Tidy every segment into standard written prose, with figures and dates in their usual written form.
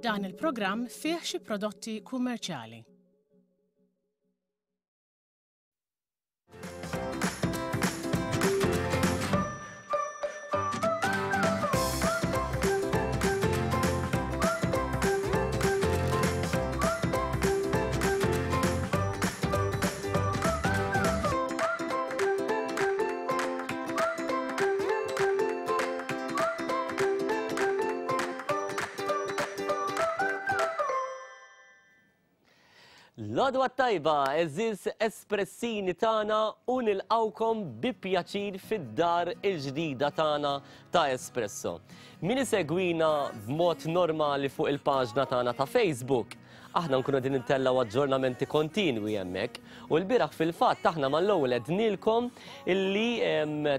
Dan il-programm fih xi prodotti kummerċjali. L-għodwa tajba, eżiz espressini tagħna u nilqawkom bi pjaċir fid-dar il-ġdida tagħna ta' Espresso. Min isegwina b'mod normali fuq il-paġna tagħna ta' Facebook, Aħna nkunu qegħdin intellgħu aġġornamenti kontinwi hemmhekk u lbieraħ fil-fatt aħna mal-ewwel għednielkom illi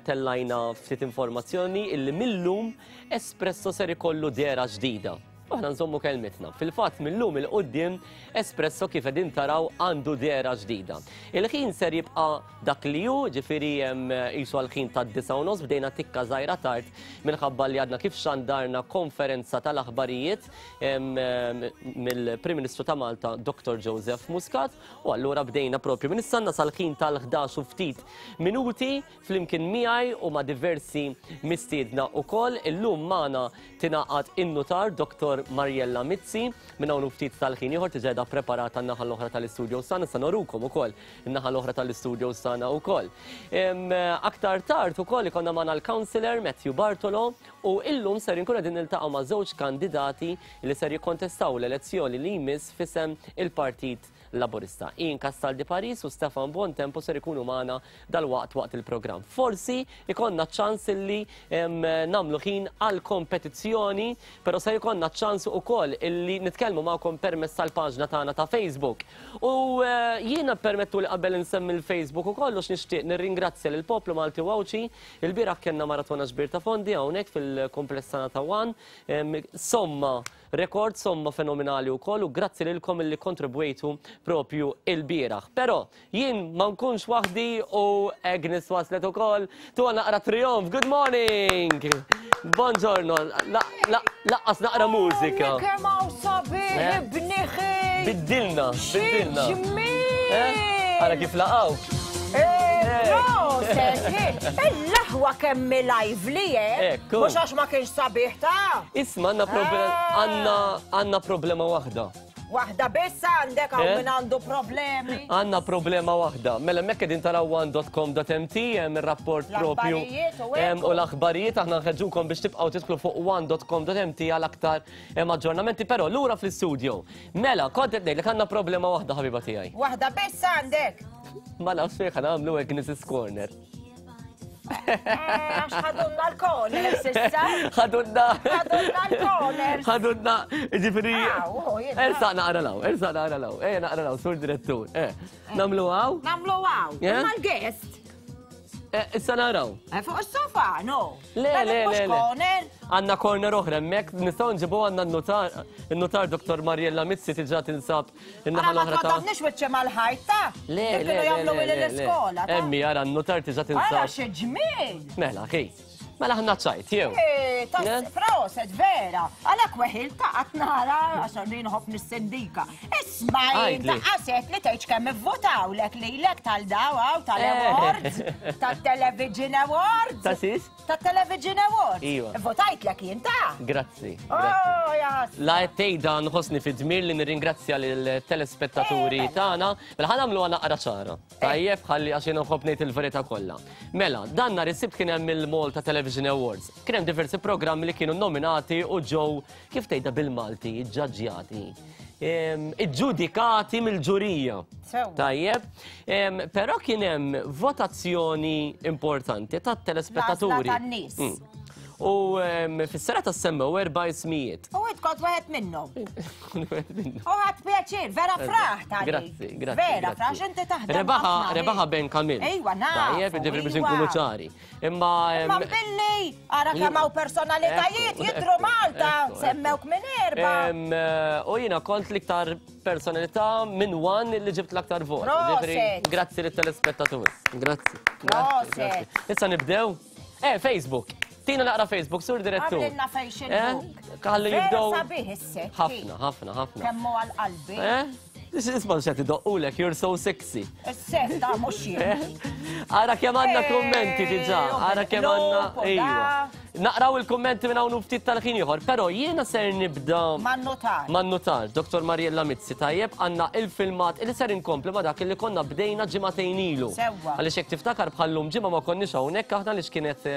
tellajna ftit informazzjoni illi mil-lum Espresso ser ikollu dehra ġdida. U aħna nżommu kelmitna. Fil-fatt mil-lum 'il quddiem Espresso kif qegħdin taraw għandu dehra ġdida. Il-ħin ser jibqa' dak li hu, ġifieri qisu għall-ħin tad-disgħa u nofs bdejna tikka żgħira tard minħabba li għadna kif xandarna konferenza tal-aħbarijiet mill-Prim Ministru ta' Malta Dr. Joseph Muscat u allura bdejna propju minn issanna sal-ħin tal-11 u ftit minuti flimkien miegħi u ma' diversi mistiedna ukoll. Illum magħna tingħaqad in-nutar Dr. Mariella Mizzi minn hawn u ftit tal-ħin ieħor tiġa qiegħda preparata n-naħa l-oħra tal-istudio sana sa norukom ukoll in-naħa l-oħra tal-istudio sana ukoll. Aktar tard ukoll ikonna magħna l-Councillor Matthew Bartolo U illum ser inkunu qegħdin niltaqgħu ma' żewġ kandidati li ser jikkontestaw l-elezzjoni li jmiss f'isem il-Partit Laburista. Ian Castaldi Paris u Stefan Buontempo ser ikunu magħna dalwaqt waqt il-programm. Forsi ikonna ċans illi nagħmlu ħin għal kompetizzjoni, però ser ikonna ċans ukoll illi nitkellmu magħkom permezz tal-paġna tagħna ta' Facebook. U eh, jiena permettu li qabel insemmi l-Facebook ukoll u nixtieq nirringrazzja lill-poplu Malti u Għawdxi Ilbieraħ kellna maratona ġbir ta' fondi hawnhekk fil-kumpless tagħna ta' One. Somma rekord, somma fenomenali wkoll u grazzi lilkom illi kontribwejtu propju ilbieraħ. Però jien ma nkunx waħdi u Agnes waslet ukoll. Tuha naqra trionf. Good morning! Buongiorno. Laqqas naqra mużika. Kemm hawn sabiħ eh? ibniħi! Biddilna, biddilna. Ġmiel! Eh? Ara kif laqgħu. Eh, proset, il-laħwa kemm lively, eh? Ekku. Mhux għax ma kienx sabiħ ta' Isma' għandna problema Ah. għandna għandna problema waħda. Waħda biss għandek hawn Eh? min għandu problemi. Għandna problema waħda. Mela hemmhekk qegħdin taraw one.com.mt hemm ir-rapport propju L-aħbarijiet u hekk. Em, u l-aħbarijiet aħna nħeġġukom biex tibqgħu tidħlu fuq one.com.mt għal aktar em, aġġornamenti, però lura fl-istudio. Mela, kont qed ngħidlek għandna problema waħda ħabiba tiegħi. Waħda biss għandek. Ma nafx fejn nagħmlu Agnes' Corner. Eh, għax ħadunna l-corner sissa. Ħadunna. Ħadunna l-corner. Ħadunna, ġifieri. Ersa naqra law, ersa naqra law. Eh, naqra law, sur direttur. Eh, namlu għaw? Namlu għaw. Eh? Ma l-guest. Eh, issa naraw. Eh, fuq is-sofa, no. Le, le, le. Corner. Għanna corner oħra, hemmhekk nistgħu nġibu għandna n-notar, il-notar Dr. Mariella Mizzi tiġa tinsab in-naħa l-oħra ta' Ma wiċċe mal-ħajta. Le, le, le, le, l-iskola. Emmi, ara n-notar tiġa tinsab. Ara xi ġmiel. Mela, ħi. Mela ħna ċajt, jew. Eh, proset, vera. Għalek weħil ta' għatnara, għax għandin nħobb nissendika. Isma' ta' għaset li tgħidx kemm ivvotaw lek lilek tal-daw għaw tal-awards, eh. tal-Television Awards. Ta' sis? Tat-Television Awards. Iva. Votajt lek jien ta'. Grazzi. Oh, jas. La tgħidha nħossni fi dmir li nirringrazzja lill-telespettaturi eh, mela. tagħna. Mela ħa nagħmluha naqra ċara. Tajjeb, ħalli għax jiena nħobb ngħid il-verità kollha. Mela, dan nhar is-Sibt kien hemm il-Malta Television Awards. Kien hemm diversi programmi li kienu nominati u ġew kif tgħidha bil-Malti, iġġaġġjati. Iġġudikati mill-ġurija. Tajjeb, però kien hemm votazzjoni importanti tat-telespettaturi. L-għażla tan-nies. Mm. U fis-serata semmew erba' ismijiet. U int kont wieħed minnhom. U ħadd pjaċir, vera fraħ ta' Grazzi, grazzi. Vera fraħ inti taħdem. Rebaħa, rebaħa Ben Kamil. Ejwa, naf. Tajjeb, ġifieri biex inkunu ċari. Imma Imma billi ara kemm hawn personalitajiet jidhru Malta, semmewk minn erba. Eh, u jiena kont l-iktar personalità minn one li ġibt l-aktar vot. Grazzi lit-telespettatur. Grazzi. Grazzi. Issa nibdew. Eh, Facebook. Tina naqra Facebook, sur direttur. Għamlilna Facebook. Eh? Ħalli jibdew. Sabiħ is-set. Ħafna, ħafna, ħafna. Kemmu għal-qalbi. Eh? Isma xed idoqqulek, you're so sexy. Is-set ta' mhux jien. Eh? Ara kemm għandna Eh, kummenti diġà, ara kemm għandna. Ejwa. Naqraw il-kummenti minn hawn ftit tal-ħin ieħor, però jiena ser nibda Man-notar. Man-notar, Dr. Mariella Mizzi, tajjeb, għandna il-filmat li ser inkompli ma dak li konna bdejna ġimagħtejn ilu. Sewwa. Għaliex jekk tiftakar bħallum ġimgħa ma konniex hawnhekk aħna li kienet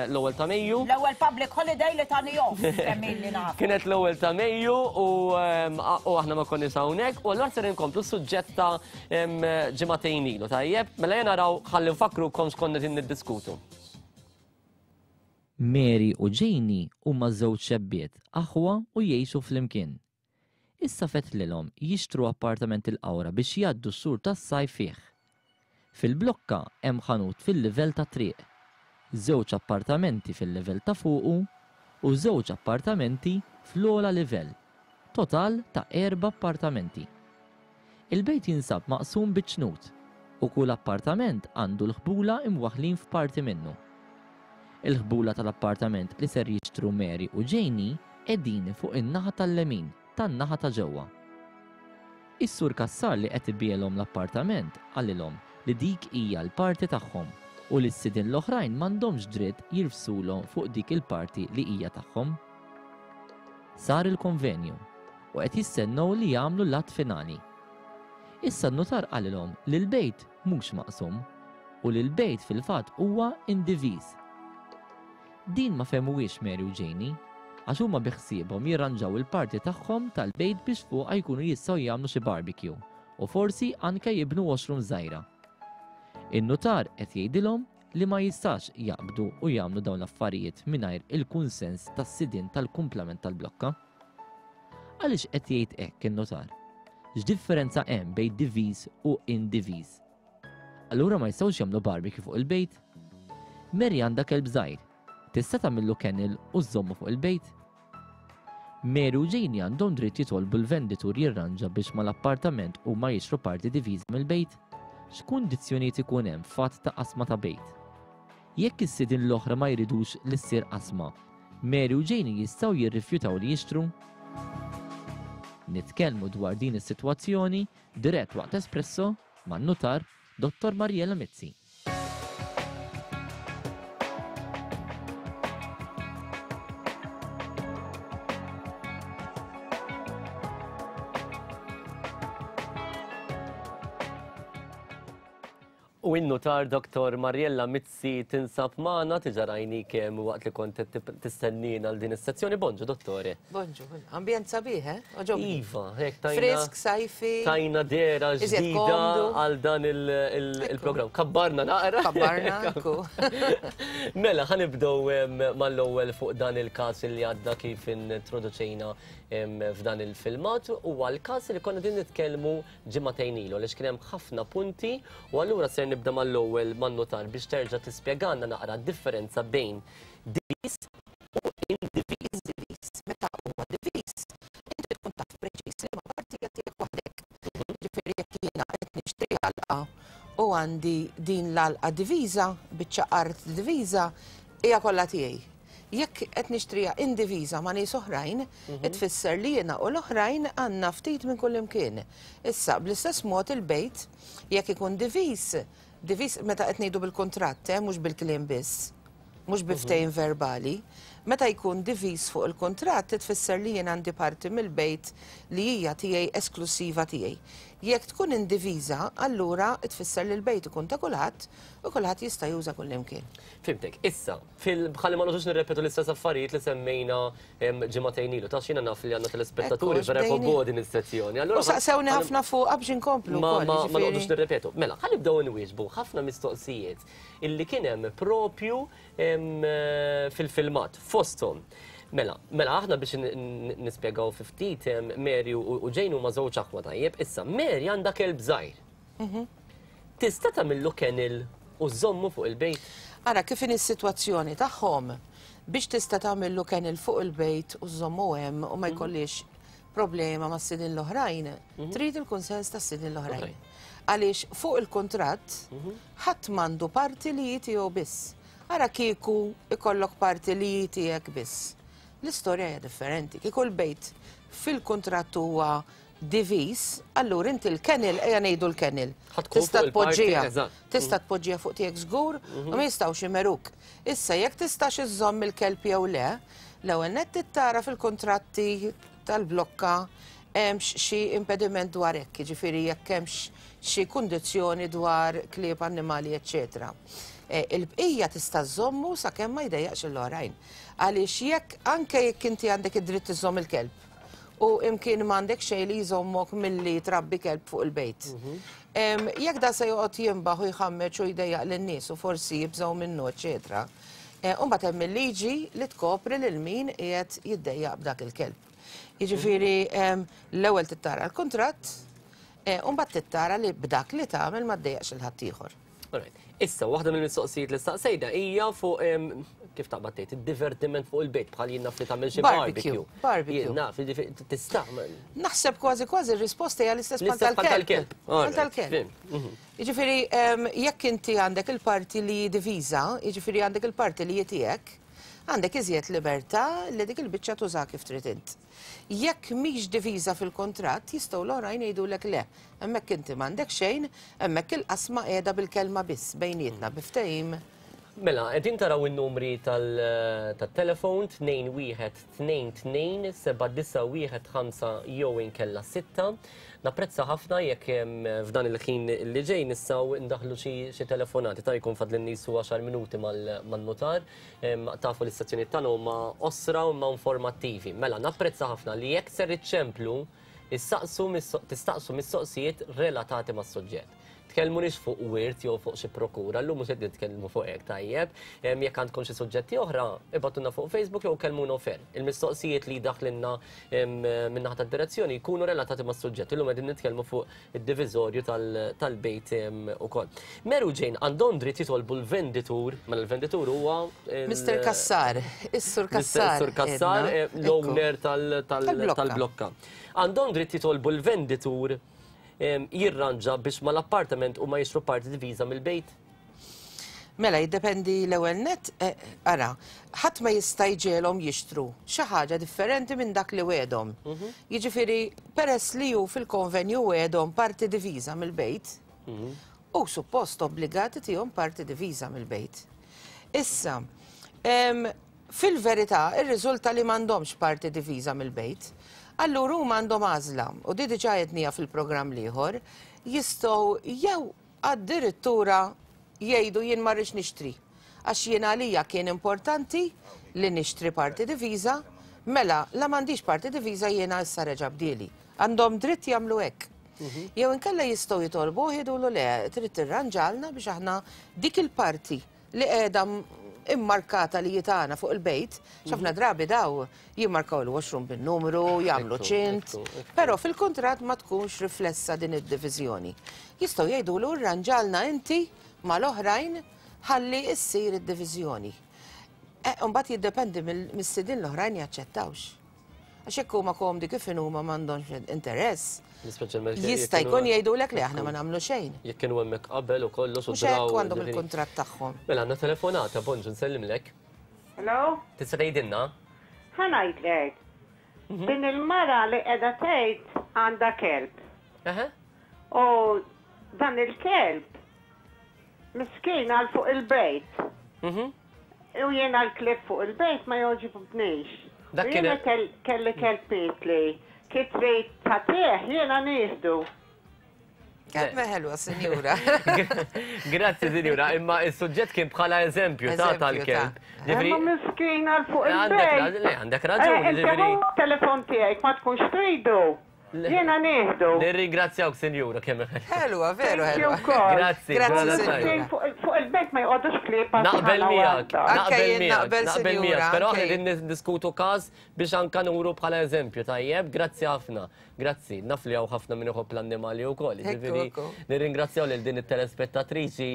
l-ewwel ta' Mejju. L-ewwel public holiday li tani off, kemm illi naf. Kienet l-ewwel ta' Mejju u aħna ma konniex hawnhekk u allura ser inkomplu s-suġġett ta' ġimagħtejn ilu, tajjeb? Mela jien naraw ħalli nfakkrukom x'konna qegħdin niddiskutu. Mary u Janie huma żewġ xebbiet, aħwa u jgħixu flimkien. Issa fettlilhom jixtru appartament il-Qawra biex jgħaddu x-xhur tas-sajf fih. Fil-blokka hemm ħanut fil-livell tat-triq, żewġ appartamenti fil-livell ta' fuqu u żewġ appartamenti fl-ogħla livell, total ta' erba' appartamenti. Il-bejt jinsab maqsum bi ċnut u kull appartament għandu l-ħbula imwaħħlin f'parti minnu. Il-ħbula tal-appartament li ser jixtru Mary u Janie qegħdin fuq in-naħa tal-lemin tan-naħa ta' ġewwa. Is-Sur Cassar li qed ibiegħlhom l-appartament qalilhom li dik hija l-parti tagħhom u li s-sidien l-oħrajn m'għandhomx dritt jirfsulhom fuq dik il-parti li hija tagħhom. Sar il-konvenju u qed jistennew li jagħmlu l-att finali. Issa n-nutar qalilhom li l-bejt mhux maqsum u li l-bejt fil-fatt huwa indiviż. Din ma fehmuhiex Mary u Janie għax huma bi ħsiebhom jirranġaw il-parti tagħhom tal-bejt biex fuqha jkunu jistgħu jagħmlu xi barbecue u forsi anke jibnu washroom żgħira. In-nutar qed jgħidilhom li ma jistax jaqbdu u jagħmlu dawn l-affarijiet mingħajr il-kunsens tas-sidien tal-kumplament tal-blokka. Għaliex qed jgħid hekk in-nutar? X'differenza hemm bejn diviż u indiviż? Allura ma jistgħux jagħmlu barbecue fuq il-bejt? Mary għandha kelb żgħir. Tista' tagħmillu kennel u żżommu fuq il-bejt? Mary u Janie għandhom dritt jitolbu l-venditur jirranġa biex mal-appartament huma jixtru parti diviża mill-bejt? X'kundizzjonijiet ikun hemm f'att ta' qasma ta' bejt? Jekk is-sidien l-oħra ma jridux li ssir qasma, Mary u Janie jistgħu jirrifjutaw li jixtru? Nitkellmu dwar din is-sitwazzjoni dirett waqt Espresso man-Nutar Dottor Mariella Mizzi. U in-nutar Dr. Mariella Mizzi tinsab magħna tiġa rajni kemm waqt li kont qed tistennina għal din is-sezzjoni. Bonġu, dottore. Bonġu, ambjent sabiħ, eh? Oġobni. Iva, hekk tajna. Frisk, sajfi. Tajna dera Iżjed ġdida komdu. għal dan il-programm. Kabbarna naqra. Kabbarna, ekku. Mela, ħanibdew mal-ewwel fuq dan il-każ li għadna kif introduċejna f'dan il-filmat u għal-każ li konna din nitkellmu ġimagħtejn ilu għaliex kien hemm ħafna punti u allura ser nibda mal-ewwel man-notar biex terġa' tispjegana naqra d-differenza bejn diviż u indiviż. Diviż. Meta huwa diviż, inti tkun taf preċiż li ma parti hija tiegħek waħdek. Ġifieri jekk jiena qed nixtri għalqa u għandi din l-għalqa diviża, biċċa art diviża, hija kollha tiegħi. Jekk qed nixtriha indiviża ma' nies oħrajn, tfisser li jiena u l-oħrajn għandna ftit minn kull imkien. Issa, bl-istess mod il-bejt, jekk ikun diviż, diviż meta qed ngħidu bil-kuntratt, mhux bil-kliem biss, mhux bi ftehim verbali, meta jkun diviż fuq il-kuntratt, tfisser li jien għandi parti mill-bejt li hija tiegħi esklusiva tiegħi. Jekk tkun indiviża, allura tfisser li l-bejt ikun ta' kulħadd u kulħadd jista' juża kull imkien. Fimtek, issa, bħalli ma noqgħodux nirrepetu l-istess affarijiet li semmejna ġimagħtejn ilu, ta' xina naf li għandna telespettaturi Ekku, vera xbdejni. jħobbu din is-sezzjoni. Allura U saqsewni ħafna fuq biex inkomplu Ma wkoll, ma jiġifieri. noqgħodux nirrepetu. Mela, ħa nibdew inwieġbu ħafna mistoqsijiet illi kien hemm propju fil-filmat fosthom. Mela, mela aħna biex nispjegaw fi ftit Mary u Jane huma żewġ aħwa tajjeb. Issa Mary għandha kelb żgħir. Tista' tagħmillu kennel u żommu fuq il-bejt? Ara, kif inhi s-sitwazzjoni tagħhom biex tista' tagħmillu kennel fuq il-bejt u żommu hemm u ma jkollix problema ma' sidin l-oħrajn, trid il-kunsens tas sidin l-oħrajn. Għaliex fuq il-kuntratt ħadd m'għandu parti li hi tiegħu biss. Ara kieku ikollok parti li hi tiegħek biss. L-istorja hija differenti. Kieku l-bejt fil-kuntratt huwa diviż, allura inti l-kennel, ejja ngħidu l-kennel. Tista' tpoġġiha. Tista' tpoġġiha fuq tiegħek żgur u ma jistgħux imeruk. Issa jekk tistax iżżomm il-kelb jew le, l-ewwel nett trid tara fil-kuntratti tal-blokka hemmx xi impediment dwar hekk, jiġifieri jekk hemmx xi kundizzjoni dwar klieb, annimali, eċċetera. Il-bqija tista' żżommu sakemm ma jdejjaqx lill-oħrajn. Għaliex jekk anke jekk inti għandek id-dritt iżżomm il-kelb u imkien m'għandek xejn li jżommok milli trabbi kelb fuq il-bejt. Jekk da se joqgħod jinbaħ u jħammeġ u jdejjaq lin-nies u forsi jibżgħu minnu, eċċetera. U mbagħad hemm il-liġi li tkopri lil min qiegħed jiddejjaq b'dak il-kelb. Jiġifieri l-ewwel trid tara l-kuntratt, u mbagħad trid tara li b'dak li tagħmel ma ddejjaqx lil ħaddieħor. Issa, waħda mill-mistoqsijiet li staqsejna hija fuq kif taqbad tgħid, id-divertiment fuq il-bejt bħal jien naf li tagħmel xi barbecue. Barbecue. Jien naf, tista'. Naħseb kważi kważi r-risposta hija l-istess bħal tal-kelb. Bħal tal-kelb. Jiġifieri jekk inti għandek il-parti li hi diviża, jiġifieri għandek il-parti li hi tiegħek, għandek iżjed libertà li dik il-biċċa tużaha kif trid int. Jekk mhix diviża fil-kuntratt, jistgħu l-oħrajn jgħidulek le, hemmhekk inti m'għandek xejn, hemmhekk il-qasma qiegħda bil-kelma biss bejnietna bi ftehim. Mela, qegħdin taraw in-numri tat-telefon 2122 7915 jew inkella 6. Napprezza ħafna jekk f'dan il-ħin li ġej nistgħu ndaħħlu xi telefonati ta' jkun fadlilni su għaxar minuti man-nutar. Tafu li s-sezzjonijiet tagħna huma qosra u imma informattivi. Mela, napprezza ħafna li jekk ser iċċemplu, issaqsu tistaqsu mistoqsijiet relatati mas-suġġett. Tkellmunix fuq wirt jew fuq xi prokura, llum mhux qed nitkellmu fuq hekk tajjeb. Jekk għandkom xi suġġetti oħra, ibgħatulna fuq Facebook jew kellmuna off air. Il-mistoqsijiet li jdaħħlilna min-naħa tad-direzzjoni jkunu relatati mas-suġġett. Illum qegħdin nitkellmu fuq id-diviżorju tal-bejt ukoll. Mary u Jane għandhom dritt jitolbu l-venditur, mela l-venditur huwa Mr. Cassar, is-Sur Cassar. Sur Cassar, l-owner tal-blokka. Għandhom dritt jitolbu l-venditur jirranġa biex mal-appartament u ma jixtru parti diviża mill-bejt? Mela, jiddependi l-ewwel nett, ara, ħadd ma jista' jġegħelhom jixtru xi ħaġa differenti minn dak li wegħedhom. Jiġifieri, peress li hu fil-konvenju wegħedhom parti diviża mill-bejt, hu suppost obbligat itihom parti diviża mill-bejt. Issa, fil-verità irriżulta li m'għandhomx parti diviża mill-bejt. Allura huma għandhom għażla, u di diġà għedniha fil-programm l-ieħor, jistgħu jew addirittura jgħidu jien ma rridx nixtri għax jien għalija kien importanti li nixtri parti diviża, mela la m'għandix parti diviża jiena issa reġa' bdieli. Għandhom dritt jagħmlu hekk. Jew inkella jistgħu jitolbuh jgħidulu le, trid tirranġalna biex aħna dik il-parti li qiegħda immarkata li hi tagħna fuq il-bejt, x'ħafna drabi daw jimmarkaw il-washroom bin-numru, jagħmlu ċint, però fil-kuntratt ma tkunx riflessa din id-diviżjoni. Jistgħu jgħidulu rranġalna inti mal-oħrajn ħalli ssir id-diviżjoni. Imbagħad jiddependi mis-sidien l-oħrajn jaċċettawx. Għax jekk huma komdi kif inhuma m'għandhomx interess. Jista' jkun jgħidulek li aħna ma nagħmlu xejn. Jekk kienu hemmhekk qabel u kollox u draw. Mhux hekk għandhom il-kuntratt tagħhom. Mela għandna telefonata, bonġu nsellimlek. Hello? Tista' tgħidilna? Ħa ngħidlek. Din il-mara li qiegħda tgħid għandha kelb. U dan il-kelb miskin għal fuq il-bejt. U jiena l-klieb fuq il-bejt ma jogħġibnix. U jiena kelli kelb mietli, ki trid tagħtih jiena nieħdu. Kemm ħelwa, sinjura. Grazzi, sinjura, imma is-suġġett kien bħala eżempju ta' tal-kelb. Imma miskin għal fuq il-bejt. Għandek raġun. Telefon tiegħek ma tkunx tridu. Jiena nieħdu. Nirringrazzjawk, sinjura, kemm ħelwa, veru ħelwa. Grazzi, grazzi. Fuq il-bejt ma jqogħdux klieb. Naqbel miegħek. Naqbel miegħek, naqbel miegħek, però aħna qegħdin niddiskutu każ biex anka nuru bħala eżempju, tajjeb? Grazzi ħafna. Grazzi, naf li hawn ħafna min iħobb l-annimali wkoll, jiġifieri nirringrazzjaw lil din it-telespettatriċi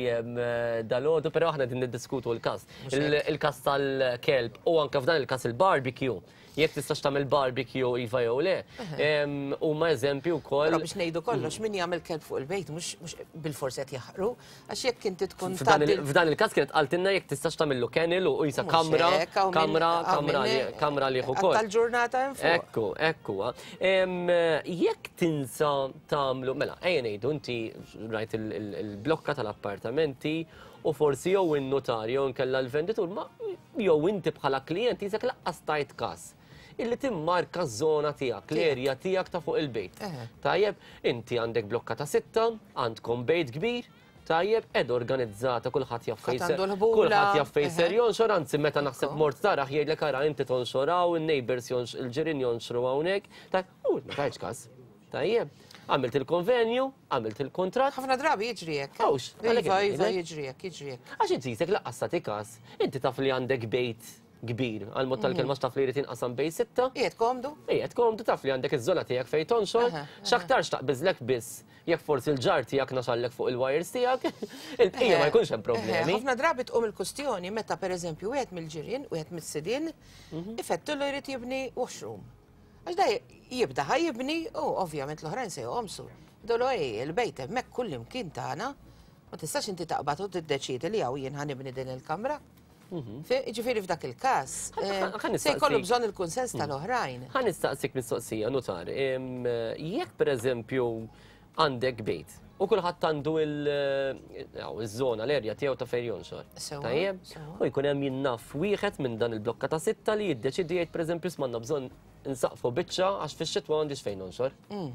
dalgħodu, però aħna qegħdin niddiskutu l-każ. Il-każ tal-kelb u anke f'dan il-każ il-barbecue. Jekk tistax tagħmel barbecue iva jew le, huma eżempji wkoll. Però biex ngħidu kollox, min jagħmel kelb fuq il-bejt mhux bilfors qed jaħqru, għax jekk inti tkun F'dan il-każ kienet qaltilna jekk tistax tagħmillu kennel u qisha kamra, kamra, kamra, kamra għalih ukoll. Tal-ġurnata hemm fuq. Ekku, ekku. Jekk tinsa tagħmlu, mela, ejja ngħidu inti rajt il-blokka tal-appartamenti u forsi jew in-nutar jew inkella l-venditur ma jew inti bħala klijent jisek laqqas tajt każ illi timmarka ż-żona tiegħek, l-erja tiegħek ta' fuq il-bejt. Tajjeb, inti għandek blokka ta' sitta, għandkom bejt kbir, tajjeb, ed organizzata kulħadd jaf fejn kulħadd jaf fejn ser jonxor, anzi meta naħseb mort taraħ jgħidlek ara inti tonxoraw, in-neighbors il-ġirien jonxru hawnhekk, u ma tajtx każ. Tajjeb, għamilt il-konvenju, għamilt il-kuntratt. Ħafna drabi jiġri hekk. Għawx, Iva, iva, jiġri hekk, jiġri hekk. Għax inti jisek laqqas tagħti każ, inti taf li għandek bejt kbir, għal mod tal-kelma x'taf li jrid jinqasam bejn sitta. Qiegħed komdu? Qiegħed komdu taf li għandek iż-żona tiegħek fejn tonxor, x'aktarx taqbiżlek biss jekk forsi l-ġar tiegħek naxallek fuq il-wires tiegħek, il-bqija ma jkunx hemm problemi. Ħafna drabi tqum il-kustjoni meta pereżempju wieħed mill-ġirien, wieħed mis-sidien, ifettullu jrid jibni washroom. Għax da jibda ħa jibni u ovvjament l-oħrajn se joqomsu. Dolu ej, il-bejt hemmhekk kull imkien tagħna, ma tistax inti taqbad u tiddeċiedi li hawn jien ħa nibni din il-kamra. Mhm. Ġifieri f'dak il-każ, eh, se jkollu bżonn il-kunsens mhm. tal-oħrajn. Ħa nistaqsik mistoqsija, notar. Jekk pereżempju għandek bejt u kulħadd għandu il-żona, l-erja tiegħu ta' fejn jonxor. Tajjeb? U jkun hemm jinnaf wieħed minn dan il-blokka ta' sitta li jiddeċidi jgħid pereżempju smanna bżonn insaqfu biċċa għax fix-xitwa m'għandix fejn nonxor. Mm.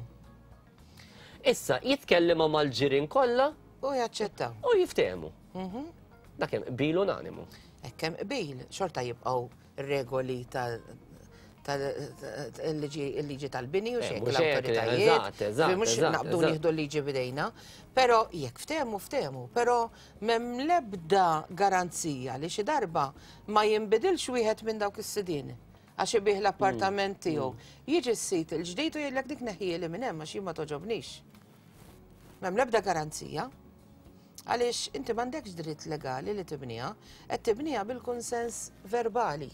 Issa jitkellem mal-ġirien kollha u jaċċettaw. U jiftehmu. Mhm. Dak hemm qbil unanimu. Hekk hemm qbil, xorta jibqgħu regoli ta' il-liġi tal-bini u eh, xejn l-awtoritajiet. Mhux naqbdu nieħdu l-liġi bidejna, però jekk ftehmu ftehmu, però m'hemm l-ebda garanzija li xi darba ma jinbidilx wieħed minn dawk is-sidien għax ibih l-appartament mm, tiegħu. Mm. Jiġi s-sit il-ġdid u jgħidlek dik neħjieli minn hemm għax jien ma toġobnix. M'hemm l-ebda garanzija. Għaliex inti m'għandekx dritt legali li tibniha, qed tibniha bil-kunsens verbali,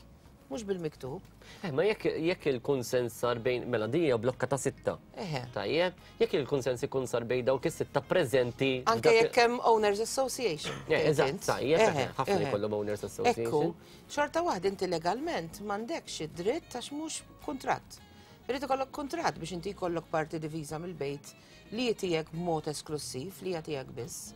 mhux bil-miktub. Eh, ma jekk jekk il-kunsens sar bejn mela din hija blokka ta' sitta. Eħe. Tajjeb, jekk il-kunsens ikun sar bejn dawk is-sitta preżenti. Anke jekk hemm Owners Association. Eh, eżatt, tajjeb, ħafna jkollhom Owners Association. Ekku, xorta waħda inti legalment m'għandekx id-dritt għax mhux kuntratt. Irid ikollok kuntratt biex inti jkollok parti diviża mill-bejt li hi tiegħek b'mod esklussiv, li hija tiegħek biss.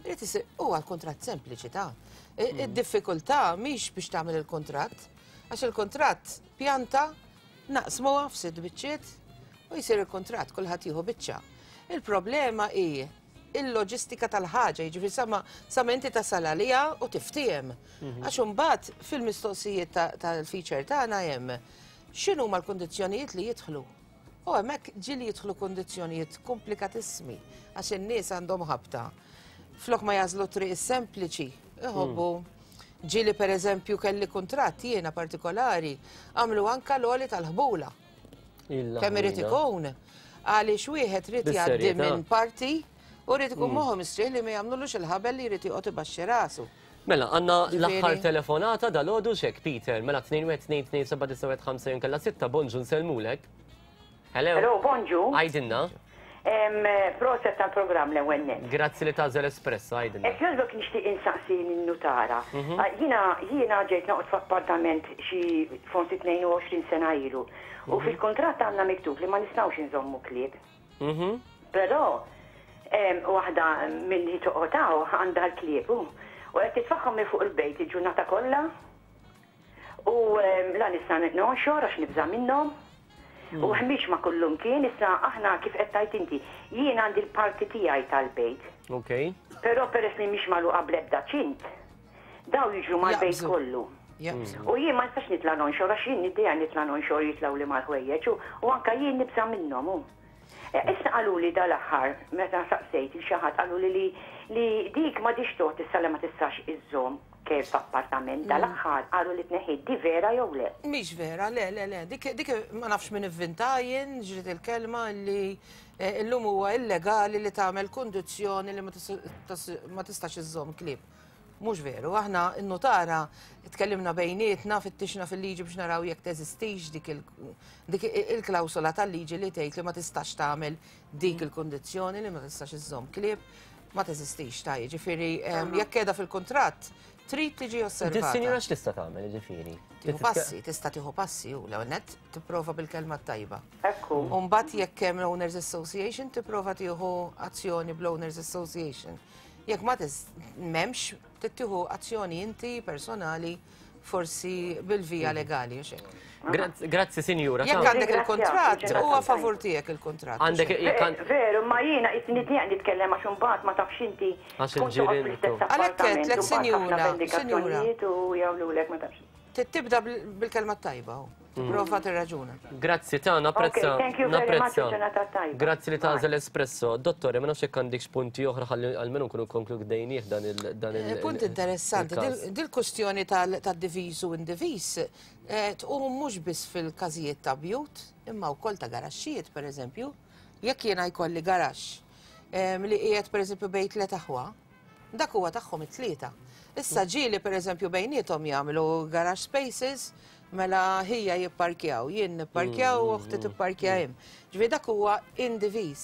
Irid isir huwa l-kuntratt sempliċi ta'. Mm. Id-diffikultà mhix biex tagħmel il-kuntratt, għax il-kuntratt pjanta naqsmuha f'sitt biċċiet u jsir il-kuntratt kulħadd jieħu biċċa. Il-problema hi il-loġistika tal-ħaġa, jiġifieri sama sama inti tasal għaliha u tiftiehem. Mhm. Għax imbagħad fil-mistoqsijiet tal-feature tagħna hemm x'inhuma l-kundizzjonijiet li jidħlu. U hemmhekk ġieli jidħlu kundizzjonijiet komplikatissimi għax in-nies għandhom ħabta. Flok ma jażlu triq is-sempliċi, iħobbu. Hmm. Ġieli pereżempju kelli kuntratt jiena partikolari għamlu anka l-għoli tal-ħbula. Kemm irid ikun għaliex wieħed rid jgħaddi minn parti u rrid ikun hmm. moħħu mistrieħ li ma jagħmlulux il-ħabel li jrid joqgħod ibaxxi rasu. Mela, għanna l-aħħar telefonata dal-għodu xek, Peter, mela 2-1-2-2-7-9-5 jinkella 6, bonġu nsellmulek. Hello. Hello, bonġu. Għajdinna. Proset tal-programm l-ewwel nett. Grazzi li tagħżel Espresso, għajdinna. Hekk jogħġbok nixtieq insaqsi lin-nutara. Mhm. Ah, jiena jiena ġejt noqgħod f'appartament xi forsi 22 sena ilu. U mhm. fil-kuntratt għandna miktub li ma nistgħux inżommu klieb. Mhm. Però waħda milli toqgħod hawn għandha l-klieb u qed titfagħhom minn fuq il-bejt il-ġurnata kollha. U la nista' nonxor għax nibża' minnhom. U ħmieġ ma' kullumkien, issa aħna kif qed tgħid inti, jien għandi l-parti tiegħi tal-bejt. Okay. Però peress li mhix magħluqa bl-ebda ċint, daw jiġru mal-bejt kollu. U jien ma nistax nitla' nonxor għax jien niddejjaq nitla' nonxor jitlgħuli mal-ħwejjeġ u anke jien nibża' minnhom. Issa qaluli dal-aħħar meta saqsejt 'il xi ħadd qaluli li li dik m'għadhiex tgħodd issa li ma tistax iżżomm. kelb f'appartament dal-aħħar qalu li tneħħiet di vera jew le? Mhix vera, le, le, le. Dik, dik ma nafx min ivvinta jien, ġriet il-kelma li eh, illum huwa illegali li tagħmel kundizzjoni li ma tistax iżżomm klieb. Mhux veru, aħna n-nutara tkellimna bejnietna, fittixna fil-liġi biex naraw jekk teżistix dik il-klawsola tal-liġi li tgħid li ma tistax tagħmel dik il-kundizzjoni li ma tistax iżżomm klieb, ma teżistix ta' jiġifieri jekk qiegħda fil-kuntratt trid tiġi osservata. Dis-sinjura x'tista' tagħmel jiġifieri? Tieħu passi, tista' tieħu passi u l-ewwel nett tipprova bil-kelma t-tajba. Ekku. U mbagħad jekk hemm l-Owners Association tipprova tieħu azzjoni bl-Owners Association. Jekk ma m'hemmx, trid tieħu azzjoni inti personali forsi bil-vija mhm. legali u xejn. Grazzi, sinjura. Jekk għandek il-kontrat, huwa favur tiegħek il-kontrat. Għandek Veru, ma jiena qisni dieq nitkellem għax imbagħad ma tafx inti. Għax il-ġirien. Għalhekk qedlek, sinjura, sinjura. U jagħmlulek ma tafx. Tibda bil-kelma tajba. Prova tirraġuna. Grazzi ta' napprezza. Napprezza. Grazzi li tagħżel espresso. Dottore, ma nafx jekk għandikx punti oħra ħalli almenu nkunu konkludejnieh dan il dan il. Eh, punt interessanti, dil-kustjoni tad-diviż u indiviż eh, tqum mhux biss fil-każijiet ta' bjut, imma wkoll ta' garaxxijiet pereżempju. Jekk jiena jkolli garaxx eh, li qiegħed pereżempju bejn tliet aħwa, Dak huwa tagħhom it-tlieta. Issa ġieli pereżempju bejniethom jagħmlu garage spaces, mela ħija jipparkjaw, jien nipparkjaw u oħti tipparkja hemm. Ġifieri dak huwa indiviż.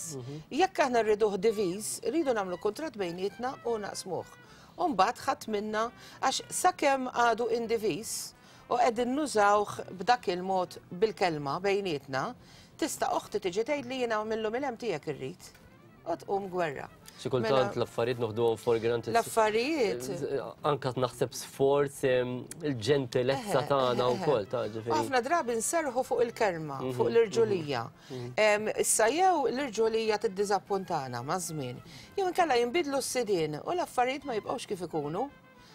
Jekk aħna rriduh diviż, rridu nagħmlu kuntratt bejnietna u naqsmuh. U mbagħad ħadd minna għax sakemm għadu indiviż u qegħdin nużawh b'dak il-mod bil-kelma bejnietna, tista' oħti tiġi tgħidli jiena mill-lum 'il hemm tiegħek irrid. U tqum gwerra. Xi kultant mela, l-affarijiet noħduhom for granted. L-affarijiet. Anka naħseb sforz il-ġentilezza tagħna wkoll ta' ġifieri. Ħafna drabi nserħu fuq il-kelma, mhm, fuq l-irġulija. Mhm, mhm. Issa jew l-irġulija tiddiżappuntana maż-żmien, jew inkella jinbidlu s-sidien u l-affarijiet ma jibqgħux kif ikunu.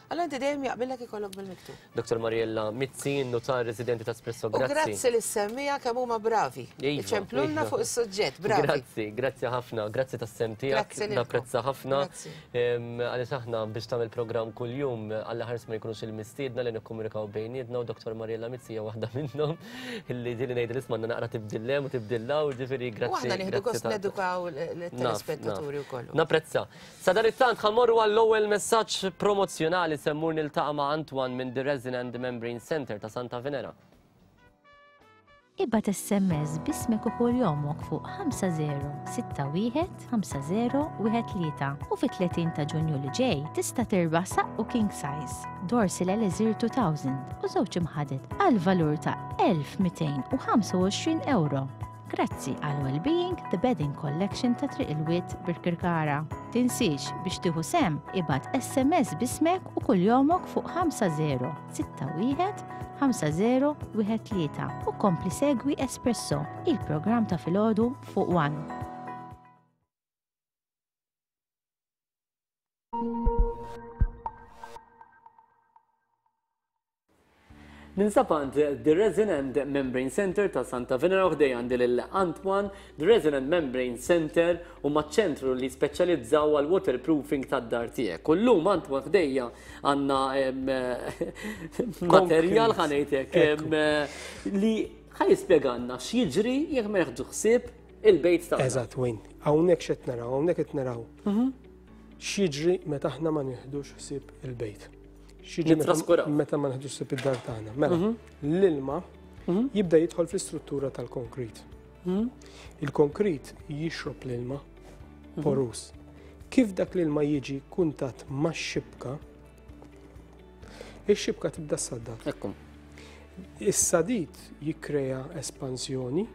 Allura inti dejjem jaqbillek ikollok bil-miktub. Dr. Mariella Mizzi, notar residenti ta' Espresso, grazzi. U grazzi lis-semmiegħa kemm huma bravi. Iva, Iċemplulna iva. fuq is-suġġett, bravi. Grazzi, grazzi ħafna, grazzi tas-sehem tiegħek. Grazzi lilkom. Napprezza ħafna. Grazzi. Għaliex aħna biex tagħmel programm kuljum Alla ħares ma jkunux il-mistiedna li nikkomunikaw bejnietna u Dr. Mariella Mizzi hija waħda minnhom illi ġieli ngħidilha isma' għandna naqra tibdil hemm u tibdil hawn, ġifieri grazzi. U aħna nieħdu grazzi gost ta' nedukaw Naf, naf. l-telespettaturi wkoll. Napprezza. Sadanittant ħa mmorru għall-ewwel messaġġ promozzjonali se mmur niltaqa' ma' Antoine minn The Resin and Membrane Centre ta' Santa Venera. Ibgħat SMS b'ismek u kuljomok fuq 5061 5013 u fit-30 ta' Ġunju li ġej tista' tirbaħ saqqu king size, Dorsil Elixir 2000 u żewġ imħaded għal valur ta' 1225 ewro. Grazzi għal Wellbeing The Bedding Collection ta' Triq il-Wied Birkirkara. Tinsiex biex tieħu sehem ibgħat SMS b'ismek u kuljomok fuq 5061 5013 u kompli segwi Espresso, il-programm ta' filgħodu fuq One. Ninsab għand The Resin and Membrane Center ta' Santa Venera u ħdejja għandi lil Antoine. The Resin and Membrane Center huma ċentru li speċjalizzaw għal waterproofing tad-dar tiegħek. U llum Antoine ħdejja għandna materjal ħa ngħidlek li ħa jispjegalna x'jiġri jekk ma nieħdu ħsieb il-bejt tagħna. Eżatt, Wayne. Hawnhekk x'qed naraw, hawnhekk qed naraw. Mhm. X'jiġri meta aħna ma nieħdux ħsieb il-bejt. X'jiġri meta ma nieħdux ħsieb id-dar tagħna. Mela, mhm. l-ilma mhm. jibda jidħol fl-istruttura tal-konkrit. Mhm. Il-konkrit jixrob l-ilma porus. Kif dak l-ilma jiġi kuntat max-xibka, ix-xibka tibda ssaddat. Ekku. Is-sadid jikkrea espansjoni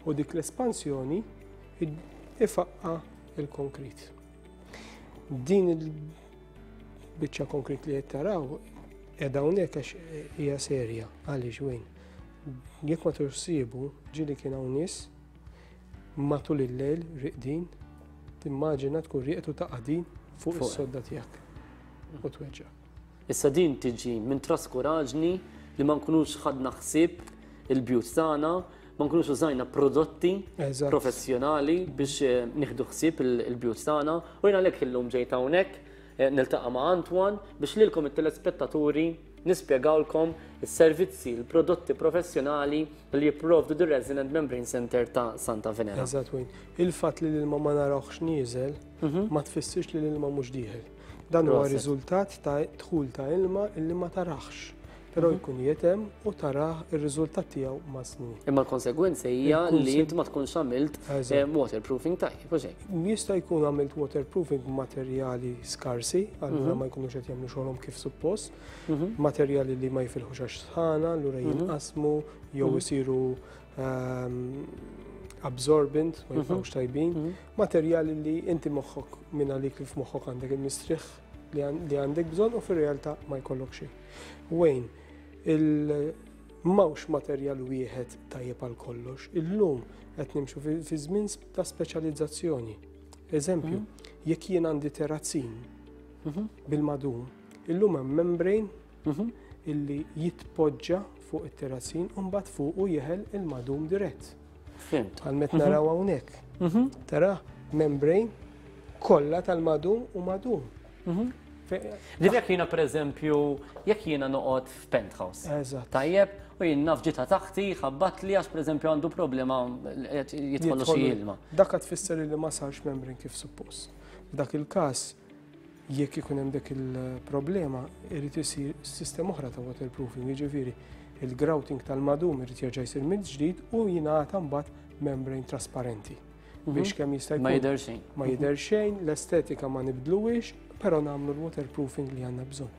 u dik l-espansjoni ifaqqa il-konkrit. Din il-biċċa konkrit li qed taraw qiegħda hawnhekk għax hija serja għaliex wejn. Jekk ma tursibu ġieli kien hawn nies matul il-lejl riqdin, timmaġina tkun rieqed u taqa' din fuq is-sodda tiegħek u tweġġa'. Issa din tiġi minn traskuraġni li ma nkunux ħadna ħsieb il-bjut tagħna, ma nkunux użajna prodotti professjonali biex eh, nieħdu ħsieb il-bjut tagħna. U jien għalhekk illum ġejt hawnhekk. niltaqa' ma' Antoine biex lilkom it-telespettaturi nispjegawlkom is-servizzi, il-prodotti professjonali li jipprovdu The Resin and Membrane Center ta' Santa Venera. Eżatt, Wayne. Il-fatt li l-ilma ma narawhx nieżel ma tfissirx li l-ilma mhux dieħel. Dan huwa riżultat ta' dħul ta' ilma illi ma taraħx, però jkun qiegħed hemm u tarah ir-riżultat tiegħu mas-snin. Imma l-konsegwenza hija li int ma tkunx għamilt waterproofing tajjeb, u xejn. Jista' jkun għamilt waterproofing b'materjali skarsi, allura ma jkunux qed jagħmlu xogħolhom kif suppost, materjali li ma jifilħux għax sħana, allura jinqasmu jew isiru absorbent, ma jibqgħux tajbin, materjali li inti moħħok minn għalik li f'moħħok għandek il-mistrieħ li għandek bżonn u fir-realtà ma jkollok xejn. Wayne, il m'hawnx materjal wieħed tajjeb għal kollox. Illum qed nimxu fi żmien ta' speċjalizzazzjoni. Eżempju, jekk jien għandi terrazzin bil-madum, illum hemm membrane illi jitpoġġa fuq it-terrazzin u mbagħad fuqu jeħel il-madum dirett. Fhimt. Bħal met naraw hawnhekk. Tara membrane kollha tal-madum u madum. Ġifieri jekk jiena pereżempju, jekk jiena noqgħod f'penthouse. Eżatt. Tajjeb, u jien naf ġita taħti, ħabbatli għax pereżempju għandu problema jidħollu xi ilma. Dak tfisser li ma sarx membrane kif suppost. F'dak il-każ, jekk ikun hemm dik il-problema, irid isir sistema oħra ta' waterproofing, jiġifieri il-grouting tal-madum irid jerġa' jsir mill-ġdid u jingħata mbagħad membrane trasparenti. Biex kemm jista' jkun. Ma jidher xejn. Ma jidher xejn, l-estetika ma nibdluhiex, però nagħmlu l-waterproofing li għandna bżonn.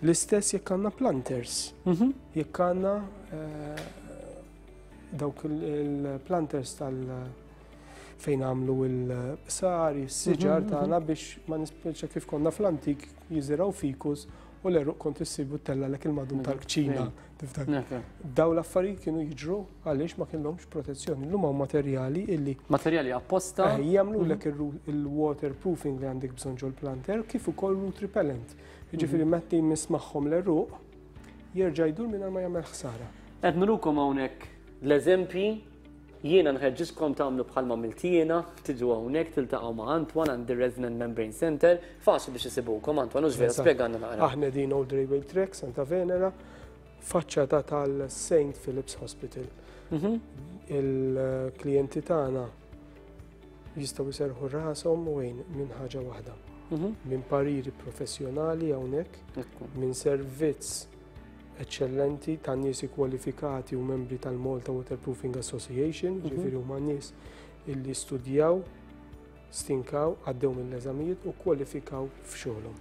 L-istess jekk għandna planters. Jekk għandna dawk il-planters tal fejn għamlu il-sar, is-siġar tagħna biex ma nispiċċa kif konna fl-antik jiżiraw fikus u l-eruq kont issibu tella lek il-madum tal-kċina. Tiftakar? Daw l-affarijiet kienu jiġru għaliex ma kellhomx protezzjoni. Illum hawn materjali illi Materjali apposta. Jagħmlu lek il-waterproofing li għandek bżonn ġol-planter kif ukoll root repellent. Jiġifieri meta jmiss magħhom l-eruq jerġa' jdur mingħajr ma jagħmel ħsara. Qed nurukom hawnhekk l-eżempji. Jiena nħeġġiġkom tagħmlu bħalma għamilt jiena, tiġu hawnhekk tiltaqgħu ma' Antoine għand ir-Resin and Membrane Center, faċli biex isibukom Antoine, hux vera, spjegalna naqra. Aħna qegħdin Old Railway Track, Santa Venera, faċċata tal-Saint Philip's Hospital. Il-klijenti tagħna jistgħu jserrħu rashom wejn minn ħaġa waħda. Minn pariri professjonali hawnhekk, minn servizz eċċellenti ta' nies ikkwalifikati u membri tal-Malta Waterproofing Association, ġifieri huma nies illi studjaw, stinkaw, għaddew mill-eżamijiet u kwalifikaw f'xogħolhom.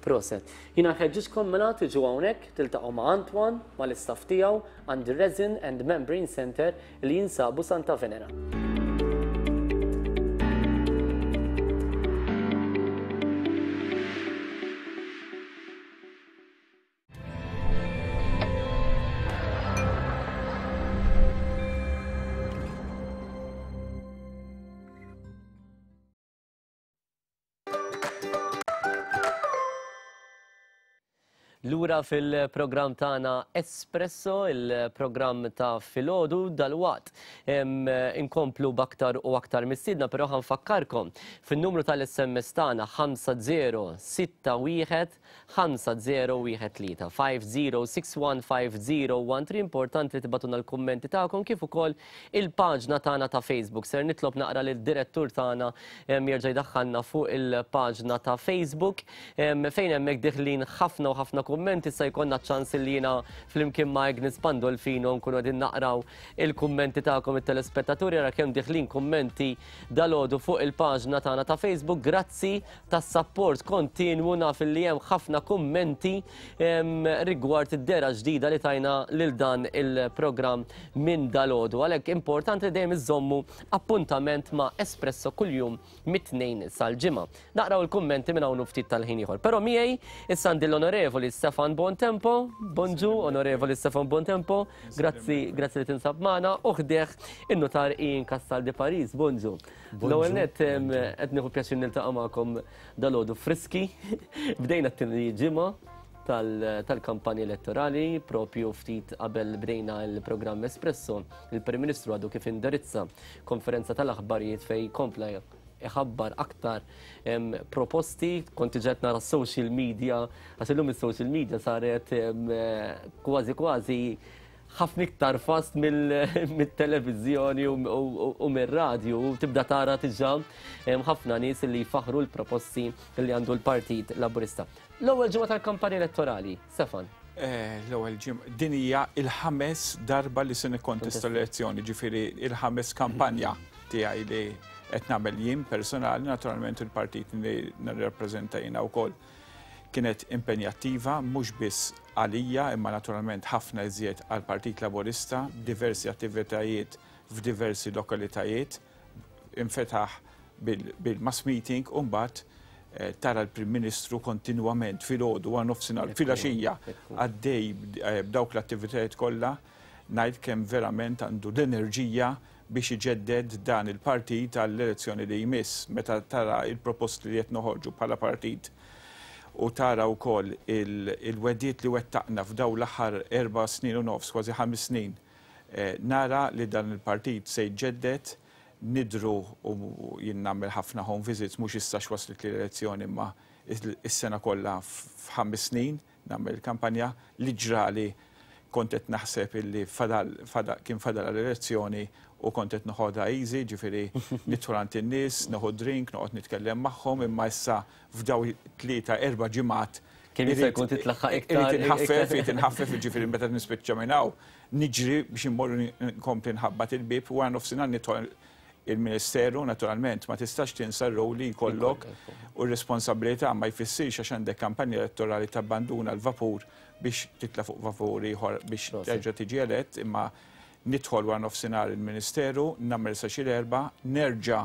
Proset. Jiena nħeġġiġkom mela tiġu hawnhekk, tiltaqgħu ma' Antoine, mal-istaff tiegħu għand ir-Resin and Membrane Center li jinsabu Santa Venera. Lura fil-programm tagħna Espresso, il-programm ta' filgħodu dalwaqt inkomplu b'aktar u aktar mistiedna, però ħanfakkarkom fin-numru tal-SMS tagħna 5061 5013 50615013 importanti li tibgħatulna l-kummenti tagħkom kif ukoll il-paġna tagħna ta' Facebook. Ser nitlob naqra lid-direttur tagħna jerġa' jdaħħalna fuq il-paġna ta' Facebook fejn hemmhekk diħlin ħafna u ħafna kummenti. Issa jkollna ċans li jiena flimkien ma' Agnes Pandolfino nkunu qegħdin naqraw il-kummenti tagħkom it-telespettaturi. Ara kemm diħlin kummenti dalgħodu fuq il-paġna tagħna ta' Facebook. Grazzi tas-sapport kontinwu, naf li hemm ħafna kummenti rigward id-dera ġdida li tajna lil dan il-programm minn dalgħodu. Għalhekk importanti li dejjem iżommu appuntament ma' Espresso kuljum mit-Tnejn sal-Ġimgħa. Naqraw il-kummenti minn hawn u ftit tal-ħin ieħor. Però miegħi issa għandi l-Onorevoli Stefan Bontempo. Bonġu, Onorevoli Stefan Bontempo. Grazzi, grazzi li tinsab magħna. U ħdejh in-nutar Ian Castaldi Paris. Bonġu. L-ewwel nett qed nieħu pjaċir niltaqa' magħkom dalgħodu friski. Bdejna t-tieni ġimgħa tal-kampanja elettorali, propju ftit qabel bdejna l-programm Espresso, il-Prim Ministru għadu kif indirizza konferenza tal-aħbarijiet fejn kompla iħabbar aktar proposti, kont diġà qed nara s-social media, għax illum is-social media saret kważi kważi ħafna iktar fast mit-televiżjoni u mir-radju u tibda tara diġà ħafna nies li jfaħħru l-proposti li għandu l-Partit Laburista. L-ewwel ġimgħa tal-kampanja elettorali, Stefan. L-ewwel ġimgħa, din hija l-ħames darba li se nikkontesta l-elezzjoni, ġifieri il-ħames kampanja tiegħi li qed nagħmel jien personali, naturalment il-partit li nirrappreżenta jiena wkoll. Kienet impenjattiva mhux biss għalija imma naturalment ħafna iżjed għall-Partit Laburista, b'diversi attivitajiet f'diversi lokalitajiet. Infetaħ bil-mass meeting u mbagħad tara l-Prim Ministru kontinwament filgħodu, wara nofsinhar, filgħaxija għaddej b'dawk l-attivitajiet kollha, ngħid kemm verament għandu l-enerġija biex iġedded dan il-partit għall-elezzjoni li jmiss. Meta tara l-proposti li qed noħorġu bħala partit u tara wkoll il-wegħdiet li wettaqna f'dawn l-aħħar 4 snin u nofs, kważi 5 snin, nara li dan il-partit se jġedded, nidhru u jien nagħmel ħafna home visits mhux issa x'waslitli l-elezzjoni imma is-sena kollha f'ħames snin nagħmel il-kampanja li ġrali kont qed naħseb illi fadal, fadal, kien fadal għall-elezzjoni u kont qed noħodha easy, ġifieri nidħol għand in-nies, nieħu drink, noqgħod nitkellem magħhom, imma issa f'daw 3, 4 ġimgħat Kien jista' jkun titlaħħaq iktar. Irid inħaffef, irid inħaffef, ġifieri meta nispiċċa minn hawn, niġri biex immorru nkompli nħabbat il-bieb u wara nofsinhar nidħol il-Ministeru, naturalment, ma tistax tinsa r-rol li jkollok u r-responsabilità ma jfissirx għax għandek kampanja elettorali tabbanduna l-vapur biex titla' fuq vapur ieħor biex terġa' tiġi elett, imma nidħol wara nofsinhar il-Ministeru, nagħmel sa xi l-erbgħa, nerġa'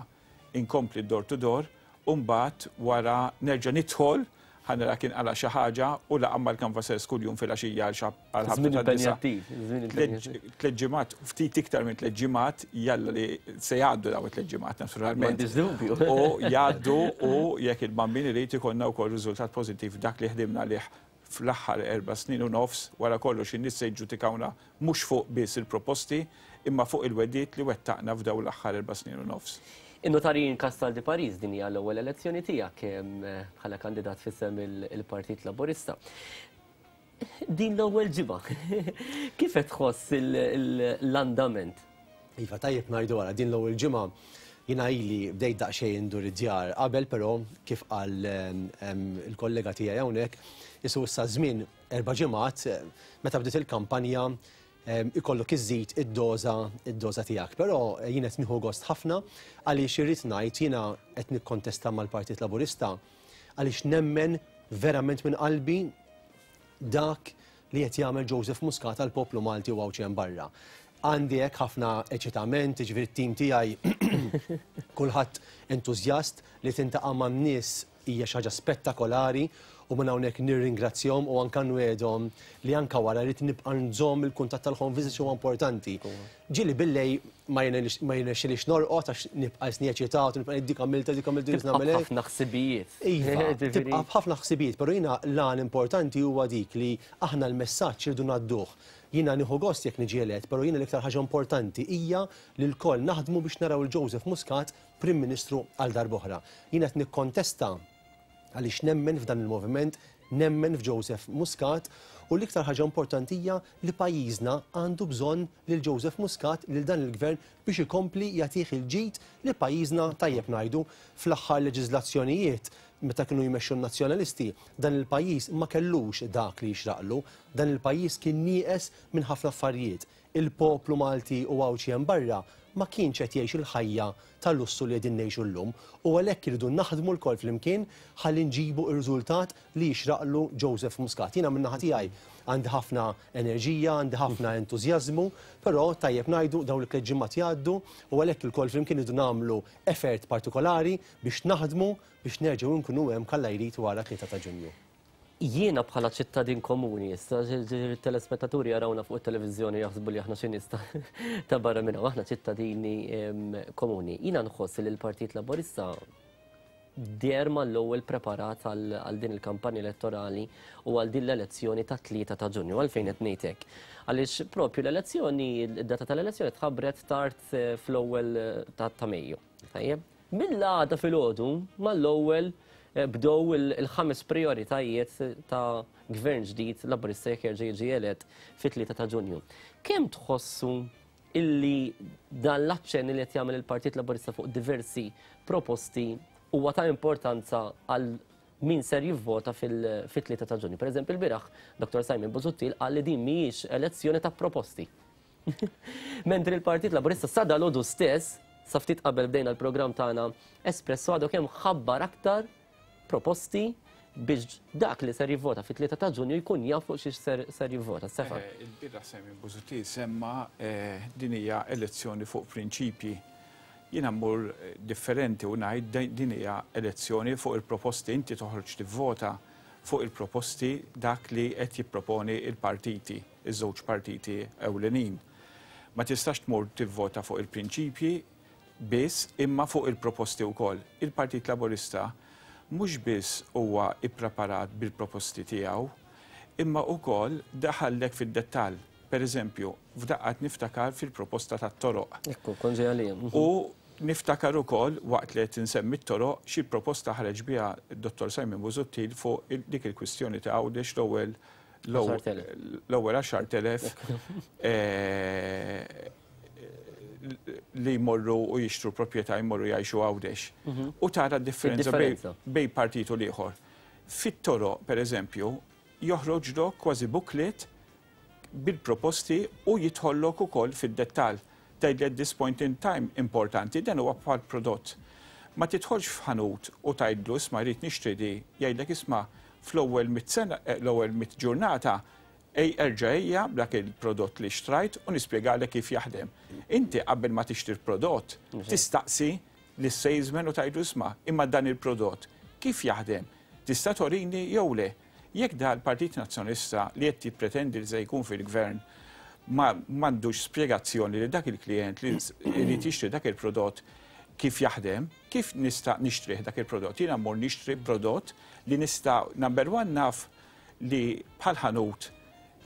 inkompli door to door u mbagħad wara nerġa' nidħol ħa nara kien qala' xi ħaġa u laqgħa mal-canvassers kuljum filgħaxija għal xi għal ħabta Żmien tad-disgħa. impenjattiv, żmien impenjattiv. Tliet ġimgħat, ftit iktar minn tliet ġimgħat, jalla li se jgħaddu dawn it-tliet ġimgħat naturalment. M'għandix dubju. U jgħaddu u jekk il-Bambin irid ikollna wkoll riżultat pożittiv dak li ħdimna għalih fl-aħħar 4 snin u nofs, wara kollox in-nies se jiġġudikawna mhux fuq biss il-proposti imma fuq il-wegħdiet li wettaqna f'dawn l-aħħar 4 snin u nofs. In-Notar Ian Castaldi Paris, din hija l-ewwel elezzjoni tiegħek bħala kandidat f'isem il-Partit Laburista. Din l-ewwel ġimgħa, kif qed tħoss l-andament? Iva, tajjeb ngħidu wara, din l-ewwel ġimgħa jiena ili bdejt daqsxejn indur id-djar qabel, però kif qal il-kollega tiegħi hawnhekk, isu issa żmien 4 ġimgħat meta bdiet il-kampanja ikollok iżżid id-doża tiegħek. Però jien qed nieħu gost ħafna għaliex irrid ngħid jiena qed nikkontesta mal-Partit Laburista għaliex nemmen verament minn qalbi dak li qed jagħmel Joseph Muscat għall-poplu Malti u Għawdxi hemm barra. Għandi hekk ħafna eċitament, jiġifieri t-tim tiegħi kulħadd entużjast li tintaqa' man-nies hija xi ħaġa spettakolari u minn hawnhekk nirringrazzjahom u anke nwegħedhom li anke wara rrid nibqa' nżomm il-kuntatt tal-home visits huwa importanti. Ġieli billej ma jirnexxilix norqod għax nibqa' isni eċitat u nibqa' ngħid dik għamiltha, dik għamiltha, dik Tibqa' nagħmel hekk. b'ħafna ħsibijiet. Iva, tibqa' b'ħafna ħsibijiet, però jiena l-għan importanti huwa dik li aħna l-messaġġ irridu ngħadduh. Jiena nieħu gost jekk niġi elett, però jiena l-iktar ħaġa importanti hija li lkoll naħdmu biex naraw il-Joseph Muscat Prim Ministru għal darb'oħra. Jiena qed nikkontesta għaliex nemmen f'dan il-moviment, nemmen f'Joseph Muscat u l-iktar ħaġa importanti hija li pajjiżna għandu bżonn lil Joseph Muscat, lil dan il-gvern biex ikompli jagħtih il-ġid li pajjiżna tajjeb ngħidu fl-aħħar leġiżlazzjonijiet meta kienu jmexxu n-nazzjonalisti, dan il-pajjiż ma kellux dak li jixraqlu, dan il-pajjiż kien nieqes minn ħafna affarijiet. Il-poplu Malti u Għawdxi hemm barra ma kienx qed jgħix il-ħajja ta' lussu li qegħdin ngħixu llum u għalhekk irridu naħdmu lkoll flimkien ħalli nġibu r-riżultat li jixraqlu Joseph Muscat. Jiena min-naħa tiegħi għandi ħafna enerġija, għandi ħafna entużjażmu, però tajjeb ngħidu dawn it-tliet ġimgħat jgħaddu u għalhekk ilkoll flimkien irridu nagħmlu effort partikolari biex naħdmu biex nerġgħu nkunu hemm kalla jrid wara 3 ta' Ġunju. Jiena bħala ċittadin komuni, issa telespettaturi jarawna fuq it-televiżjoni jaħsbu li aħna xi nies ta' barra minn hawn, aħna ċittadini komuni. Jiena nħoss li l-Partit Laburista deher mal-ewwel preparat għal din il-kampanja elettorali u għal din l-elezzjoni ta' 3 ta' Ġunju. Għalfejn qed ngħid hekk? Għaliex propju l-elezzjoni, id-data tal-elezzjoni tħabbret tard fl-ewwel ta' Mejju. Tajjeb? Mill-għada filgħodu mal-ewwel bdew il-ħames prijoritajiet ta' gvern ġdid Laburista jekk jerġa' jiġi elett fit-3 ta' Ġunju. Kemm tħossu illi dan l-aċċenn li qed jagħmel il-Partit Laburista fuq diversi proposti huwa ta' importanza għal min ser jivvota fit-3 ta' Ġunju? Pereżempju l-bieraħ Dr. Simon Busuttil qal li din mhijiex elezzjoni ta' proposti. Mentri l-Partit Laburista sa dalgħodu stess, sa ftit qabel bdejna l-programm tagħna Espresso, għadu kemm ħabbar aktar proposti biex dak li ser jivvota fit-3 ta' Ġunju jkun jaf fuq xiex ser jivvota. Stefan. Il-bieraħ Simon Busuttil semma din hija elezzjoni fuq prinċipji. Jiena mmur differenti u ngħid din hija elezzjoni fuq il-proposti. Inti toħroġ tivvota fuq il-proposti dak li qed jipproponi l-partiti, iż-żewġ partiti ewlenin. Ma tistax tmur tivvota fuq il-prinċipji biss imma fuq il-proposti wkoll. Il-Partit Laburista mhux biss huwa ppreparat bil-proposti tiegħu imma wkoll daħallek fid-dettall. Per eżempju, f'daqqa qed niftakar fil-proposta tat-toroq. Ekku, kont ġej għalija. U niftakar ukoll, waqt li qed insemmi t-toroq, xi proposta ħareġ biha Dottor Simon Busuttil fuq dik il-kwistjoni ta' Għawdex l-ewwel l-ewwel 10,000 li jmorru u jixtru proprjetà jmorru jgħixu Għawdex. U tara d-differenza bejn partit u l-ieħor. Fit-toroq, per eżempju, joħroġlok kważi booklet bil-proposti u jidħollok ukoll fid-dettall. Tgħidli at this point in time importanti, dan huwa bħal prodott. Ma tidħolx f'ħanut u tgħidlu isma' rrid nixtri di, jgħidlek isma' fl-ewwel mitt sena, l-ewwel mitt ġurnata ej erġa' ejja b'dak il-prodott li xtrajt u nispjegalek kif jaħdem. Inti qabel ma tixtri l-prodott tistaqsi lis-salesman u tgħidlu isma' imma dan il-prodott kif jaħdem? Tista' torini jew le? Jekk da l-Partit Nazzjonalista li qed jippretendi li se jkun fil-Gvern ma m'għandux spjegazzjoni li dak il-klijent li jrid jixtri dak il-prodott kif jaħdem, kif nista' nixtrih dak il-prodott? Jiena mmur nixtri prodott li nista' number one naf li bħal ħanut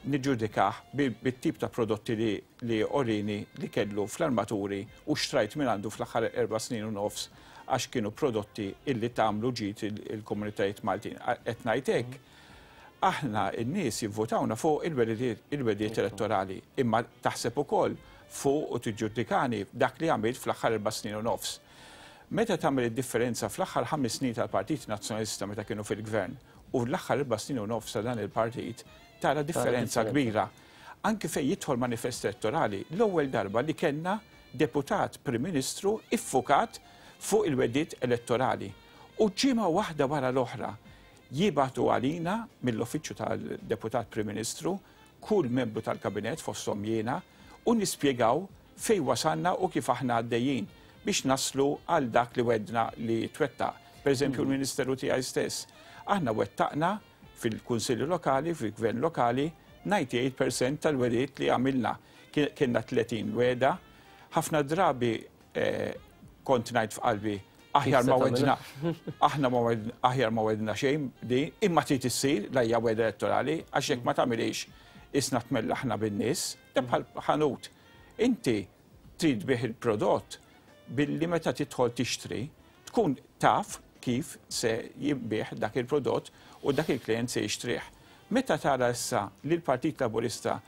niġġudikah bit-tip ta' prodotti li li orini li kellu fl-armaturi u xtrajt mingħandu fl-aħħar erba' snin u nofs għax kienu prodotti illi tagħmlu ġid il-komunitajiet Maltin. Qed ngħid hekk, aħna n-nies jivvutawna fuq il-wegħdiet elettorali, imma taħseb ukoll fuq u tiġġudikani dak li għamilt fl-aħħar erba' snin u nofs. Meta tagħmel id-differenza fl-aħħar ħames snin tal-Partit Nazzjonalista meta kienu fil-Gvern u l-aħħar erba' snin u nofs ta' dan il-partit, tara differenza kbira. Anki fejn jidħol manifest elettorali, l-ewwel darba li kellna deputat Prim Ministru iffukat fuq il-wegħdiet elettorali. U ġimgħa waħda wara l-oħra jibagħtu għalina mill-Uffiċċju tal-Deputat Prim Ministru kull membru tal-Kabinett fosthom jiena u nispjegaw fejn wasalna u kif aħna għaddejjin biex naslu għal dak li wegħdna li jitwettaq. Per eżempju l-Ministeru tiegħi stess. Aħna wettaqna fil-Kunsilli Lokali, fil-Gvern Lokali, 98% tal-wegħdiet li għamilna. Kellna 30 wegħda. Ħafna drabi kont ngħid f'qalbi, aħjar ma wedna, aħna ma wedna, aħjar ma wedna xejn di, imma trid issir la hija wegħda elettorali, għax jekk ma tagħmilix isna tmellaħna bin-nies, da bħal ħanut. Inti trid bih il-prodott billi meta tidħol tixtri tkun taf kif se jinbiegħ dak il-prodott u dak il-klijent se jixtrih. Meta tara issa li l-Partit Laburista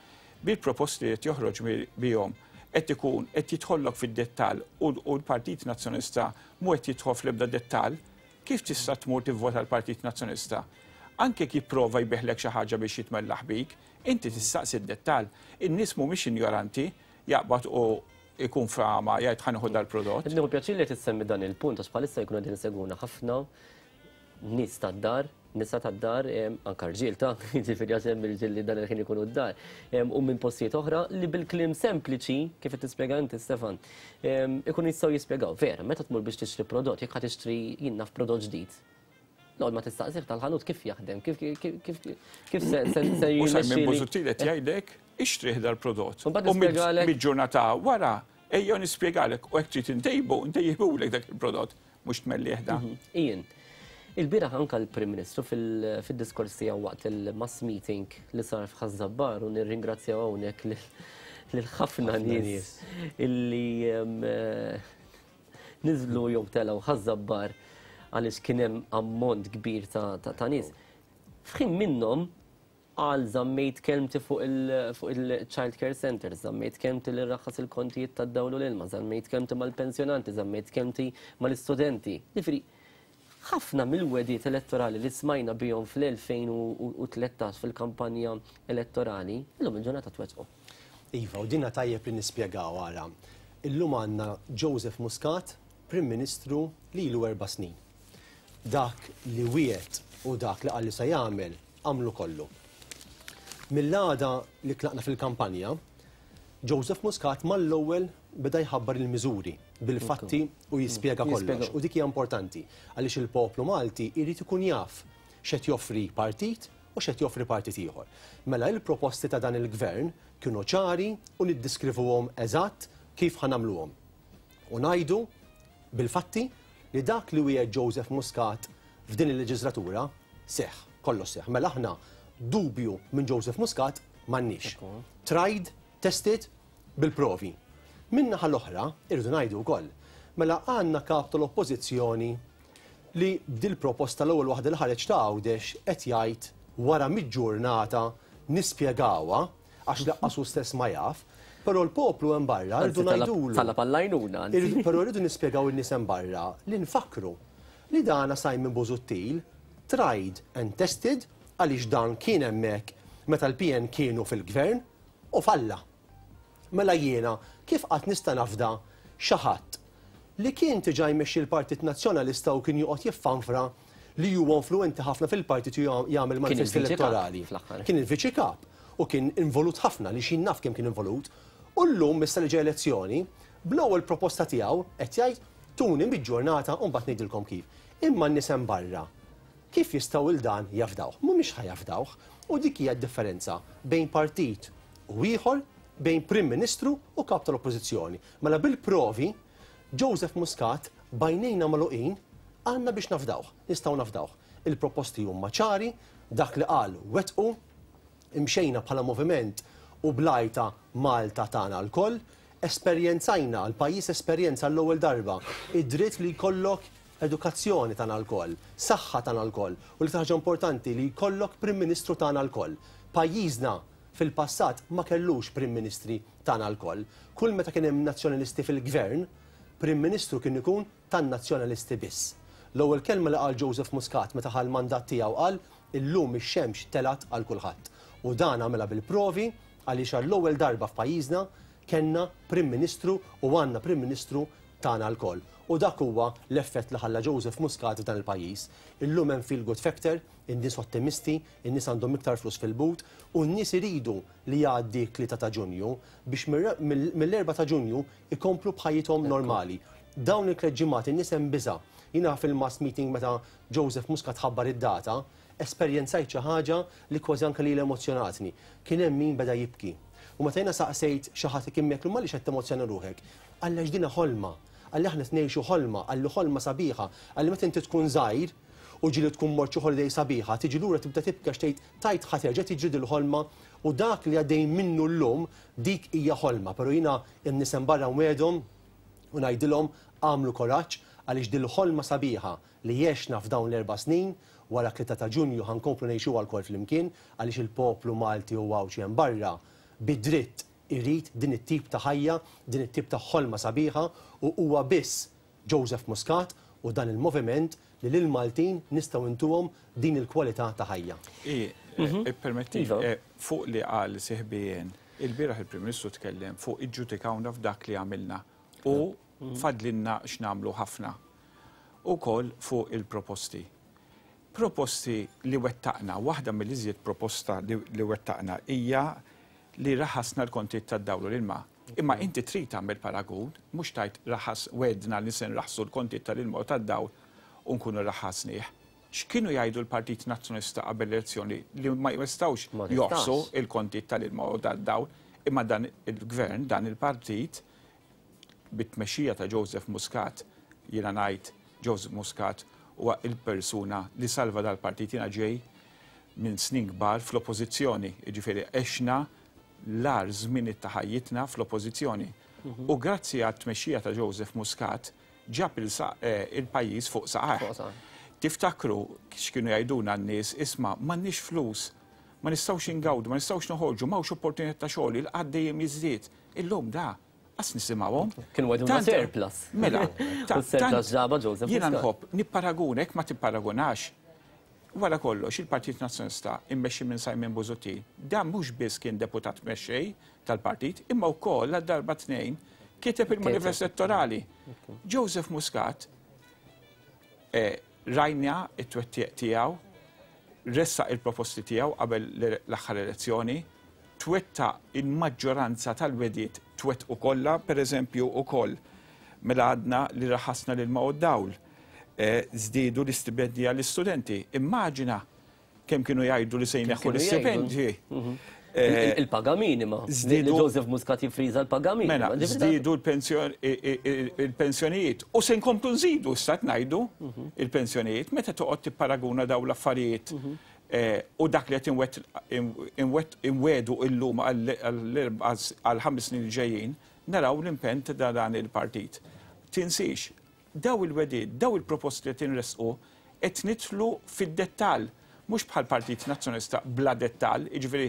bil-proposti li qed joħroġ bihom qed ikun qed jidħollok fid-dettall u l-Partit Nazzjonalista mhu qed jidħol fl-ebda dettall, kif tista' tmur tivvota l-Partit Nazzjonalista? Anke jekk jipprova jbigħlek xi ħaġa biex jitmellaħ bik, inti tistaqsi d-dettall. In-nies mhumiex injoranti, jaqbad u jkun f'għama jgħid ħa nieħu dal-prodott. Qed nieħu pjaċir li qed issemmi dan il-punt għax bħalissa jkunu qegħdin isegwuna ħafna nies tad-dar, nisa tad-dar, anke rġiel ta' jiġifieri għax hemm irġiel li dan il-ħin ikunu d-dar, u minn postijiet oħra li bil-kliem sempliċi, kif qed tispjega inti Stefan, ikunu jistgħu jispjegaw. Vera, meta tmur biex tixtri prodott, jekk ħa tixtri jien naf prodott ġdid, L-ewwel ma tistaqsih tal-ħanut kif jaħdem, kif kif kif se se se U Simon Busuttil qed jgħidlek ixtrih dal-prodott. U mid-ġurnata wara ejjew nispjegalek u hekk trid intejbu, ntejjibulek dak il-prodott mhux tmellih da. Mhm. Ian, il-bieraħ anka l-Prim Ministru fil-diskors tiegħu waqt il-mass meeting li sar f'Ħaż-Żabbar u nirringrazzjaw hawnhekk lil ħafna nies illi eh, niżlu jew telgħu Ħaż-Żabbar għaliex kien hemm ammont kbir ta' nies. F'ħin minnhom qal żammejt kelmti fuq il-child care centers, żammejt kelmti li rraħħas il-kontijiet tad-dawl u l-ilma, żammejt kelmti mal-pensjonanti, żammejt kelmti mal-istudenti. Jiġifieri, ħafna mill-wegħdiet elettorali li smajna bihom fl-2013 fil-kampanja elettorali, illum il-ġurnata twettqu. Iva, u dinha tajjeb li nispjegaw ara. Illum għandna Joseph Muscat, Prim Ministru li ilu erba' snin. Dak li wiegħed u dak li qal li se jagħmel, għamlu kollu. Mill-għada li tlaqna fil-kampanja, Joseph Muscat mal-ewwel beda jħabbar il-miżuri bil-fatti u jispjega kollox. U dik hija importanti għaliex il-poplu Malti jrid ikun jaf x'qed joffri partit u x'qed joffri partit ieħor. Mela il-proposti ta' dan il-gvern kienu ċari u niddiskrivuhom eżatt kif ħa nagħmluhom. U ngħidu bil-fatti li dak li wiegħed Joseph Muscat f'din il-leġislatura seħħ, kollox seħħ. Mela aħna dubju minn Joseph Muscat m'għandniex. Tried, tested, bil-provi. Min-naħa l-oħra, irridu ngħidu wkoll, mela għandna kap tal-Oppożizzjoni li b'dil-proposta l-ewwel waħda li ħareġ ta' Għawdex qed jgħid wara mill-ġurnata nispjegawha għax laqqas hu stess ma jaf, però l-poplu hemm barra rridu ngħidulu. Talab għall-għajnuna. Però rridu nispjegaw in-nies hemm barra li nfakkru li dana Simon Busuttil tried and tested għaliex dan kien hemmhekk meta l-PN kienu fil-gvern u falla. Mela jiena kif qatt nista' nafda xi ħadd li kien diġà jmexxi l-Partit Nazzjonalista u kien joqgħod jiffanfra li huwa influwenti ħafna fil-partit u jagħmel manifest elettorali. Kien il-viċi kap u kien involut ħafna li xin naf kemm kien involut. U llum issa li ġej elezzjoni, bl-ewwel proposta tiegħu qed jgħid tuni mill-ġurnata u mbagħad ngħidilkom kif. Imma n-nies hemm barra kif jistgħu 'l dan jafdawh? Mhumiex ħa jafdawh. U dik hija d-differenza bejn partit u ieħor, bejn Prim Ministru u kap tal-Oppożizzjoni. Mela bil-provi, Joseph Muscat b'għajnejna magħluqin għandna biex nafdawh, nistgħu nafdawh. Il-proposti huma ċari, dak li qal wettqu, imxejna bħala moviment u bl-għajta Malta tagħna lkoll, esperjenzajna, l-pajjiż esperjenza għall-ewwel darba id-dritt li jkollok edukazzjoni tagħna lkoll, saħħa tagħna lkoll u l-iktar ħaġa importanti li jkollok Prim Ministru tagħna lkoll. Pajjiżna fil-passat ma kellux Prim Ministri tagħna lkoll. Kull meta kien hemm Nazzjonalisti fil-Gvern, Prim Ministru kien ikun tan-Nazzjonalisti biss. L-ewwel kelma li qal Joseph Muscat meta ħa l-mandat tiegħu qal illum ix-xemx telgħet għal kulħadd. U dan għamilha bil-provi għaliex għall-ewwel darba f'pajjiżna kellna Prim Ministru u għandna Prim Ministru tagħna lkoll. U dak huwa l-effett li ħalla Joseph Muscat f'dan il-pajjiż. Illum hemm feel good factor, in-nies ottimisti, in-nies għandhom iktar flus fil-but u n-nies iridu li jgħaddi t-3 ta' Ġunju biex mill-4 ta' Ġunju ikomplu b'ħajjithom normali. Dawn il-tliet ġimgħat in-nies hemm biża'. Jiena fil-mass meeting meta Joseph Muscat ħabbar id-data, esperjenzajt xi ħaġa li kważi anke lili emozzjonatni. Kien hemm min beda jibki. U meta jiena saqsejt xi ħadd li kien miegħek, għaliex qed temozzjona ruħek? Qalli għax dina ħolma. Qalli aħna qed ngħixu ħolma, qalli ħolma sabiħa. Qalli meta inti tkun żgħir u ġieli tkun mort xi holiday sabiħa, tiġi lura tibda tibki għax tgħid tgħid ħa terġa' tiġri dil-ħolma u dak li għaddej minnu llum dik hija ħolma. Però jiena n-nies hemm barra nwegħedhom u ngħidilhom agħmlu kuraġġ għaliex dil-ħolma sabiħa li għexna f'dawn l-erba' snin, wara t-3 ta' Ġunju ħa nkomplu ngħixuha lkoll flimkien għaliex il-poplu Malti u Għawdxi hemm barra bi dritt irid din it-tip ta' ħajja, din it-tip ta' ħolma sabiħa u huwa biss Joseph Muscat u dan il-moviment li lill-Maltin nistgħu ntuhom din il-kwalità ta' ħajja. I, ippermettili, fuq li qal sieħbi Ian, ilbieraħ il-Prim Ministru tkellem fuq iġġudikawna f'dak li għamilna u fadlilna x'nagħmlu ħafna. Ukoll fuq il-proposti. Proposti li wettaqna, waħda mill-iżjed proposta li wettaqna hija li raħasna l-kontijiet tad-dawl u l-ilma. Imma inti trid tagħmel paragun, mhux tgħid raħas wegħdna li se nraħħsu l-kontijiet tal-ilma u tad-dawl u nkunu raħħasnih. X'kienu jgħidu l-Partit Nazzjonalista qabel l-elezzjoni li ma jistgħux joħsu l-kontijiet tal-ilma u tad-dawl, imma dan il-gvern, dan il-partit, bit-tmexxija ta' Joseph Muscat, jiena ngħid Joseph Muscat huwa il-persuna li salva dal-partit. Jiena ġej minn snin kbar fl-oppożizzjoni, jiġifieri għexna l-agħar żminiet ta' ħajjitna fl-oppożizzjoni. U grazzi għat-tmexxija ta' Joseph Muscat, ġab il-pajjiż fuq saqajh. Tiftakru x'kienu jgħidulna n-nies, isma' m'għandniex flus, ma nistgħux ingawdu, ma nistgħux noħorġu, m'hawnx opportunitajiet ta' xogħol, il-qgħad dejjem jiżdied. Illum da qas nisimgħuhom. Kienu għedulna surplus. Mela, U s-surplus ġabha Joseph Jiena nħobb nipparaguna, jekk ma tipparagunax, wara kollox il-Partit Nazzjonalista immexxi minn Simon Busuttil, dan mhux biss kien deputat mexxej tal-partit, imma wkoll għal darba tnejn kiteb il-manifest elettorali. Joseph Muscat rajna t-twettiq tiegħu, ressaq il-proposti tiegħu qabel l-aħħar elezzjoni, twettaq il-maġġoranza tal-wegħdiet twettqu kollha, pereżempju wkoll mela għadna li raħasna l-ilma u d-dawl, żdiedu l-istipendji għall-istudenti. Immaġina kemm kienu jgħidu li se jneħħu l-istipendji. Il-paga minima. Żdiedu Joseph Muscat jiffriża l-paga minima. Mela, żdiedu l-pensjonijiet. U se nkomplu nżidu issa qed ngħidu il-pensjonijiet meta toqgħod tipparaguna dawn l-affarijiet u dak li qed inwegħdu illum għall-ħames snin li ġejjin, naraw l-impenn ta' dan il-partit. Tinsiex, Dawn il-wegħdiet, dawn il-proposti li qed inressqu qed nidħlu fid-dettall, mhux bħall-Partit Nazzjonalista bla dettall, jiġifieri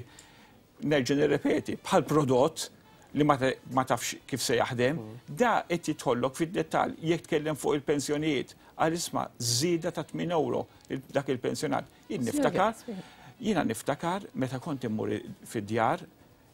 nerġa' nirrepeti, bħal prodott li ma tafx kif se jaħdem, da qed jidħollok fid-dettall. Jekk tkellem fuq il-pensjonijiet, qal isma' żieda ta' 8 ewro dak il-pensjonant. Jien niftakar, jiena niftakar meta kont immur fid-djar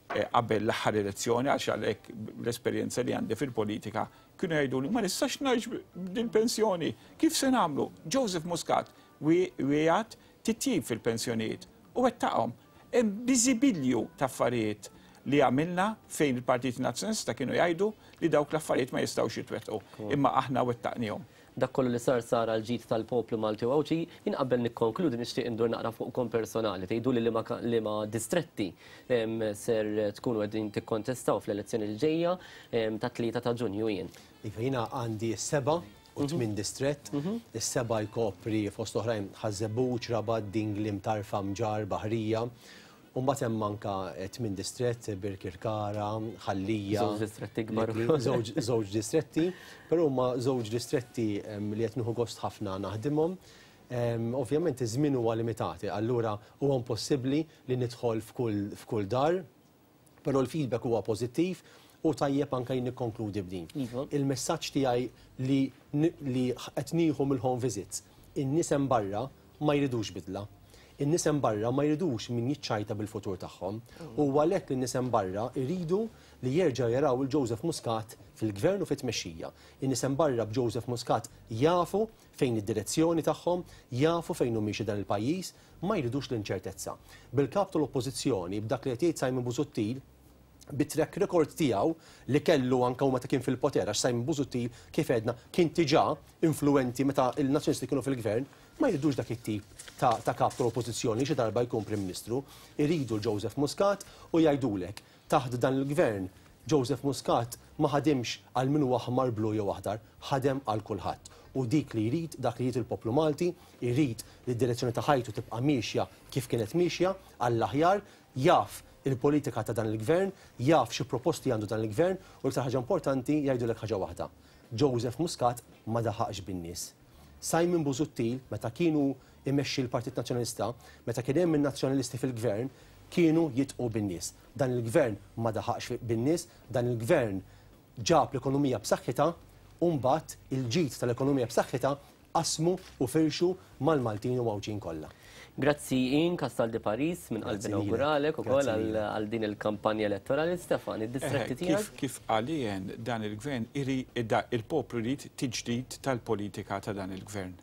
qabel l-aħħar elezzjoni għax għalhekk l-esperjenza li għandi fil-politika kienu jgħiduli ma nistax ngħix b'dil-pensjoni, kif se nagħmlu? Joseph Muscat wiegħed titjib fil-pensjonijiet u wettaqhom. Hemm biżibilju ta' affarijiet li għamilna fejn il-Partit Nazzjonalista kienu jgħidu li dawk l-affarijiet ma jistgħux jitwettqu, imma aħna wettaqniehom. Dak kollu li sar sar għall-ġid tal-poplu Malti u Għawdxi. Jien qabel nikkonkludi nixtieq indur naqra fuqkom personali. Tgħiduli liema liema distretti ser tkunu qegħdin tikkontestaw fl-elezzjoni li ġejja tat-tlieta ta' Ġunju jien. Iva, jiena għandi s-seba' u tmien distrett. Is-seba' jkopri fost oħrajn Ħaż-Żebbuġ, Rabat, Dingli, Mtarfa, Mġarr, Baħrija. U mbagħad hemm anke tmien distrett, Birkirkara, Ħal Lija. Żewġ distretti kbar. Żewġ distretti, però huma żewġ distretti li qed nieħu gost ħafna naħdimhom. Ovvjament iż-żmien huwa limitat, allura huwa impossibbli li nidħol f'kull dar, però l-feedback huwa pożittiv u tajjeb anke jien nikkonkludi b'din. Il-messaġġ tiegħi li li qed nieħu mill-home visits, in-nies hemm barra ma jridux bidla. In-nies hemm barra ma jridux min jiċċajta bil-futur tagħhom. U huwa għalhekk li n-nies hemm barra jridu li jerġgħu jaraw 'il Joseph Muscat fil-Gvern u fit-tmexxija. In-nies hemm barra b'Joseph Muscat jafu fejn id-direzzjoni tagħhom, jafu fejn hu miexi dan il-pajjiż, ma jridux l-inċertezza. Bil-Kap tal-Oppożizzjoni, b'dak li qed jgħid Simon Busuttil, bit-track record tiegħu li kellu anke hu meta kien fil-poter, għax Simon Busuttil, kif għedna, kien diġà influwenti meta l-Nazzjonalisti kienu fil-Gvern, ma jridux dak it-tip ta' ta' Kap tal-Oppożizzjoni li xi darba jkun Prim Ministru. Iridu 'l Joseph Muscat u jgħidulek, taħt dan il-Gvern, Joseph Muscat ma ħadimx għal min hu aħmar, blu jew aħdar, ħadem għal kulħadd. U dik li jrid, dak li jrid il-poplu Malti, irid li d-direzzjoni ta' ħajtu tibqa' miexja kif kienet miexja, għall-aħjar, jaf il-politika ta' dan il-Gvern, jaf xi proposti għandu dan il-Gvern u l-iktar ħaġa importanti jgħidulek ħaġa waħda, Joseph Muscat ma daħaqx bin-nies. Simon Busuttil meta kien hu imexxi l-Partit Nazzjonalista, meta kien hemm in-Nazzjonalisti fil-Gvern, kienu jidħqu bin-nies. Dan il-Gvern ma daħaqx bin-nies, dan il-Gvern ġab l-ekonomija b'saħħitha u mbagħad il-ġid tal-ekonomija b'saħħitha Qasmu u firxu mal-Maltin u Għawdxin kollha. Grazzi Ian Castaldi Paris, minn qalbi nawguralek ukoll għal din il-kampanja elettorali. Stefan, id-distretti tiegħek? Kif qal Ian, dan il-gvern il-poplu jrid tiġdid tal-politika ta' dan il-gvern.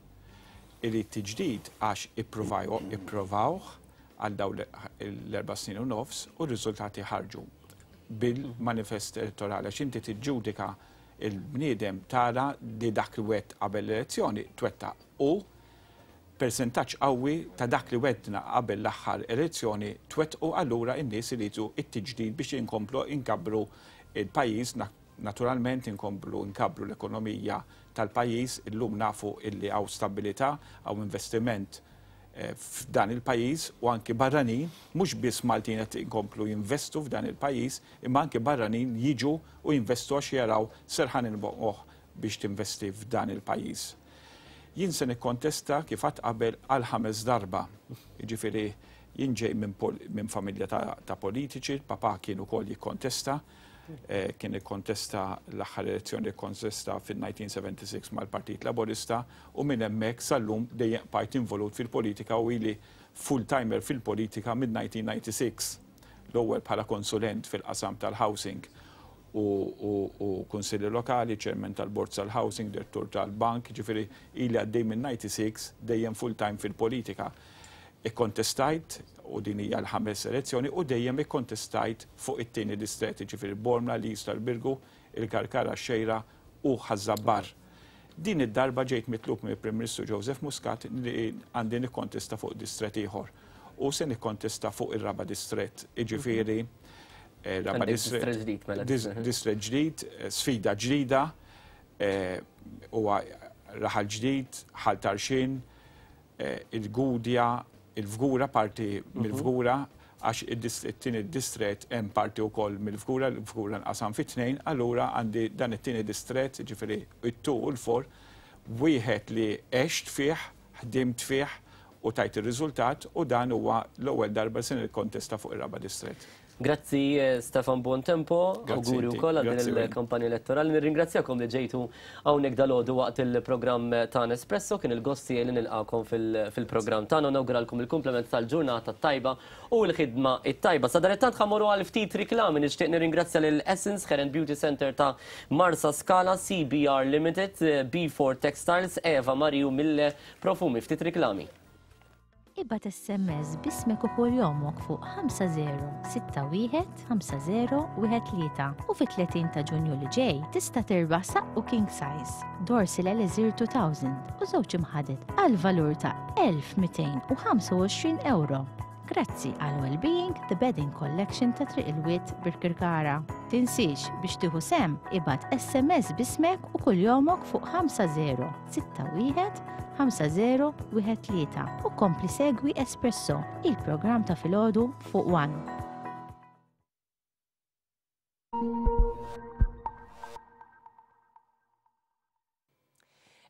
Irid tiġdid għax ipprovawh għal dawn l-erba' snin u nofs u r-riżultati ħarġu bil-manifest elettorali għax inti tiġġudika Il-bniedem tara li dak li wegħedt qabel l-elezzjoni twettaq u persentaġġ qawwi ta' dak li wegħdna qabel l-aħħar elezzjoni twettqu allura n-nies iridu t-tiġdid biex inkomplu nkabbru l-pajjiż, naturalment inkomplu nkabbru l-ekonomija tal-pajjiż, illum nafu illi hawn stabbilità, hawn investiment f'dan il-pajjiż u anki barranin, mhux biss Maltin qed inkomplu jinvestu f'dan il-pajjiż, imma anki barranin jiġu u jinvestu għax jaraw serħan il-moħħ. biex tinvesti f'dan il-pajjiż. Jien se nikkontesta kif għadt qabel għal ħames darba. Jiġifieri jien ġej minn familja ta' politiċi, il-papà kien ukoll jikkontesta, kien ikkontesta l-aħħar elezzjoni kkontesta fin-1976 mal-Partit Laburista u minn hemmhekk sal-lum dejjem bqajt involut fil-politika u ili full-timer fil-politika minn-1996. L-ewwel bħala konsulent fil-qasam tal-housing u kunsilli lokali, chairman tal-Bord tal-Housing, direttur tal-bank, jiġifieri ili għaddej minn 96 dejjem full time fil-politika. Ikkontestajt, u din hija l-ħames elezzjoni, u dejjem ikkontestajt fuq it-tieni distrett, jiġifieri Bormla, l-Isla, l-Birgu, il-Karkara, x-Xgħejra u Ħaż-Żabbar. Din id-darba ġejt mitlub mill-Prim Ministru Joseph Muscat li għandi nikkontesta fuq distrett ieħor. U se nikkontesta fuq ir-raba' distrett, jiġifieri raba' distrett ġdid mela. Distrett ġdid, sfida ġdida, huwa raħal ġdid, Ħal Tarxien, il-Gudja, il-Fgura, parti mill-Fgura, għax it-tieni distrett hemm parti wkoll mill-Fgura, il-Fgura nqasam fi tnejn, allura għandi dan it-tieni distrett, jiġifieri it-two u l-four, wieħed li għext fih, ħdimt fih u tajt ir-riżultat u dan huwa l-ewwel darba li se nikkontesta fuq ir-raba' distrett. Grazzi Stefan Buontempo, awguri wkoll għal din il-kampanja elettorali. Nirringrazzjakom li ġejtu hawnhekk dalgħodu waqt il-programm tagħna Espresso, kien il-gost tiegħi li nilqagħkom fil-programm tagħna u nawguralkom il-kumplament tal-ġurnata t-tajba u l-ħidma t-tajba. Sadanittant ħa mmorru għal ftit riklami, nixtieq nirringrazzja lil Essence Hair and Beauty Center ta' Marsa Scala, CBR Limited, B4 Textiles, Eva Marie u Mille Profumi. Ftit riklami. Ibgħat SMS b'ismek u kunjomok fuq 5061 5013 u fit-30 ta' Ġunju li ġej tista' tirbaħ saqqu king size, Dorsil Elixir 2000 u żewġ imħaded għal valur ta' 1225 ewro. Grazzi għal Wellbeing The Bedding Collection ta' Triq il-Wied Birkirkara. Tinsiex biex tieħu sehem ibgħat SMS b'ismek u kuljomok fuq 50 61 5013 u kompli segwi Espresso, il-programm ta' filgħodu fuq One.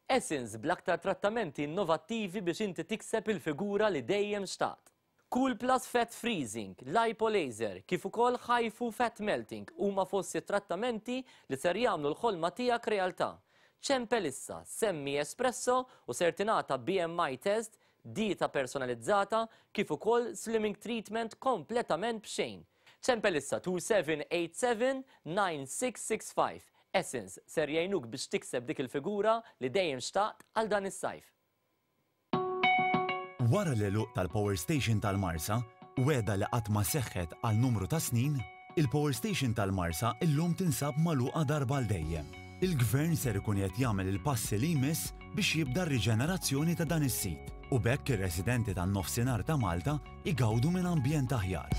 Essence bl-aktar trattamenti innovattivi biex inti tikseb il-figura li dejjem xtaqt. Cool Plus Fat Freezing, Lipo Laser, kif ukoll HIFU Fat Melting huma fost it-trattamenti li ser jagħmlu l-ħolma tiegħek realtà. Ċempel issa, semmi Espresso u ser tingħata BMI test, dieta personalizzata, kif ukoll slimming treatment kompletament b'xejn. Ċempel issa 2787 9665. Essence ser jgħinuk biex tikseb dik il-figura li dejjem xtaqt għal dan is-sajf. Wara l-għeluq tal-Power Station tal-Marsa, wegħda li qatt ma seħħet għal numru ta' snin, il-Power Station tal-Marsa illum tinsab magħluqa darba għal dejjem. Il-Gvern ser ikun qiegħed jagħmel il-passi li jmiss biex jibda r-riġenerazzjoni ta' dan is-sit u b'hekk ir-residenti tan-Nofsinhar ta' Malta jgawdu minn ambjent aħjar.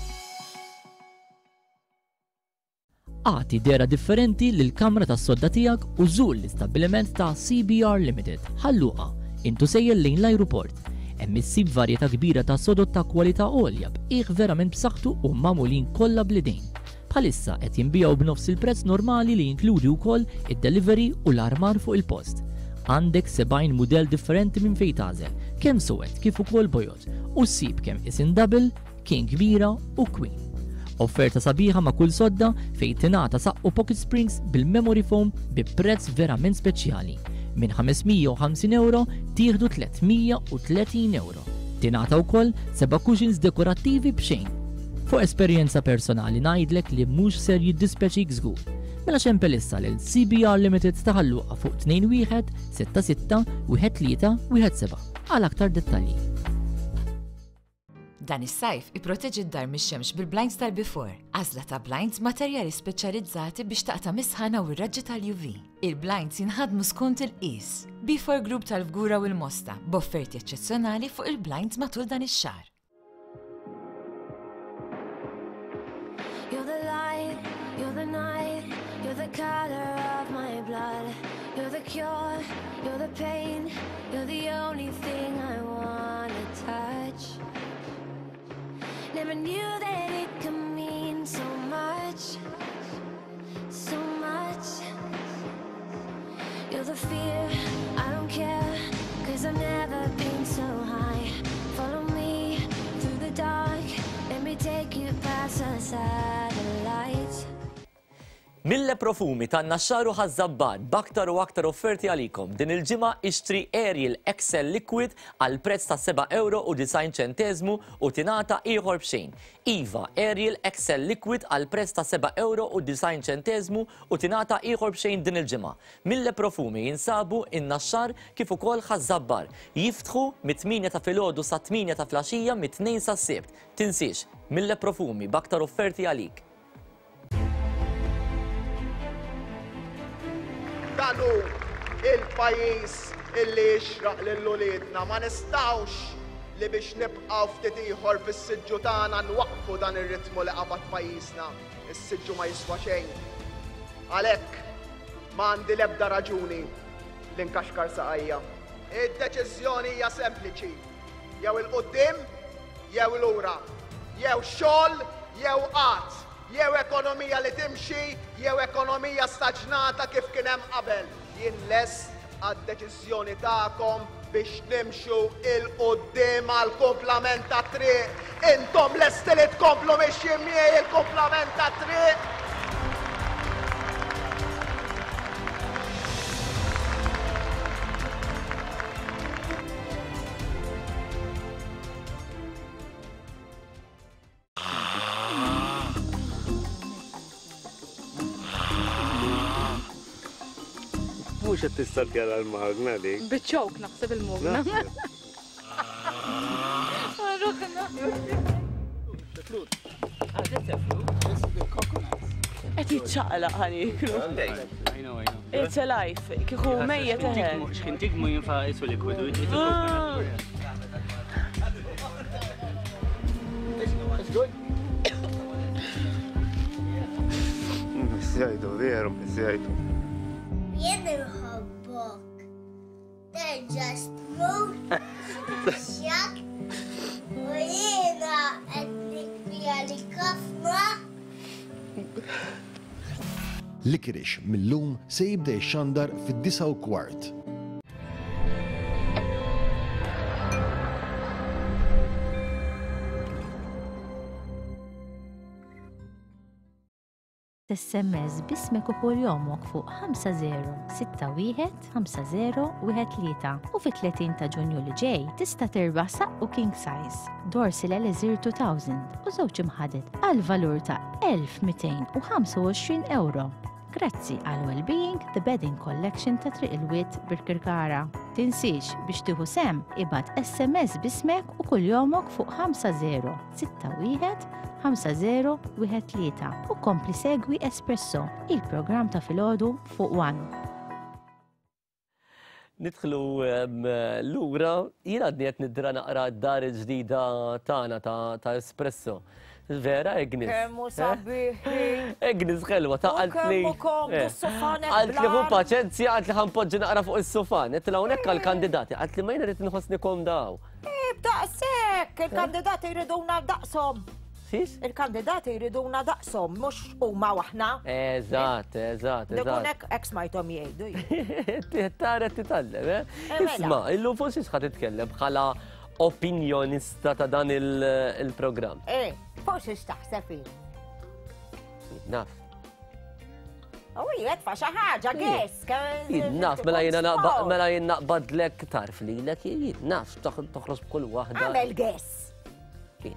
Agħti dehra differenti lill-kamra tas-sodda tiegħek u żur l-istabbiliment ta' CBR Limited, Ħal Luqa, int u sejjer lejn l-ajruport. Hemm issib varjetà kbira ta' sodod ta' kwalità għolja b'qiegħ verament b'saħħtu u magħmulin kollha bl-idejn. Bħalissa qed jinbiegħu b'nofs il-prezz normali li jinkludi wkoll id-delivery u l-armar fuq il-post. Għandek 70 mudell differenti minn fejn tagħżel, kemm suwed kif ukoll bojod, u ssib kemm qisien double, King kbira u Queen. Offerta sabiħa ma' kull sodda fejn tingħata saqqu pocket springs bil-memory foam bi prezz verament speċjali. Minn 550 ewro tieħdu 330 ewro. Tingħata wkoll seba' cushions dekorattivi b'xejn. Fuq esperjenza personali ngħidlek li mhux ser jiddispjaċik żgur. Mela xempel issa lil CBR Limited ta' Ħal Luqa fuq 21 66 13 17 għal aktar dettalji. Dan is-sajf ipproteġi d-dar mix-xemx bil-blinds tal-Bifor. Għażla ta' blinds materjali speċjalizzati biex taqta' mis-sħana u r-raġġi tal-UV. Il-blinds jinħadmu skont il-qies. Bifor Group tal-Fgura u l-Mosta b'offerti eċċezzjonali fuq il-blinds matul dan ix-xahar. You're the light, you're the night, you're the color of my blood. You're the cure, you're the pain, you're the only thing I wanna touch. Never knew that it could mean so much, so much. You're my satellites. Mille Profumi tan-Naxxar u Ħaż-Żabbar b'aktar u aktar offerti għalikom. Din il-ġimgħa ixtri Ariel XL Liquid għal prezz ta' seba' ewro u 90 ċenteżmu u tingħata ieħor b'xejn. Iva, Ariel XL Liquid għal prezz ta' seba' ewro u 90 ċenteżmu u tingħata ieħor b'xejn din il-ġimgħa. Mille Profumi jinsabu in-Naxxar kif ukoll Ħaż-Żabbar. Jiftħu mit-tmienja ta' filgħodu sat-tmienja ta' flaxija mit-Tnejn sas-Sibt. Tinsiex, Mille Profumi b'aktar offerti għalik. Dan hu il-pajjiż illi jixraq lil uliedna. Ma nistgħux li biex nibqgħu ftit ieħor fis-siġġu tagħna nwaqqfu dan ir-ritmu li qabad pajjiżna. Is-siġġu ma jiswa xejn. Għalhekk ma għandi l-ebda raġuni li nkaxkar saqajja. Id-deċiżjoni hija sempliċi, jew 'il quddiem jew lura, jew xogħol jew qgħad, jew ekonomija li timxi jew ekonomija staġnata kif kien hemm qabel. Jien lest għad-deċiżjoni tagħkom biex nimxu 'il quddiem għall-kumplament tat-triq. Intom lesti li tkomplu mixjin miegħi il-kumplament tat-triq? Mhux qed tistartjala l-magna dik. Biċ-ċowk naħseb il-magna. Qed jiċċaqlaq ħa nieklu. It's alive. Kieku mejjet eħe. X'kien tigmu jinfa' isu likwidu. Missjajtu, veru, missjajtu. Jien inħobbok. Terġa' xtrut, xjak, u jiena qed nikri għalik ħafna. Licorice mil-lum se jibda jixxandar fid-9:15. SMS b'ismek u kuljomok fuq 5061 5013 u fit-30 ta' Ġunju li ġej tista' tirbaħ saqqu king size, Dorsil Elixir 2000 u żewġ imħaded għal valur ta' 1225 ewro. Grazzi għal Wellbeing The Bedding Collection ta' Triq il-Wied Birkirkara. Tinsiex biex tieħu sehem ibgħat SMS b'ismek u kuljomok fuq 5061 5013 u kompli segwi Espresso, il-programm ta' filgħodu fuq One. Nidħlu lura, jien għadni qed nidra naqra d-dar il-ġdida tagħna ta' Espresso. Vera, Agnes? Kemmu eh? sabiħi. Agnes ħelwa ta' qaltli. Kemmu komdu eh. s-sufan. Qaltli hu paċenzja, qaltli ħanpoġġi naqra fuq is-sufan. Qed hawnhekk għall-kandidati, qaltli ma jiena rrid inħossni komda hawn. Eh, daqshekk, il-kandidati jriduna daqshom. Xiex? Il-kandidati jriduna daqshom, mhux huma aħna. Eżatt, eżatt, eżatt. Dikun hekk hekk smajthom jgħidu. Tara titgħallem, eh? eh mela. Isma' illum fuq xiex ħa titkellem bħala opinjonista ta' dan il-programm. Eh, fuq xiex taħseb Naf. U jiet fa xi ħaġa gess. Naf, mela jiena mela jien naqbadlek tarf lilek, jien naf toħroġ b'kull waħda. Għamel gess.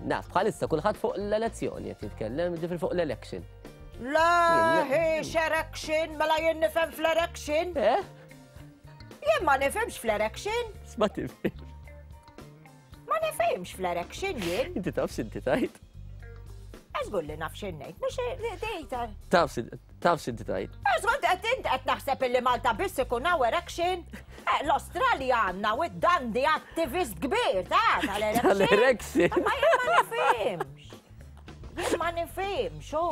Naf, bħalissa kulħadd fuq l-elezzjoni qed jitkellem, ġifri fuq l-election. La, hiex erection, mela jien nifhem fl-erection. Eh? Jien ma nifhimx fl-erection. Ma tifhimx. Ma nifhimx fl-erection jien. Inti taf x'inti tajt. Eżgur li naf x'in ngħid, mhux dejta. Taf Taf x'inti tgħid. Eżatt qed int qed naħseb illi Malta biss ikun hawn erection. Eh, L-Awstralja għandna u d-dandi attivist kbir ta' tal-erection. Tal-erection. Ma jien ma nifhimx. Jien ma nifhimx, hu.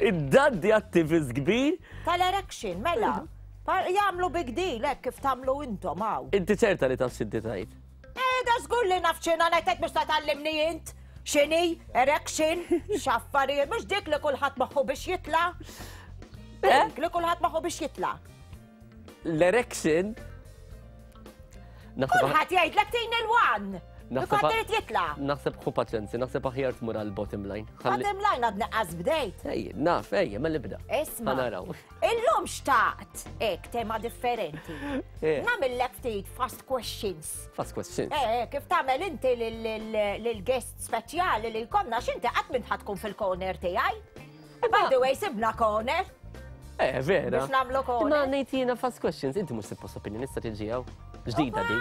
Id-dandi attivist kbir? Tal-erection, mela. Jagħmlu big deal hekk kif tagħmlu intom hawn. Inti ċerta li taf x'inti tgħid. Eh, da żgur li naf x'inha ngħidlek biex ta' tgħallimni int. X'inhi? Erection? X'affarijiet? Mhux dik li kulħadd moħħu biex jitla'? Eh? Dik li kulħadd moħħu biex jitla'. L-erection? Kulħadd jgħidlek tin il-one. Naħseb irid jitla'. Naħseb ħu paċenzi, naħseb aħjar tmur għal bottom line. Bottom line għadni qas bdejt. Ej, naf, ej, ma nibda. Isma. Naraw. Illum xtaqt, ek, tema differenti. Eh. Namillek ftit fast questions. Fast questions. Eh, eh kif tagħmel inti lil-guest speċjali li jkollna x'inti qatt minn tkun fil-corner tiegħi. By the way, sibna corner. Eh, vera. Biex nagħmlu corner. Ma ngħid jiena fast questions, inti mhux suppost opinjonista tiġi hawn. Ġdida di.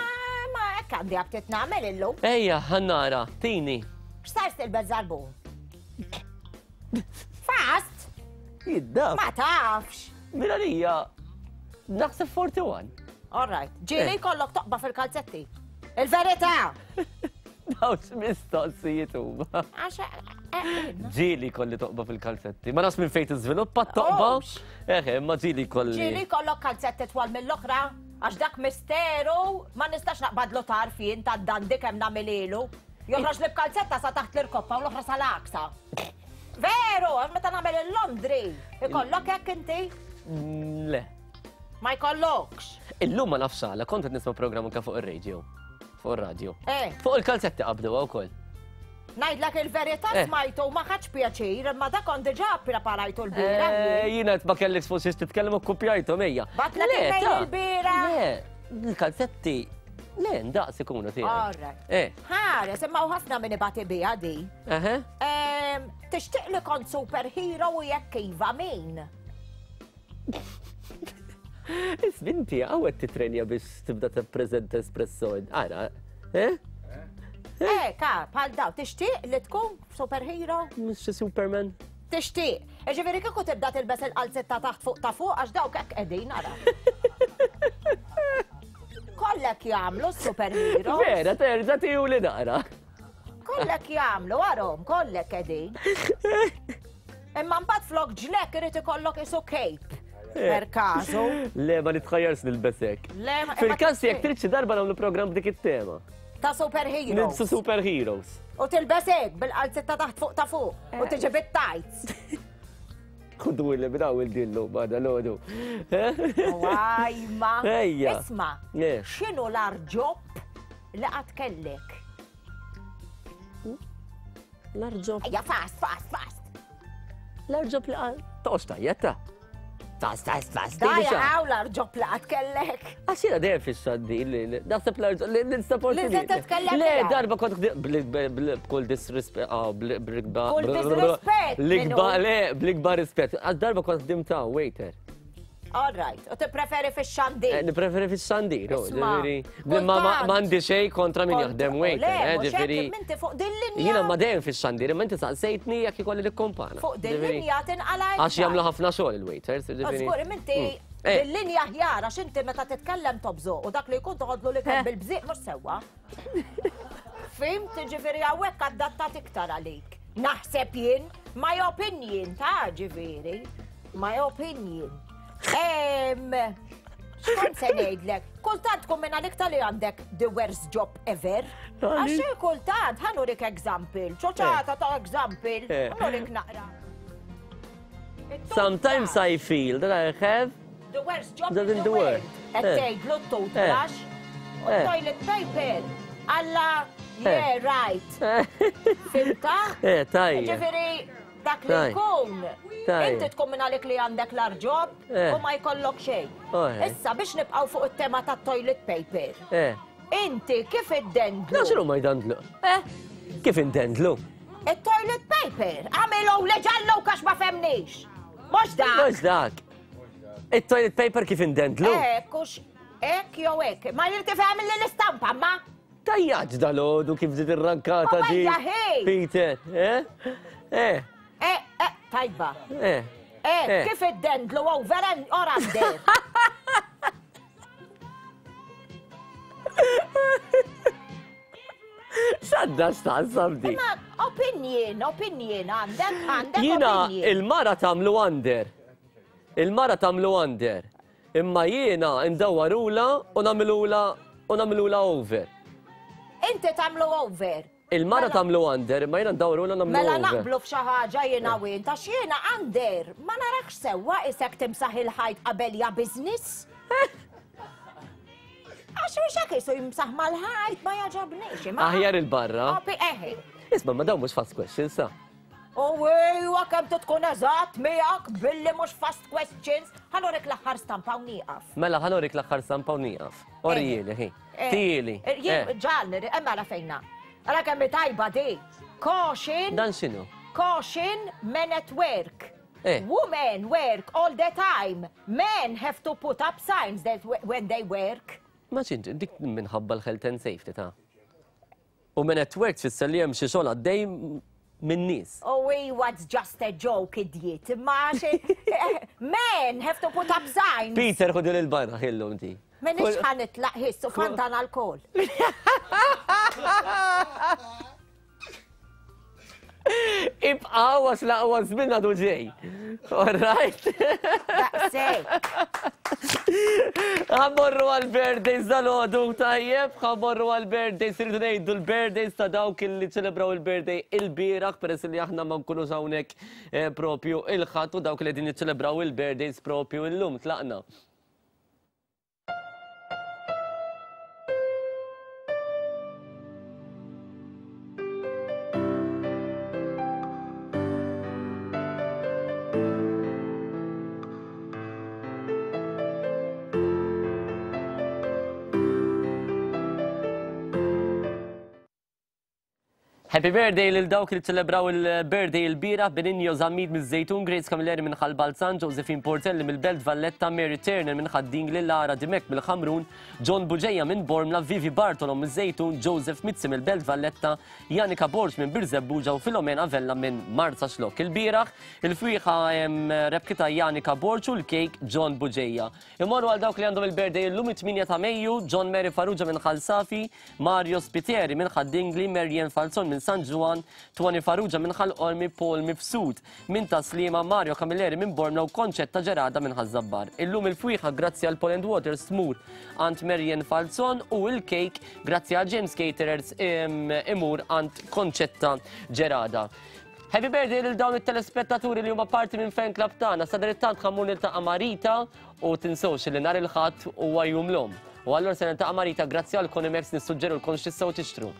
Ma hekk għandi aptit nagħmel illum. Ejja, ħannara, tini. X'sar tilbes żarbun? Fast! Jidda. Ma tafx. Mela lija, naħseb 41. All right. Ġieli eh. kollok toqba fil-kalzetti. Il-verità! Dawx mistoqsijiet huma. Għax eh, eh, Ġieli kolli toqba fil-kalzetti. Ma nafx minn fejn tiżviluppa t-toqba. Eħe, ma ġieli kolli. Ġieli kollok kalzetti twal mill-oħra, għax dak misteru ma nistax naqbadlu tarf jien ta' dandi kemm nagħmililu. Joħroġ li b'kalzetta sa taħt l-irkoppa u l-oħra sal-aksa. Veru, għax meta nagħmel il-Londri, ikollok hekk inti? Mm, le. Ma jkollokx. Illum ma nafx għala, kont qed nisma' programm anke fuq ir-radio. Fuq ir-radio. Eh. Fuq il-kalzetti qabdu wkoll. Ngħidlek il-verità eh. smajtu ma ħadx pjaċir, imma dak kont diġà ppreparajtu l-bira. Eh, jiena ma kellekx fuq xiex titkellem u kkupjajthom ejja. Batlek il-bira. Le, il-kalzetti Le, ndaqs ikunu tiegħi. All right. Eh. Ħares, imma u ħafna minn ibati biha di. Ehm, tixtieq li kont superhero u jekk iva min? Isminti, għawet titrenja biex tibda t-prezenta espresso. Għara, eh? Eh, ka, bħal daw, tixtieq li tkun superhero? Mux Superman. Tixtieq. Ġifieri kieku tibda tilbes il-qalzetta taħt fuq ta' fuq għax dawk hekk qegħdin ara. Kollek jagħmlu superhero. Vera, terġa' tiju li naqra. Kollek jagħmlu arhom, kollek qegħdin. Imma mbagħad flok ġlek irid ikollok isu cape. Eh. Per kazu. Le, ma nitħajjarx nilbesek. Le, ma Fil-każ jekk trid xi darba nagħmlu programm b'dik it-tema. Ta' superheroes. Nilbsu superheroes. U tilbesek bil-qalzetta taħt fuq ta' fuq. U eh. tiġi bit-tights. Kudu li bdaw il-dillu bada l-ħodu. Għajma. Ejja. Isma, xinu l-arġob li għad kellek? L-arġob. Ejja, fast, fast, fast. L-arġob li għal. Toqgħodx tajjeb ta' Fast, fast, fast. Daj, għaw l-arġob li għad kellek. Għax jiena dejjem fix-xaddi li naħseb l-arġob li nistaport. Li se titkellem. Le, darba kont b'kull disrispett, ah, bl-ikbar. Kull disrispett. L-ikbar, le, bl-ikbar rispett. Għax darba kont ħdimt ta' waiter. All right, u tippreferi fix-xandir? Eh, nippreferi fix-xandir, ġifieri. Ma m'għandi xejn kontra min jaħdem waiter, eh, ġifieri. Minti fuq din linja. Jiena ma dejjem fix-xandir, imma inti saqsejtni jekk ikolli nikkompana. Fuq din linja tinqala. Għax jagħmlu ħafna xogħol il-waiters, ġifieri. Żgur, minti mm. eh. din linja ħjar għax inti meta titkellem tobżu u dak li jkun toħodlu li kemm bil-bżieq mhux sewwa. Fimt, ġifieri hawnhekk adattat iktar għalik. Naħseb jien, my opinion ta' ġifieri. My opinion. Xkont se ngħidlek, kultant tkun minn għalik tal-li għandek the worst job ever. Għax kultant ħanurik example, ċoċata ta' example, eh. ħanurik naqra. Sometimes I feel that I have the worst job in the world. Qed eh. tgħidlu t-toothbrush eh. u toilet paper. Alla, yeah, right. Fimta? Eh, tajja. Ġifieri, Dak li jkun, inti tkun minn għalik li għandek l-arġob eh. u ma jkollok xejn. Oh, eh. Issa biex nibqgħu fuq it-tema tat-toilet paper. Eh. Inti kif iddendlu? Naxru ma jdandlu. Eh? Kif indendlu? Il-toilet paper, għamilu leġallu kax ma femnix. Mux dak. Mux dak. Il-toilet paper kif indendlu? Eh, kux, ek jew ek. Ma jirtifhem li l-istampa, ma. Tajjaġ dal-ħodu kif ġiet irrankata di. Peter, eh? Eh. Eh, eh, tajba. Eh. Eh, eh. kif id-dendlu over and or under? Xadda xtaqsam di. Ma opinion, opinion, għandek, għandek. Jina, il-mara tamlu under. Il-mara tamlu under. Imma jiena ndawwarulha u nagħmilulha u nagħmilulha over. Inti tagħmlu over. Il-mara Mela- tagħmlu under, imma jiena ndawrulha u nagħmlu Mela over. naqblu f'xi ħaġa jiena u int, għax jiena under ma narakx sewwa isek timsaħ il-ħajt qabel ja business. Għax mhux hekk jisu jimsaħ mal-ħajt ma jogħġobniex. Aħjar il-barra. Eħe. Isma' ma dawn mhux fast questions sa. U ejwa kemm tkun eżatt miegħek billi mhux fast questions. Ħa norik l-aħħar stampa u nieqaf. Mela ħa norik l-aħħar stampa u nieqaf. Orijieli, ħi. Tieli. Ġal, hemm ara fejna. Ara kemm tajba di. Caution. Dan x'inhu? Caution men at work. Women work all the time. Men have to put up signs that when they work. Ma xint, dik minħabba l-health and safety ta' U men at work tfisser li hemm xi xogħol għaddej minn nies. Oh, iwa, it's just a joke, idiot. Ma xi men have to put up signs. Peter, ħudu lil barra ħillum di. Minix ħa nitlaq ħissu fantan alkohol. Ibqaw għax l-aqwa żmien għadu ġej. All right? Ħammorru għal-birthdays dal-ħodu tajjeb, ħammorru għal-birthdays, rridu ngħidu l-birthdays ta' dawk li ċelebraw il-birthday il-bieraħ peress li aħna ma nkunux hawnhekk eh, propju il-ħadd u dawk li qegħdin jiċċelebraw il-birthdays propju illum tlaqna. Happy birthday lil dawk li ċelebraw il-birthday il-bieraħ Benigno Zammit miż-Żejtun, Grace Camilleri minn Ħal Balzan, Josephine Portelli mill-Belt Valletta, Mary Turner minn Ħad-Dingli, Lara Dimech mill-Ħamrun, John Bugeja minn Bormla, Vivi Bartolo miż-Żejtun, Joseph Mizzi mill-Belt Valletta, Janika Borg minn Birżebbuġa u Filomena Vella minn Marsaxlokk. Il-bieraħ il-fwieħa rebħitha Janika Borg u l-kejk John Bugeja. Immorru għal dawk li għandhom il-birthday illum it-8 ta' Mejju, John Mary Farrugia minn Ħal Safi, Mario Spiteri minn Ħad-Dingli, Marianne Falzon minn San Ġwann, Tony Farrugia minn Ħal Qormi, Paul Mifsud minn Tas-Sliema, Mario Camilleri minn Bormla u Concetta Gerada minn Ħaż-Żabbar. Illum il-fwieħa grazzi għal Poland Waters tmur għand Marianne Falzon u l-kejk grazzi għal James Caterers imur għand Concetta Gerada. Happy birthday lil dawn it-telespettaturi li huma parti minn fan club tagħna. Sadanittant ħa mmur niltaqa' ma' Rita u tinsewx li nhar il-Ħadd huwa jum l-omm. U allura se niltaqa' ma' Rita grazzi għal Conimex nissuġġerulkom x'tistgħu tixtru.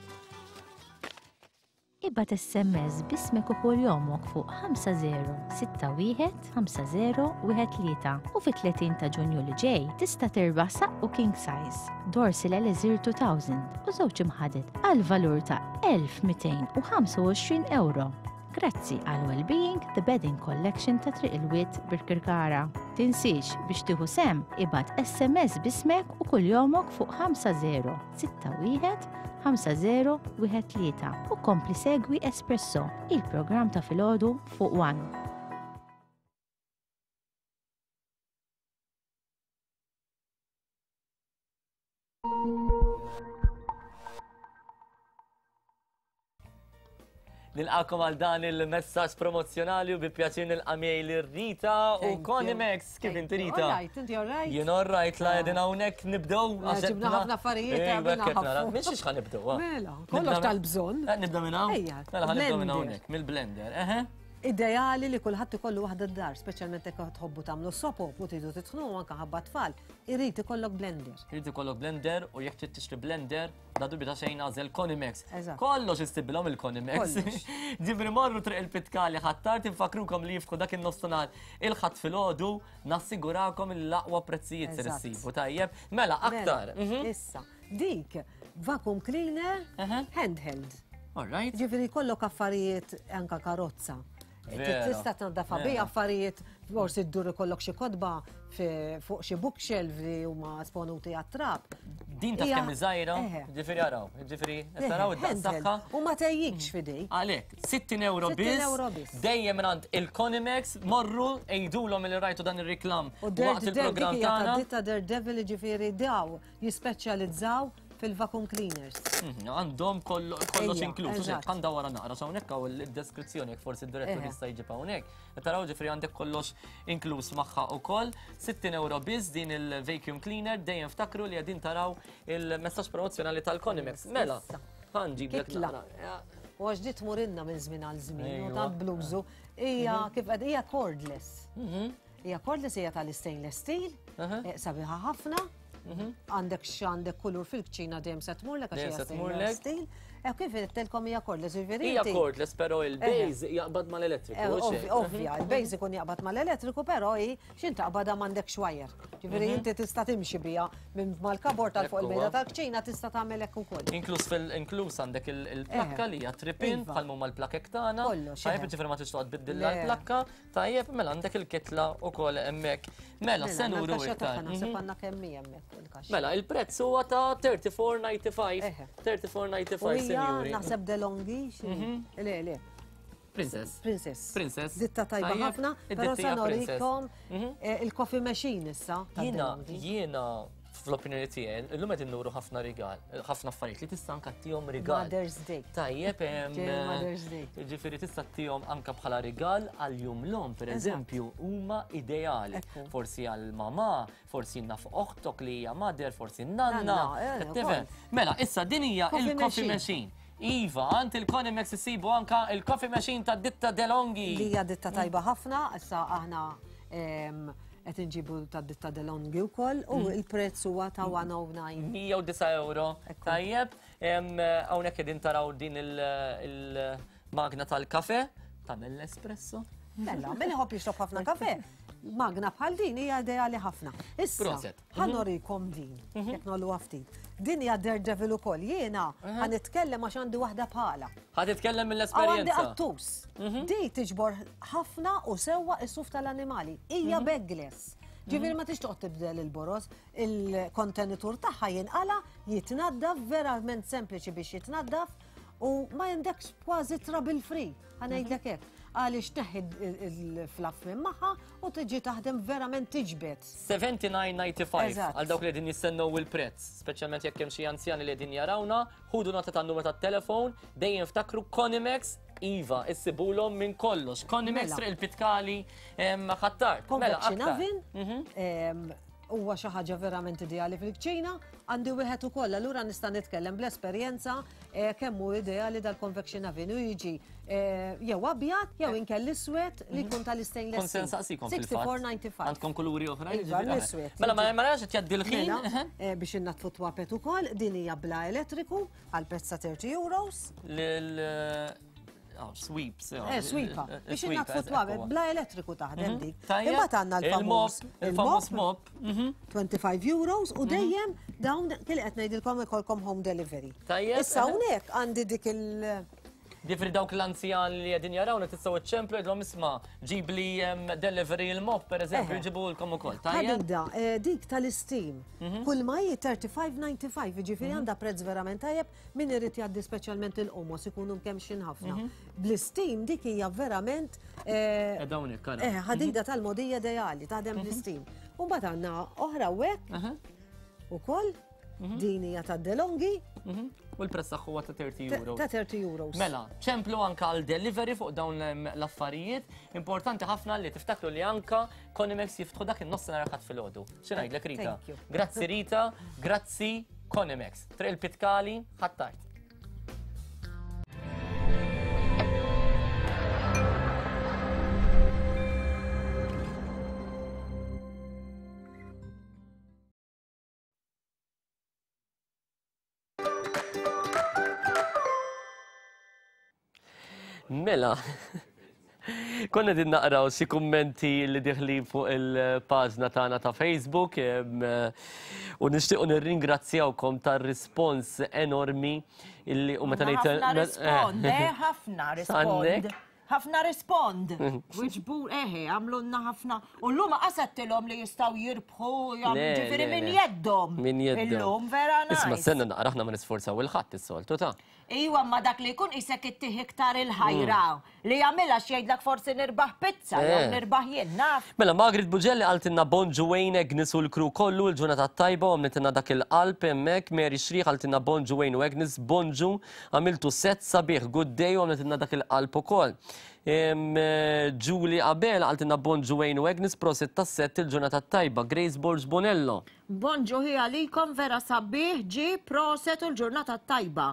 Ibgħat SMS b'ismek u kuljomok fuq 5061 5013 u fit-30 ta' Ġunju li ġej tista' tirbaħ saqqu king size, Dorsil Elixir 2000 u żewġ imħaded għal valur ta' 1225 ewro. Grazzi għal Wellbeing The Bedding Collection ta' Triq il-Wied Birkirkara. Tinsiex biex tieħu sehem ibgħat SMS b'ismek u kuljomok fuq 5061 5013 u kompli segwi Espresso, il-programm ta' filgħodu fuq One. Nilqakom għal dan il-messaġġ promozzjonali u bi pjaċir nilqa' miegħi lil Rita u Connie Max. Kif inti Rita? All right, inti all right? Jien all right, la qegħdin hawnhekk nibdew. Ah. Ġibna ħafna affarijiet. Minn xiex ħa nibdew? Ah? Mela, kollox tal-bżonn. Eh, nibda minn hawn? Ejja. Mela ħa nibdew minn hawnhekk, mill-blender. Eħe. Ideali li kulħadd ikollu waħda d-dar, speċjalment jekk tħobbu tagħmlu sopop u tridu titħnu anke ħabba tfal. Irid ikollok blender. Irid ikollok blender u jekk trid tixtri blender, bla dubju ta' xejn għażel Conimex. Kollox istibilhom il-Conimex. Ġifieri morru triq il-Pitkali Ħ'Attard infakrukom li jiftħu dak in-nofsinhar il-Ħadd filgħodu, nassigurakom li l-aqwa prezzijiet ser issibu tajjeb. Mela aktar. Mela, mhm. Issa, dik vacuum cleaner handheld. All right. Ġifieri jkollok affarijiet anka karozza. Tista' tnaddafa bi affarijiet forsi ddur ikollok xi kotba fuq xi bookshelf li huma esponuti għat-trab. Din taf kemm żgħira, ġifieri araw, ġifieri qed taraw id-daqs tagħha. U ma tgħejjikx f'idejk. Għalhekk, 60 euro biss. Dejjem mingħand il-Conimex, morru għidulhom li rajtu dan ir-riklam waqt il-programm tagħna. Ditta Daredevil ġifieri daw jispeċjalizzaw fil-vacuum cleaners. Mhm, għandhom kollox inkluż. Għandha wara naqra hawnhekk hawn id-deskrizzjoni jekk forsi d-direttur jista' jġib hawnhekk. Taraw ġifri għandek kollox inkluż magħha ukoll. 60 euro biss din il-vacuum cleaner dejjem ftakru li qegħdin taraw il-messaġġ promozzjonali tal-Conimex. Mela, ħanġiblek naqra. U għax di tmurinna minn żmien għal żmien, u tant bluzu, hija mhm. kif qed hija cordless. Mhm. Hija cordless hija tal-stainless steel, eh, sabiħa ħafna. Għandek x'għandek kulur fil-kċina dejjem se tmurlek għax Dejjem hija se stainless tmurlek. steel. E kif għedtilkom hija cordless, jiġifieri Hija inti- cordless, però il-base jaqbad mal-elettriku. Eh, hux hekk? Ovvja, il-base ikun jaqbad mal-elettriku, però hi x'in taqbadha m'għandekx wire. Ġifieri inti tista' timxi biha minn mal-kabord tal fuq Ekku, il-mejda ha. tal-kċina tista' tagħmel hekk ukoll. Inkluż fil inkluż għandek il-plakka li hija tripin Iva. bħal huma l-plakek tagħna. Kollox, Tajjeb, eħe. ġifieri ma tridx toqgħod biddilha Le. l-plakka. Tajjeb, mela għandek il-kitla wkoll hemmhekk. Mela, se għandna nuru l-kaxxa iktar. tagħha, Naħseb għandna kemm hi hemmhekk il-kaxxa. Mela, il-prezz huwa ta' 34.95. 34.95, U hija sinjuri. naħseb DeLonghi, xi? Le, le. Princess. Princess. Princess. Ditta tajba Tajjeb, ħafna, però id-ditta se hija Princess. norikom eh, il-coffee machine issa. ta' Jiena, DeLonghi. jiena fl-opinjoni tiegħi, illum qed innuru ħafna rigal, ħafna affarijiet li tista' anka ttihom rigal. Mother's Day. Tajjeb, em, Ġej Mother's Day. Ġifieri tista' ttihom anka bħala rigal għal jum l-omm, per eżempju, huma ideali. Forsi għal mama, forsi naf oħtok li hija mother, forsi nanna. Nanna, eh, Qed tifhem? ukoll. Mela, issa din hija Coffee il-coffee machine. machine. Iva, għand il-Conimex issibu anka il-coffee machine ta' ditta DeLonghi. Li hija ditta tajba ħafna, issa aħna em, qed inġibu ta' ditta DeLonghi wkoll u il-prezz huwa ta' 109. 109 euro. Tajjeb, em, hawnhekk qegħdin taraw din il-magna tal-kafe, tagħmel l-espresso. Mela, min iħobb jixrob ħafna kafe, magna bħal din hija ideali ħafna. Issa, Proset. ħa norikom din, jekk nollu ftit. Din hija Daredevil ukoll. Jiena ħa nitkellem għax għandi waħda bħala. Ħa titkellem Aw għandi mill-esperjenza. qattus. Di tiġbor ħafna u sewwa is-suf tal-annimali. Hija bagless. Ġifieri ma tix toqgħod tibdel il-boroż, il-kontenitur tagħha jinqala, jitnaddaf, verament sempliċi biex jitnaddaf u ma jendekx kważi trouble free, ħa ngħidlek hekk. Għaliex tneħħi il-fluff minn magħha u tiġi taħdem verament tiġbed. 79.95 Eżatt. għal dawk li qegħdin jistennew il-prezz, speċjalment jekk hemm xi anzjani li qegħdin jarawna, ħudu nota tan-numru tat-telefon, dejjem ftakru Conimex Iva, issibulhom minn kollox. Conimex Mela. Triq il-Pitkali Ħ'Attard. Mela, Convection aktar. oven, em, huwa xi ħaġa verament ideali fil-kċina, għandi wieħed ukoll, allura nista' nitkellem bl-esperjenza eh, kemm hu ideali dal-convection oven u jiġi eh, jew abjad jew inkell iswed li jkun tal-istainless Kont se steel. nsaqsikom fil-fatt. 64.95. Għandkom kuluri oħra? Iva, jiġifieri? l-iswed. Mela, ma ma narax qed jgħaddi l-ħin. Mela, eh, biex innatfu twapet ukoll, din hija bla elettriku għal prezz ta' 30 euros. Lil oh, sweeps. Eh, sweepa. Biex innatfu twapet, bla elettriku taħdem dik. Tajjeb. Imbagħad għandna l-famuż Il-mop, il-famuż mop. 25 euros u dejjem dawn kien qed ngħidilkom ikolkom home delivery. Tajjeb. Issa hawnhekk għandi dik il- Ġifieri dawk l-anzjan li qegħdin jarawna tistgħu iċċemplu jgħidlhom isma' ġibli em, delivery il-mop pereżempju Eħe. jġibulkom ukoll. Tajjeb? Ħadida, eh, dik tal-steam. Kull ma hi 35.95, ġifieri għandha prezz verament tajjeb min irid jgħaddi speċjalment il-qomos ikunu mkemmxin ħafna. Bl-steam dik hija verament eh, Eh, hawnhekk, ara. eh, ħadida tal-mogħdija ideali, taħdem bl-steam. U mbagħad għandna oħra hekk ukoll din hija ta' DeLonghi U l-prezz tagħha huwa ta' 30 euro. ta' 30 euros. Mela, ċemplu anka għal delivery fuq dawn l-affarijiet. Importanti ħafna li tiftakru li anka Conimex jiftħu dak in-nofsinhar ħadd filgħodu. Xi ngħidlek Rita? Thank you. Grazzi Rita, grazzi Conimex. Triq il-Pitkali, Ħ'Attard. Mela, konna din naqraw xi kummenti li diħli fuq il-paġna tagħna ta' Facebook em, u nixtiequ nirringrazzjawkom tar-rispons enormi illi u meta ngħid Ħafna rispond, eh, ħafna rispond. Għandek? Ħafna rispond. Wiġbu, eħe, għamlunna ħafna. U l-lum qasettilhom li jistgħu jirbħu, Le, ġifieri le, minn le. jeddhom. Min jeddhom. Illum vera Isma' nice. senna naqra aħna ma nisforzaw il-ħadd is-soltu ta' Iwa, ma dak li jkun isek ittih iktar il-ħajra. Li jagħmilha x'jgħidlek forsi nirbaħ pizza, jew Eh. nirbaħ jien naf. Mela, Margaret Bugelli qaltilna bonġu Wayne Agnes u l-crew kollu l-ġurnata tajba u għamlitilna dak il-qalb hemmhekk. Mary Xrieħ qaltilna bonġu Wayne u Agnes, bonġu, għamiltu set sabiħ, good day u għamlitilna dak il-qalb ukoll. Em, eh, Julie Abel qaltilna bonġu Wayne u Agnes, prosit tas-set il-ġurnata tajba. Grace Borg Bonello. Bonġu hi għalikom vera sabiħ ġi proset u l-ġurnata tajba.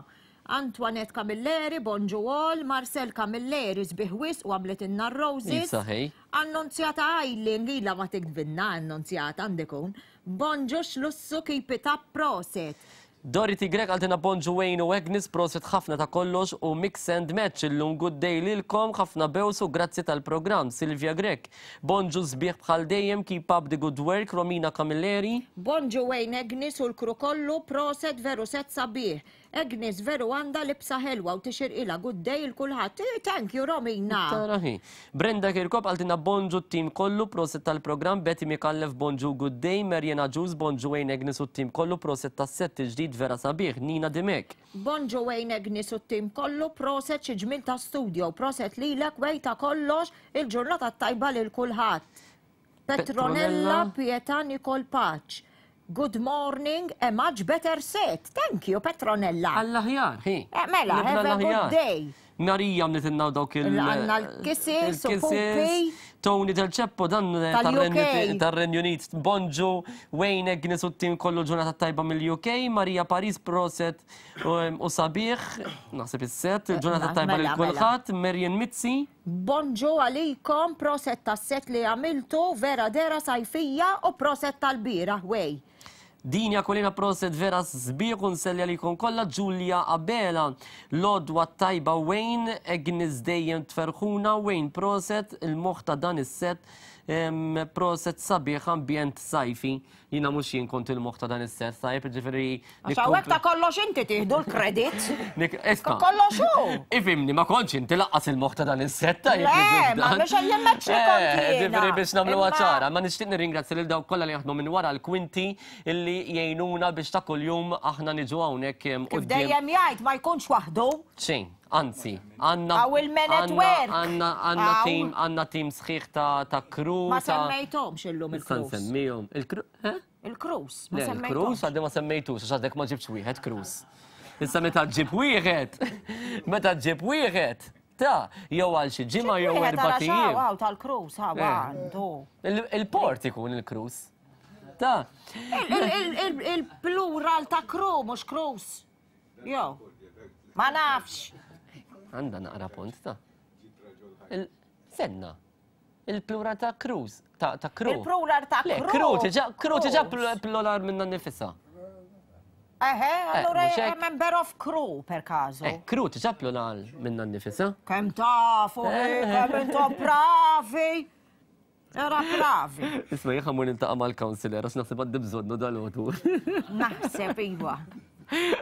Antoinette Camilleri, bonġu all, Marcel Camilleri sbieħ wisq u għamlitilna r-roses. Isa ħej. Annunzjata Eileen, lilha ma tiktbilna Annunzjata għandikun. Bonġu x'lussu keep it up proset. Dorothy Grech qaltilna bonġu Wayne u Agnes proset ħafna ta' kollox u mix and match illum good day lilkom ħafna bews u grazzi tal-programm Sylvia Grech bonġu sbieħ bħal dejjem keep up the good work Romina Camilleri. Bonġu Wayne Agnes u l-crew kollu proset veru set sabiħ Agnes veru għandha libsa ħelwa u tixirqilha good day il kulħadd Ih thank you Romina. Tara hi. Brenda Kirkop qaltilna bonġu t-team kollu proset tal-programm Betty Micallef bonġu good day Marian Agius bonġu Wayne Agnes u t-team kollu proset tas-sett il-ġdid vera sabiħ Nina Dimech. Bonġu Wayne Agnes u t-team kollu proset xi ġmiel ta' studio proset lilek Way ta' kollox il-ġurnata t-tajba lil kulħadd Petronella Pietà Nicole Pace Good morning, a much better set. Thank you, Petronella. Għall-aħjar, hi. Eh, mela, have a good day. Marija għamlitilna dawk il- Għandna l-kisses u pupi. Tony Del Ceppo dan Tal-UK. tar-Renju Unit. Bonġu, Wayne Agnes u t-tim kollu ġurnata tajba mill-UK. Marija Paris proset u sabiħ, naħseb is-set, ġurnata tajba lil mela, mela. kulħadd. Marian Mizzi. Bonġu għalikom, proset tas-set li għamiltu, vera dera sajfija u proset tal-bieraħ, wey. Dini Aquilina proset vera sbieħ u nselli għalikom kollha, Giulia Abela, l-għodwa t-tajba Wayne, Agnes dejjem tferħuna, Wayne proset, il-moħħ ta' dan is-set, proset sabiħ ambjent sajfi. Jiena mhux jien kont il-moħħ ta' dan is-set, tajjeb, jiġifieri. Għax hawnhekk ta' kollox inti tieħdu l-kredit. Isma'. Kollox hu. Ifhimni, ma kontx inti laqqas il-moħħ ta' dan is-set, tajjeb. Le, ma mhux qed jemmetx li kont Eh, jiena. Jiġifieri biex nagħmluha Imma- ċara, ma nixtieq nirringrazzja lil dawk kollha li jaħdmu minn wara l-kwinti illi jgħinuna biex ta' kuljum aħna niġu hawnhekk Kif quddiem. dejjem jgħid ma jkunx waħdu. Xejn, anzi, għandna. Hawn il-men at work. Għandna għandna Hawn. team, għandna team sħiħ ta' ta' crew. Ma ta' semmejthomx illum Issa il-crews. nsemmihom. Il-crew, eh? Il-crews, ma Le, il-crews semmejthomx. għaddi ma semmejtux, għax għadek ma ġibx wieħed crews. Issa meta ġib wieħed, meta ġib wieħed, ta' jew għal xi ġimgħa jew Wieħed erba' ara ijiem. xaw, hawn tal-crews, hawn Eh. għandu. Il-port ikun il-crews. Ta' Il-plural ta' crew, mhux crews. Jew. Ma nafx. Għandha naqra punt ta'. Senna. Il-plural ta' cruise, ta' ta' crew. Il-plural ta' Le, crew. crew tiġa, crew tiġa plural minna nifisha. Eħe, allura mhux hekk? member of crew per caso. Eh, crew tiġa plural minna nifisha. Kemm tafu, Eh. kemm intom bravi. Era bravi. Isma' jien ħammur niltaqa' mal-counselor għax naħseb għandi bżonnu dal-għodu. Naħseb iva.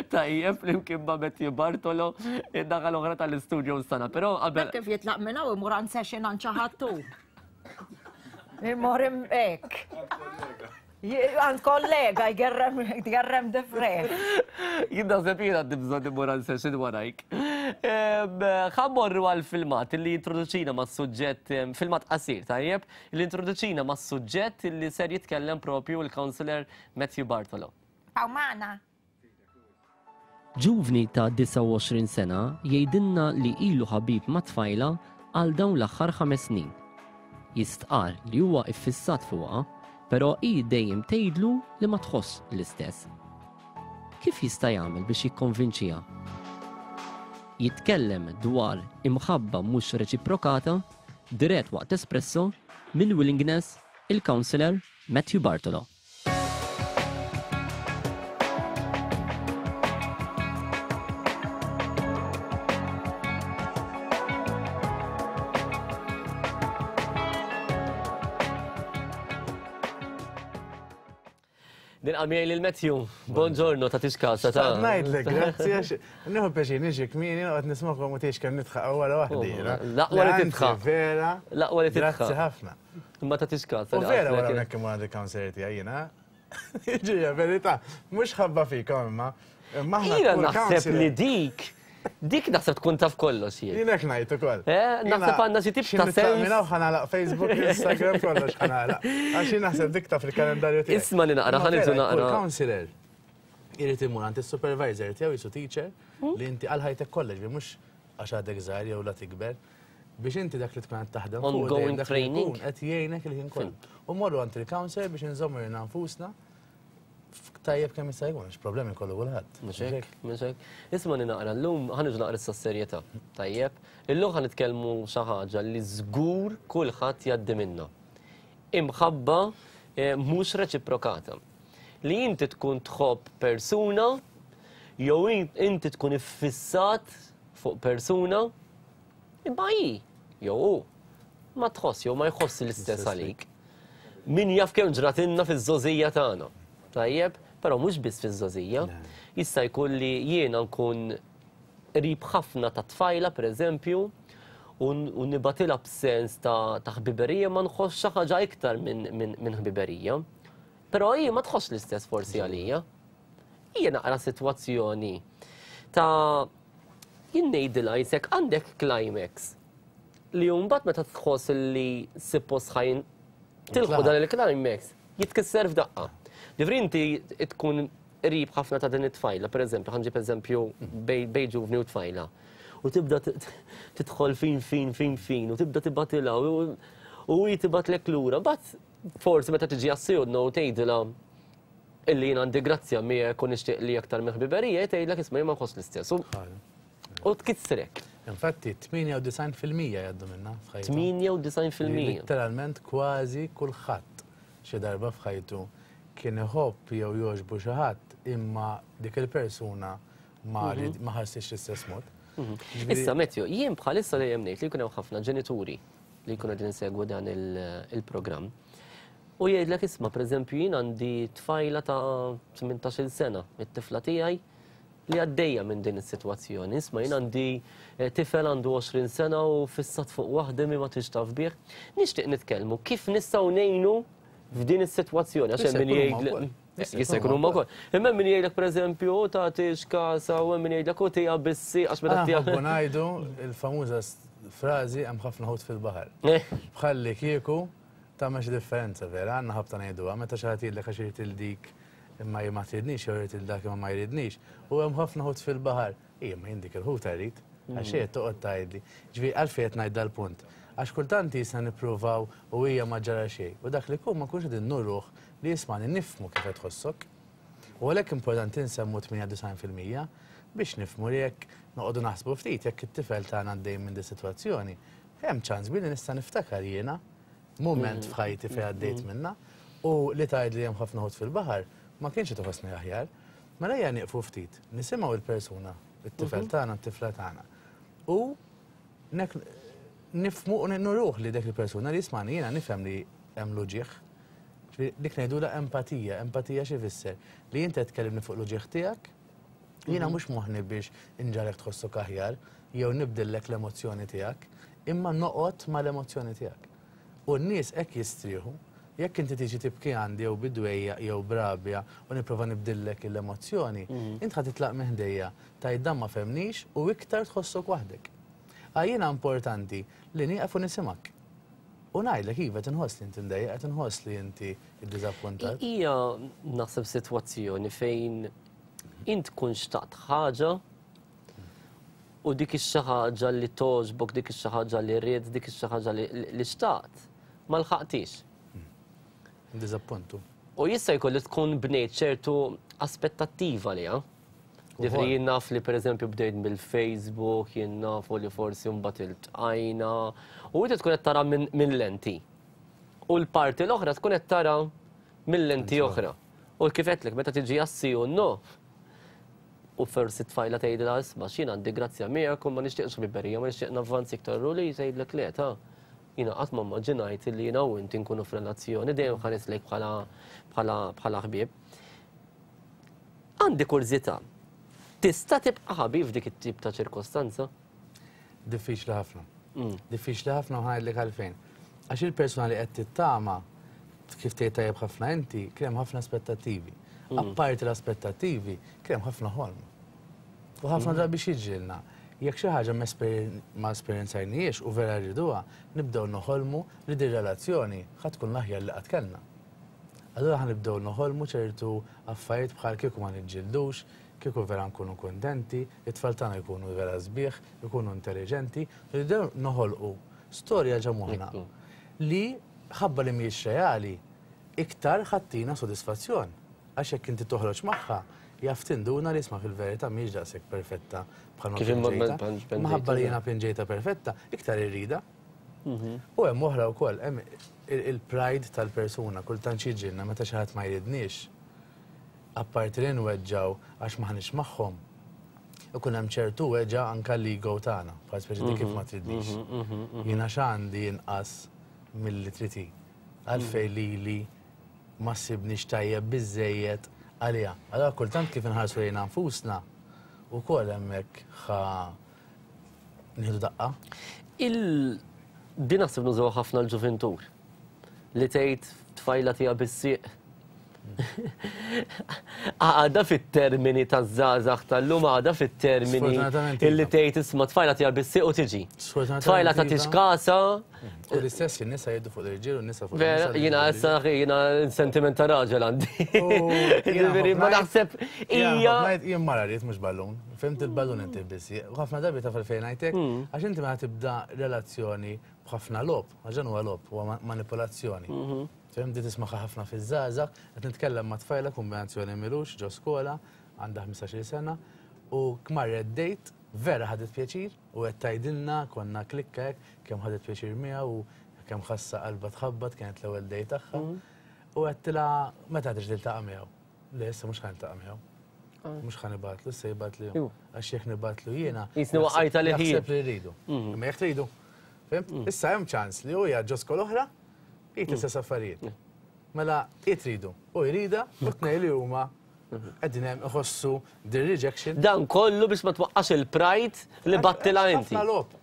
Tajjeb flimkien ma' Matthew Bartolo, id-daħal oħra tal-istudio sana, però qabel. Kif jitlaq minn hawn imur għand session għand xi ħadd hu. Imur hekk. Għand kollega jgerrem jgerrem difreħ. Jien naħseb jien għandi bżonn immur għal session warajk. Ħa mmorru għal filmat li jintroduċina mas-suġġett, filmat qasir, tajjeb, li jintroduċina mas-suġġett li ser jitkellem propju l-Councillor Matthew Bartolo. Hawn magħna. Ġuvni ta' 29 sena jgħidilna li ilu ħabib ma' tfajla għal dawn l-aħħar ħames snin. Jistqarr li huwa iffissat fuqha, però hi dejjem tgħidlu li ma tħossx l-istess. Kif jista' jagħmel biex jikkonvinċiha? Jitkellem dwar imħabba mhux reċiprokata dirett waqt Espresso minn Willingness il-Councillor Matthew Bartolo. Nilqa' miegħi lil Matthew. Buongiorno, ta' tixkasa ta' Ngħidlek, grazzi għax nieħu pjaċir niġi kmieni noqgħod nismagħkom u tgħix kemm nidħaq wara waħdi. L-aqwa li tidħaq. Vera. L-aqwa li tidħaq. Grazzi ħafna. Imma ta' tixkasa. U vera wara hawnhekk imur għand il-counselor tiegħi jiena. Ġija, verità, mhux ħabba fikom imma. Imma aħna Jiena kull naħseb counselor- li dik, dik naħseb tkun taf kollox jien. Jien hekk ngħid ukoll. Eh, naħseb għandna xi tip ta' sens. Minn hawn ħanalaq Facebook, Instagram, kollox ħanalaq. Għax jien naħseb dik taf il-kalendarju tiegħi. Isma' li naqra, Imma ħa niġu vera, kull naqra. counselor irid imur għand is-supervisor tiegħu jisu teacher li inti għal ħajtek kollox bi mhux għax għadek żgħir jew la tikber biex inti dak li tkun qed taħdem fuq Ongoing dejjem dak li training. jkun qed jgħinek il-ħin kollu. U morru għand il-counselor biex inżommu lilna nfusna. tajjeb kemm jista' jkun, għax problemi jkollu kulħadd. Mhux hekk, mhux hekk. Isma' naqra llum ħa niġu naqra issa s-serjetà. Tajjeb, illum ħa nitkellmu xi ħaġa li żgur kulħadd jgħaddi minnha. Imħabba eh, mhux reċiprokata. Li inti tkun tħobb persuna jew inti tkun iffissat fuq persuna imma hi jew hu ma tħoss jew ma jħoss l-istess għalik. Min jaf kemm ġratilna fiż-żgħożija tagħna. Tajjeb, però mhux biss fiż-żgħożija. Jista' jkun li jiena nkun qrib ħafna ta' tfajla pereżempju u nibgħatilha b'sens ta' ħbiberija ma nħoss xi ħaġa iktar minn ħbiberija. Però hi ma tħoss l-istess forsi għalija. Hija naqra sitwazzjoni ta' jien ngħidilha jisek għandek climax li mbagħad meta tħoss li suppost ħajn tilħu dan il-climax jitkisser f'daqqa. Ġifri inti tkun qrib ħafna ta' din it-tfajla, per eżempju, ħanġib eżempju bej ġuvni u tfajla. U tibda tidħol fin fin fin fin u tibda tibatilha u hi tibatlek lura. Bat forsi meta tiġi għas-sejodna u tgħidilha illi jien għandi grazzja miegħek u nixtieq li aktar minn ħbiberija, tgħidlek isma' jien ma nħoss l-istess. U tkissrek. Infatti, 98% jgħaddu minna f'ħajtu. 98%. Literalment kważi kulħadd xi darba f'ħajtu kien iħobb jew jogħġbu xi ħadd imma dik il-persuna ma mhm. ma ħassiex l-istess mod. Mhm. Issa Matthew, jien bħalissa dejjem ngħid li jkun hemm ħafna ġenituri li jkunu qegħdin insegwu dan il-programm. U jgħidlek isma' pereżempju jien għandi tfajla ta' 18-il sena, it-tifla tiegħi li għaddejja minn din is-sitwazzjoni. Isma' jien għandi eh, tifel għandu 20 sena u fissat fuq waħda mi ma tix taf bih. Nixtieq nitkellmu kif nistgħu ngħinu f'din is-sitwazzjoni għax hemm min jgħid Jista' jkun huma wkoll. Imma min jgħidlek pereżempju u tagħtix kasa u hemm min jgħidlek u tiegħa bissi għax meta tiegħek. Aħna ngħidu il-famuża frażi hemm ħafna ħut fil-baħar. Eh. Bħalli kieku tagħmel xi differenza vera, għandna ħabta ngħiduha meta xi ħadd jgħidlek għax irid il dik imma jien ma tridnix jew irid il dak imma ma jridnix. U hemm ħafna ħut fil-baħar. Ija, ma jien dik il-ħuta rrid. Għax qed toqgħod tgħidli. Ġifieri għalfejn qed ngħid dal-punt. Għax kultant jisna nippruvaw u hija ma ġara xejn. U dak li jkun ma nkunx qegħdin nuruh li jismani nifhmu kif qed tħossok. U għalhekk importanti nsemmu 98% biex nifhmu li jekk noqogħdu naħsbu ftit jekk it-tifel tagħna għaddej minn di sitwazzjoni, hemm ċans kbir li nista' niftakar jiena mument mm. f'ħajti fejn għaddejt mm. minna u li tgħid li hemm ħafna ħut fil-baħar ma kienx qed iħossni aħjar. Mela ejja nieqfu ftit, nisimgħu il-persuna, it-tifel mhm. tagħna, t-tifla tagħna. U nifmu u nuruh li dak il-persuna li jismani jiena nifhem li hemm l-uġigħ. Dik ngħidulha empatija, empatija xi fisser? Li inti qed tkellimni fuq l-uġigħ tiegħek, jiena mhm. mhux moħħni biex inġarek tħossok aħjar jew nibdillek l-emozzjoni tiegħek, imma noqgħod mal-emozzjoni tiegħek. U n-nies hekk jistrieħu. Jekk inti tiġi tibki għandi jew bid-dwejjaq jew b'rabja u nipprova nibdillek l-emozzjoni, int ħa titlaq minn ħdejja, tgħid dan ma fehmnix u iktar tħossok waħdek. Għal jiena importanti li nieqaf u nisimgħek. U ngħidlek iva qed inħoss li inti mdejjaq, qed inħoss li inti ddiżappuntat. Hija naħseb sitwazzjoni fejn int tkun xtaqt ħaġa U dik ix-xi ħaġa li togħġbok, dik ix-xi ħaġa li ridt, dik ix-xi ħaġa li xtaqt, ma lħaqtix. Diżappuntu. U jista' jkun li tkun bnejt ċertu aspettattiva liha. Ġifieri jien naf li pereżempju bdejt mill-Facebook, jien nafu li forsi mbagħad iltqajna, u inti tkun qed tara minn lenti. U l-parti l-oħra tkun qed tara minn lenti oħra. U kif għedtlek, meta tiġi għas-sì u n-no, U forsi t-tfajla tgħidilha isma' x'jien għandi grazzja miegħek u ma nixtieqx ħbiberija, ma nixtieq navvanzi iktar u li tgħidlek le ta' jiena qatt ma mmaġinajt li jiena u inti nkunu f'relazzjoni, dejjem ħares lejk bħala bħala bħala ħbieb. Għandi kurżità. Tista' tibqa' ħabib f'dik it-tip ta' ċirkostanza? Diffiċli ħafna. Mm. Diffiċli ħafna u ħajdlek għalfejn. Għax il-persuna li qed tittama kif tgħid tajjeb ħafna inti, kien hemm ħafna aspettattivi. Mm. Apparti l-aspettattivi, kien hemm ħafna ħolm. U ħafna mm. drabi xiġrilna. Jekk xi ħaġa ma esperjenzajniex u vera rriduha, nibdew noħolmu li din relazzjoni ħa tkun l-aħjar li qatt kellna. Allura ħa nibdew noħolmu ċertu affarijiet bħal kieku ma niġġildux, kieku vera nkunu kuntenti, it-tfal tagħna jkunu vera sbieħ, ikunu intelliġenti, nibdew noħolqu storja ġo moħħna li ħabba li mhijiex reali, iktar ħa ttina sodisfazzjon. Għax jekk inti toħroġ magħha, jaf tinduna li isma' fil-verità mhijiex daqshekk perfetta bħalma Kif imma pinġejtha. pinġejtha. Minħabba li jiena pinġejtha perfetta, iktar irridha. U hemm oħra wkoll, hemm il-pride tal-persuna, kultant x'jiġrilna meta xi ħadd ma jridniex, apparti li nweġġgħu għax m'aħniex magħhom, ikun hemm ċertu weġgħa anke l-ego tagħna, bħal speċi di kif ma tridnix. Jiena x'għandi inqas milli trid hi. Għalfejn lili ma ssibnix tajjeb biżżejjed għaliha. Allura kultant kif inħarsu lejna nfusna wkoll hemmhekk ħa nieħdu daqqa. Il din naħseb nużaw ħafna l-ġuvintur li tgħid tfajla tiegħha bis-sieq. Għada fit-termini taż-żgħażagħ tal-lum għada fit-termini illi iva. tgħid isma' tfajla tiegħha bis-sieq u tiġi. Tfajla tagħtix iva. kasa. U l-istess in-nisa jgħidu fuq l-irġiel u n-nisa fuq Vera, jiena issa jiena sentiment ta' raġel għandi. Jiġifieri ma naħseb hija. Jien mara rrid mhux ballun. Fhimt il-ballun inti biss. U ħafna drabi taf għalfejn ngħidlek, għax inti meta tibda relazzjoni b'ħafna logħob, għax dan huwa logħob, huwa manipolazzjoni. Fhimt di tismagħha ħafna fiż-żgħażagħ, qed nitkellem ma' tfajla kombinazzjoni m'ilux ġo skola, għandha 15-il sena, u marret date, vera ħadet pjaċir, u qed tgħidilna konna klikka hekk, kemm ħadet pjaċir miegħu u kemm ħassa qalbha tħabbat, kienet l-ewwel date tagħha. U għedtilha meta trid tiltaqa' miegħu? Le, issa mhux ħa niltaqa' miegħu. Mhux ħa nibgħatlu, issa jibgħatli hu. Għax jekk nibgħatlu jiena. Jisni waqajt għalih. Jaħseb li rridu. Imma jekk tridu. Fhimt? Issa hemm ċans li hu jgħid ġo skola oħra, jgħid l-istess affarijiet. Mela, hi tridu, u jridha, u t-tnejn li huma qegħdin hemm iħossu the rejection. Dan kollu biex ma twaqqax il-pride li battilha inti. Ħafna logħob.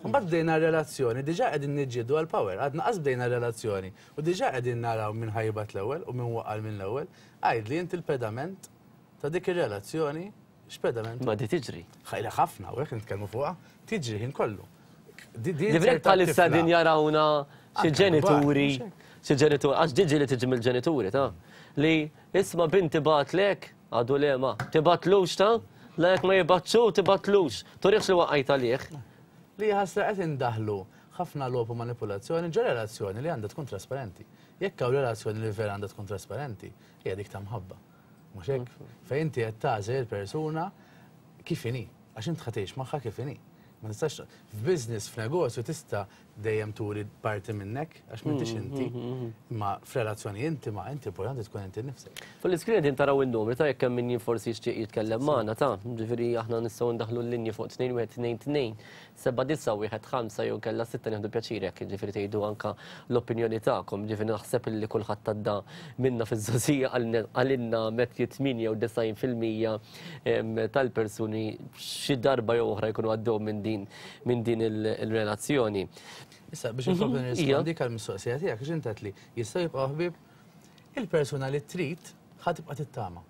Mbagħad bdejna relazzjoni, diġà qegħdin niġġieldu għall-power, għadna qas bdejna relazzjoni u diġà qegħdin naraw min ħa jibgħat l-ewwel u min waqa' minn l-ewwel. Għidli inti l-pedament ta' dik ir-relazzjoni x'pedament. Ma di tiġri. Ħajla ħafna u hekk nitkellmu fuqha, tiġri ħin kollu. Ġifieri bħalissa din jarawna xi ġenituri, xi ġenituri, għax diġi li tiġi mill-ġenituri ta' li isma' binti bagħatlek, għadu le ma, tibgħatlux ta' la jekk ma jibgħatx hu tibgħatlux, turihx li waqajt għalih. Li ħasra qed indaħħlu ħafna logħob u manipulazzjoni ġo relazzjoni li għandha tkun trasparenti. Jekk hawn relazzjoni li vera għandha tkun trasparenti, hija dik ta' mħabba. Mhux hekk? Fejn inti qed tagħżel il-persuna kif inhi. Għax int ħa tgħix magħha kif inhi. Ma tistax f'business, f'negozju tista' dejjem turi parti minnek għax m'intix inti. Imma f'relazzjoni intima inti importanti tkun inti nnifsek. Fuq l-iskrin qegħdin taraw in-numri ta' jekk hemm min forsi jixtieq jitkellem magħna ta' ġifieri aħna nistgħu ndaħħlu l-linji fuq 2122 7915 jew inkella 6 nieħdu pjaċir jekk jiġifieri tgħidu anke l-opinjoni tagħkom. Ġifieri naħseb illi kulħadd għadda minna fiż-żgħożija qalilna Matthew 98% tal-persuni xi darba jew oħra jkunu għaddew minn din minn din il-relazzjoni. Issa biex inkompli nirrispondik għall-mistoqsija tiegħek għax int għedt li jistgħu jibqgħu ħbieb, il-persuna li trid ħa tibqa' tittama.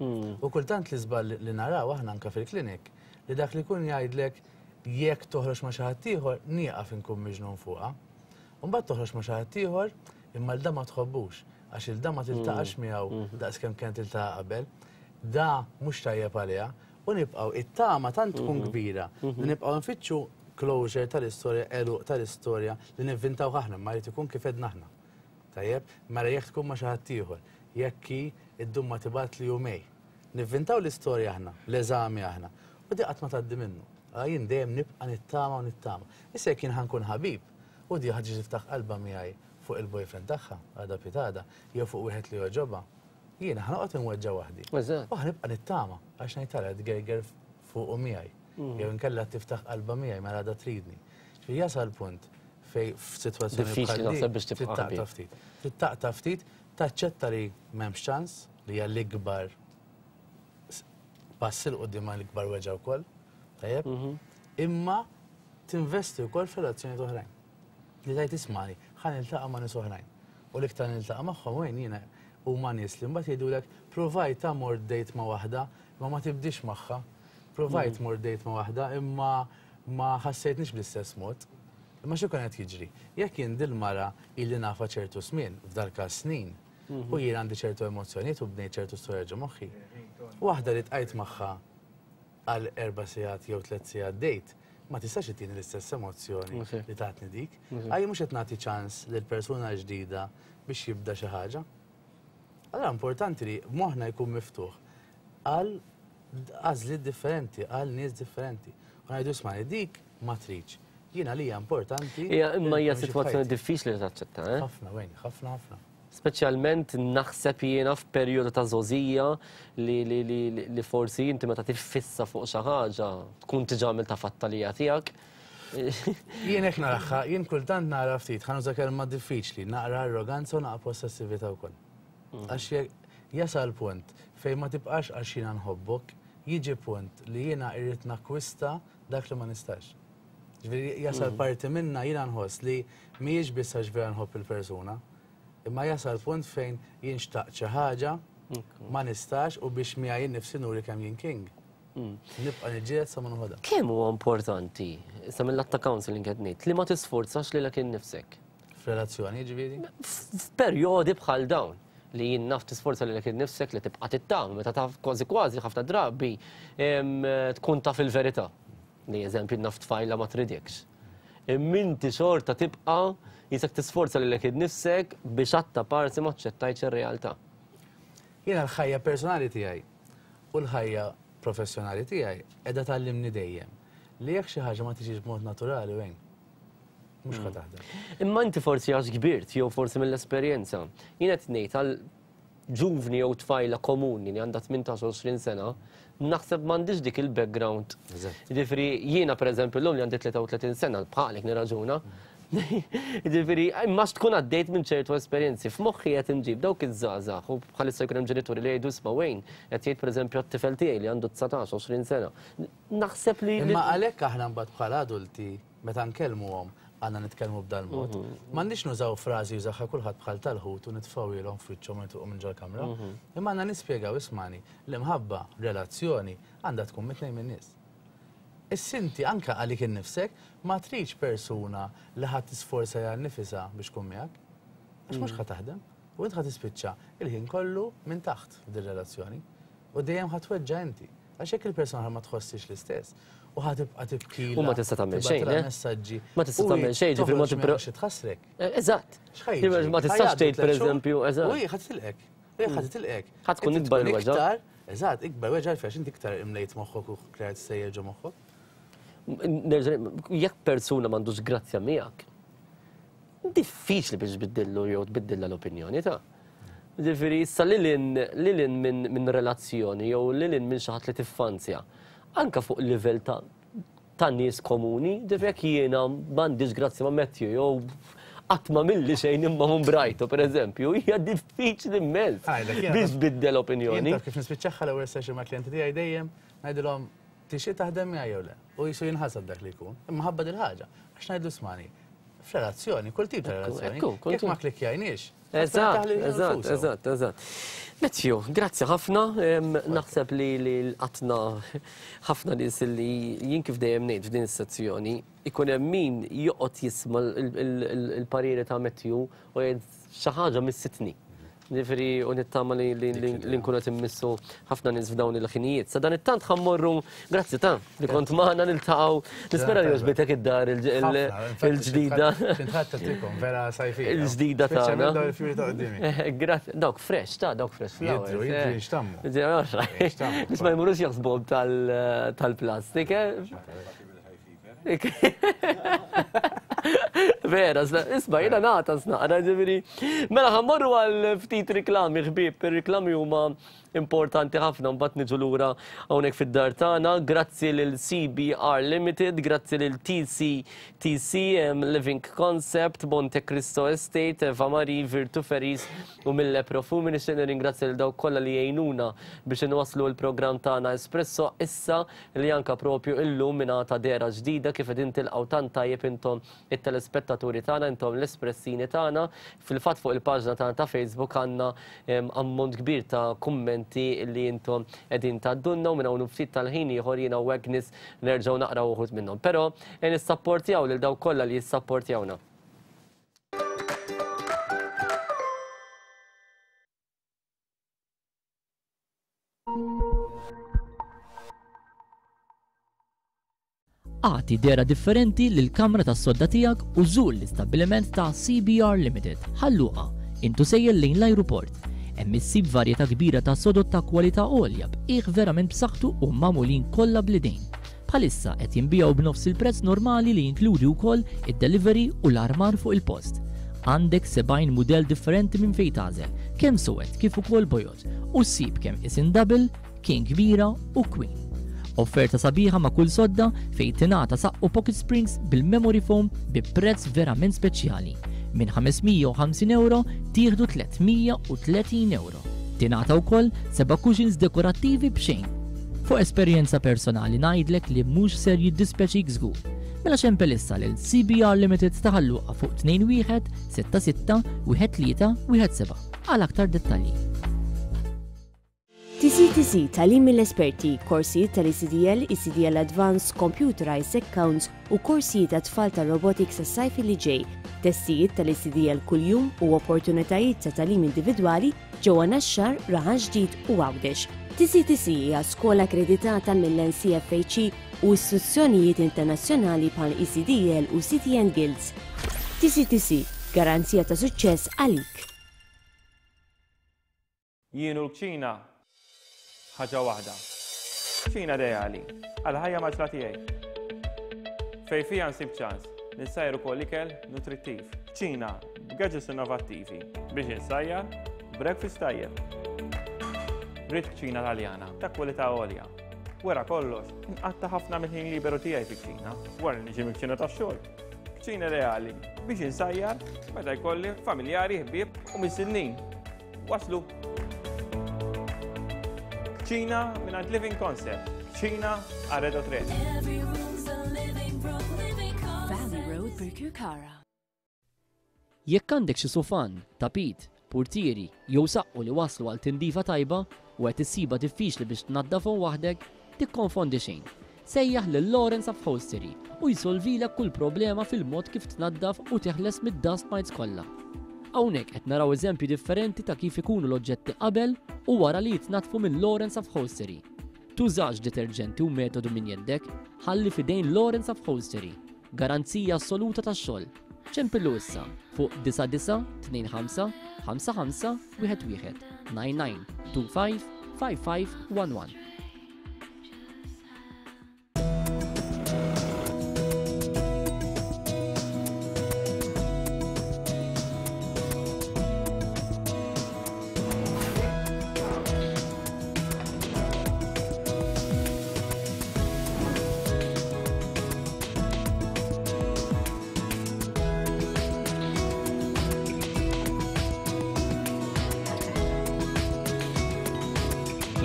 U kultant l-iżball li naraw aħna anke fil-klinik li dak li jkun jgħidlek jekk toħroġ ma' xi ħadd ieħor nieqaf inkun miġnun fuqha. U mbagħad toħroġ ma' xi ħadd ieħor imma 'l da ma tħobbux għax 'il da ma tiltaqax miegħu daqs kemm kienet tiltaqa' qabel. Da mhux tajjeb għaliha u nibqgħu it-tama tant tkun kbira li nibqgħu nfittxu closure tal-istorja, għeluq tal-istorja li nivvintawh aħna imma jrid ikun kif għedna aħna. Tajjeb, mela jekk tkun ma' xi ħadd ieħor, jekk hi ddum ma tibgħatli jumej. Nivvintaw l-istorja aħna, l-eżami aħna. U di qatt ma tgħaddi minnu. Allura jien dejjem nibqa' nittama u nittama. Issa jekk jien ħa nkun ħabib, u di ħa tiġi tiftaħ qalbha miegħi fuq il-boyfriend tagħha, għada pitgħada, jew fuq wieħed li jogħġobha, jiena ħa noqgħod inweġġa' waħdi. U ħa nibqa' nittama għax ngħid tara tgerger fuqu miegħi. Jew inkella tiftaħ qalbha miegħi mela għadha tridni. Ġifieri jasal punt fej f'sitwazzjoni Diffiċli naħseb biex tibqa' taqta' ftit. Taqta' ftit, taċċetta li m'hemmx ċans li hija l-ikbar pass 'il quddiem l-ikbar weġgħa wkoll. Tajjeb? Mhm. Imma tinvesti wkoll f'relazzjonijiet oħrajn. Li tajt ismani, ħa niltaqa' ma' nies oħrajn. U l-iktar niltaqa' magħhom wejn jiena huma nies li mbagħad jgħidulek provajt ta' mort date ma' waħda, imma ma tibdix magħha. Provajt mhm. mort date ma' waħda, imma ma ħassejtnix bl-istess mod. Imma x'ikun qed jiġri? Jekk jien dil-mara ili nafha ċertu żmien, f'dal-każ snin, u jien għandi ċertu emozzjonijiet u bnejt ċertu storja ġo moħħi, waħda li tqajt magħha għal erba' sigħat jew tliet sigħat date, ma tistax ittini l-istess emozzjoni li tatni dik. Għaj mhux qed nagħti ċans lil persuna ġdida biex jibda xi ħaġa. Allura importanti li moħħna jkun miftuħ għal għażliet differenti, għal nies differenti. U ngħidu isma' dik ma tridx. Jiena li hija importanti. Hija imma hija sitwazzjoni diffiċli li taċċetta, eh? Ħafna, wejn, ħafna ħafna. Speċjalment naħseb jiena f'perjodu ta' żgħożija li li li li forsi inti meta tiffissa fuq xi ħaġa tkun diġà għamiltha fattalija tiegħek. Jien hekk naraha, jien kultant nara ftit, ħa nuża kelma diffiċli, naqra arroganza u naqra possessività wkoll. Għax jekk jasal punt fejn ma tibqax għax jiena nħobbok, jiġi punt li jiena irrid nakkwista dak li ma nistax. Ġifieri jasal parti minna jiena nħoss li mhijiex biss għax vera nħobb il-persuna, imma jasal punt fejn jien xtaqt xi ħaġa, ma nistax u biex miegħi nnifsi nuri kemm jien king. Nibqa' niġġieled sa ma noħodha. Kemm huwa importanti, issa mill-lat ta' counselling qed ngħid, li ma tisforzax lilek innifsek? F'relazzjoni jiġifieri? F'perjodi bħal dawn li jien naf tisforza lilek innifsek li tibqa' tittama meta taf kważi kważi ħafna drabi tkun taf il-verità. Li eżempju naf tfajla ma tridekx. Imma inti xorta tibqa' jisek tisforza lilek innifsek biex għatta parsi ma aċċettajtx ir-realtà. Jiena l-ħajja personali tiegħi u l-ħajja professjonali tiegħi qiegħda tgħallimni dejjem li jekk xi ħaġa ma tiġix b'mod naturali wejn, mhux ħa taħdem. Imma inti forsi għax kbirt jew forsi mill-esperjenza. Jien qed ngħid għal ġuvni jew tfajla komuni li għandha 18-20 sena, naħseb m'għandix dik il-background. Jiġifieri jiena pereżempju llum li għandi 33 sena bħalek nirraġuna. Jiġifieri imma tkun għaddejt minn ċertu esperjenzi. F'moħħi qed inġib dawk iż-żgħażagħ u bħalissa jkun hemm ġenituri li jgħidu isma' Wayne qed jgħid pereżempju għat-tifel tiegħi li għandu 19-20 sena. Naħseb li. Imma għalhekk aħna mbagħad bħala adulti Meta nkellmuhom għandna nitkellmu b'dal-mod. M'għandniex nużaw frażi jużaha kulħadd bħal tal-ħut u nitfgħuhielhom f'wiċċhom u nitilqu minn ġol-kamra. Imma għandna nispjegaw, ismagħni, l-imħabba, relazzjoni, għandha tkun mit-tnejn min-nies. Issa inti anke għalik innifsek ma tridx persuna li ħa tisforza lilha nnifisha biex tkun miegħek. Għax mhux ħa taħdem. U int ħa tispiċċa il-ħin kollu minn taħt f'dir-relazzjoni. U dejjem ħa tweġġa' inti. Għax jekk il-persuna ma tħossix l-istess u ħa tibqa' tibkilha. U ma tista' tagħmel xejn, eh? messaġġi. Ma tista' tagħmel xejn, ġifieri ma tibqa' xi tħassrek. Eh, eżatt. Ma tistax tgħid pereżempju, eżatt. U hi ħa titilqek. U hi ħa titilqek. Ħa tkun ikbar il-weġgħa. Eżatt, ikbar weġgħa għalfejn inti iktar imlejt moħħok u krejt sejjer ġo moħħok. Jekk persuna m'għandux grazzja miegħek, diffiċli biex tbiddillu jew tbiddilha l-opinjoni ta'. Ġifieri issa lil hinn lil hinn minn minn relazzjoni jew lil hinn minn xi ħadd li tiffanzja, anke fuq livell ta' ta' nies komuni, ġifieri jekk jiena m'għandix grazzja ma' Matthew jew qatt m'għamilli xejn imma mbrajtu pereżempju, hija diffiċli immens biex tbiddel opinjoni. Jien taf kif nispiċċaha l-ewwel session mal-klijenti tiegħi dejjem ngħidilhom tixtieq taħdem miegħi jew le? U qisu jinħasad dak li jkun. Imma ħabba dil-ħaġa. Għax ngħidlu smani, f'relazzjoni, kull tip ta' relazzjoni, jekk ma klikkjajniex, Eżatt, eżatt, eżatt, eżatt. Matthew, grazzi ħafna. Naħseb li l-qatna ħafna nies li jien kif dejjem ngħid f'din is-sezzjoni, ikun hemm min joqgħod jisma' l-pariri ta' Matthew u jgħid xi ħaġa missitni. Ġifieri u nittama li nkunu qed immissu ħafna nies f'dawn il-ħinijiet. Sa dan it-tant ħa mmorru, grazzi ta' li kont magħna niltaqgħu. Nispera li għoġbitek id-dar il-ġdida. vera sajfija. Il-ġdida tagħna. Grazzi, dawk fresh, ta' dawk fresh flowers. Jidru, jidru jixtammu. Biex ma jmurux jaħsbuhom tal-plastik, eh? Vera, isma' jiena nagħta snaqra ġifieri. Mela ħa mmorru għal ftit riklami ħbieb, ir-riklami huma importanti ħafna mbagħad niġu lura hawnhekk fid-dar tagħna. Grazzi lil CBR Limited, grazzi lil TCTC, Living Concept, Monte Cristo Estate, Eva Marie, Virtu Ferries u Mille Profumi. Nixtieq nirringrazzja lil dawk kollha li jgħinuna biex inwasslu l-programm tagħna Espresso issa li anke propju illum ingħata dehra ġdida kif qegħdin tilqgħu tant tajjeb intom it-telespettaturi tagħna, intom l-espressini tagħna. Fil-fatt fuq il-paġna tagħna ta' Facebook għandna ammont kbir ta' kummenti li intom qegħdin tgħaddulna u minn hawn u ftit tal-ħin ieħor jiena u Agnes nerġgħu naqraw uħud minnhom. Però nissapportjaw lil dawk kollha li jissapportjawna. Agħti dehra differenti lill-kamra tas-sodda tiegħek u żur l-istabbiliment ta' CBR Limited, Ħal Luqa, int u sejjer lejn l-ajruport. Hemm issib varjetà kbira ta' sodod ta' kwalità għolja b'qiegħ verament b'saħħtu u magħmulin kollha bl-idejn. Bħalissa qed jinbiegħu b'nofs il-prezz normali li jinkludi wkoll id-delivery u l-armar fuq il-post. Għandek 70 mudell differenti minn fejn tagħżel, kemm suwed kif ukoll bojod, u ssib kemm isin double, king kbira u queen. Offerta sabiħa ma' kull sodda fejn tingħata saqqu pocket springs bil-memory foam bi prezz verament speċjali. Minn 550 ewro tieħdu 330 ewro. Tingħata wkoll seba' cushions dekorattivi b'xejn. Fuq esperjenza personali ngħidlek li mhux ser jiddispjaċik żgur. Mela xempel issa lil CBR Limited ta' Ħal Luqa fuq 21 66 13 17 għal aktar dettalji. TCTC, Tagħlim mill-esperti, korsijiet tal-ECDL, ECDL Advanced, Computerized Accounts u korsijiet għat-tfal tar-robotics għas-sajf li ġej, testijiet tal-ECDL kuljum u opportunitajiet ta' tagħlim individwali ġewwa Naxxar, Raħal Ġdid u Għawdex. TCTC hija skola akkreditata mill-NCFHE u istituzzjonijiet internazzjonali bħal ECDL u CTN Guilds. TCTC, garanzija ta' suċċess għalik. Jien u l-kċina ħaġa waħda. Kċina ideali għal ħajja maġla tiegħi. Fej fija nsib ċans nissajr ukoll ikel nutrittiv. Kċina b'gadgets innovattivi biex insajjar breakfast tajjeb. Rrid kċina Taljana ta' kwalità għolja. Wara kollox, nqatta ħafna mill-ħin liberu tiegħi fi kċina, wara li niġi mill-kċina tax-xogħol. Kċina reali biex insajjar meta jkolli familjari, ħbieb u mistednin. Waslu! Kċina mingħand Living Concept. Kċina Arredo 3. Valley Road, Birkirkara. Jekk għandek xi sufan, tapit, purtieri jew saqqu li waslu għal tindifa tajba u qed issibha diffiċli biex tnaddafhom waħdek, tikkonfondi xejn. Sejjaħ lil Lawrence Upholstery u jsolvilek kull problema fil-mod kif tnaddaf u teħles mid-dust mites kollha. Hawnhekk qed naraw eżempji differenti ta' kif ikunu l-oġġetti qabel u wara li jitnaddfu minn Lawrence Upholstery. Tużax deterġenti u metodu minn jeddek, ħalli f'idejn Lawrence Upholstery. Garanzija assoluta tax-xogħol. Ċempillu issa fuq 9925 55 11 99 25 55 11.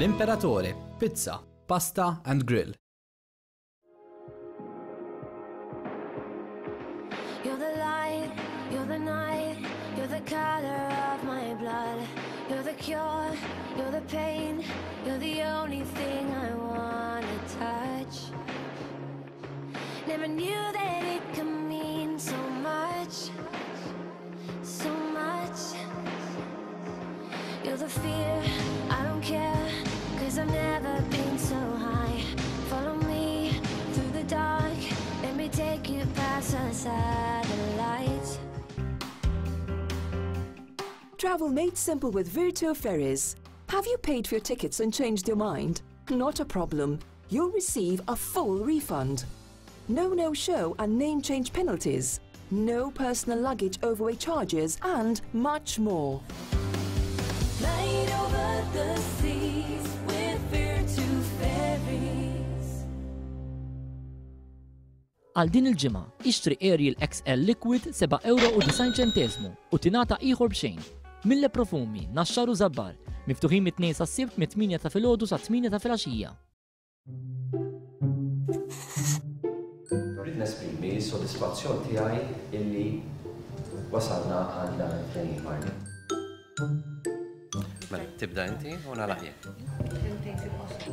L'Imperatore, pizza, pasta and grill. You're the light, you're the night, you're the color of my blood. You're the cure, you're the pain, you're the only thing I wanna touch. Never knew that it could mean so much, so much. You're the fear, I don't care, cause I've never been so high. Follow me through the dark, let me take you past the satellites. Travel made simple with Virtu Ferries. Have you paid for your tickets and changed your mind? Not a problem. You'll receive a full refund. No no-show and name change penalties. No personal luggage overweight charges and much more. Light over the seas with Virtu Ferries. Għal din il-ġimgħa, ixtri Ariel XL Liquid 7,90 ċenteżmu u tingħata ieħor b'xejn. Mille Profumi, Naxxar u Żabbar, miftuħin mit-Tnejn sas-Sibt mit-8 ta' filgħodu sat-8 ta' filgħaxija. Rrid nesprimi s-sodisfazzjon tiegħi illi wasalna għal dan il-ftehim, Marlene. Mela, tibda inti u nagħlaq jien.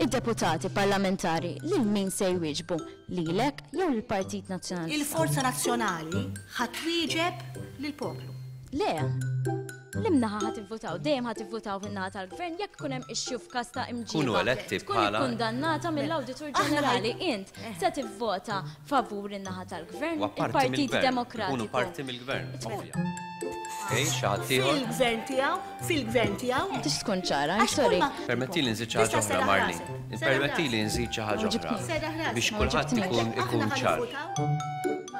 Id-deputati parlamentari lil min se jwieġbu? Lilek jew lill-Partit Nazzjonalista? Il-Forza Nazzjonali ħa twieġeb lill-poplu. Le. Limnaħa ħa tivvutaw, dejjem ħa tivvutaw fin-naħa tal-gvern jekk ikun hemm issue f'każ ta' imġiba. Kunu eletti Tkun bħala- ikkundannata mill-Awditur Ġenerali int se tivvota favur in-naħa tal-gvern, U apparti il-Partit mill-gvern. Ikunu Demokratiku. parti mill-gvern. Ovvja. Okej, xi ħadd ieħor? Fil-gvern tiegħu, fil-gvern tiegħu. Tix tkun ċara, I'm sorry. Permetti li nżid xi ħaġa oħra, Marlene. Permetti li nżid xi ħaġa oħra biex kulħadd ikun ikun ċar.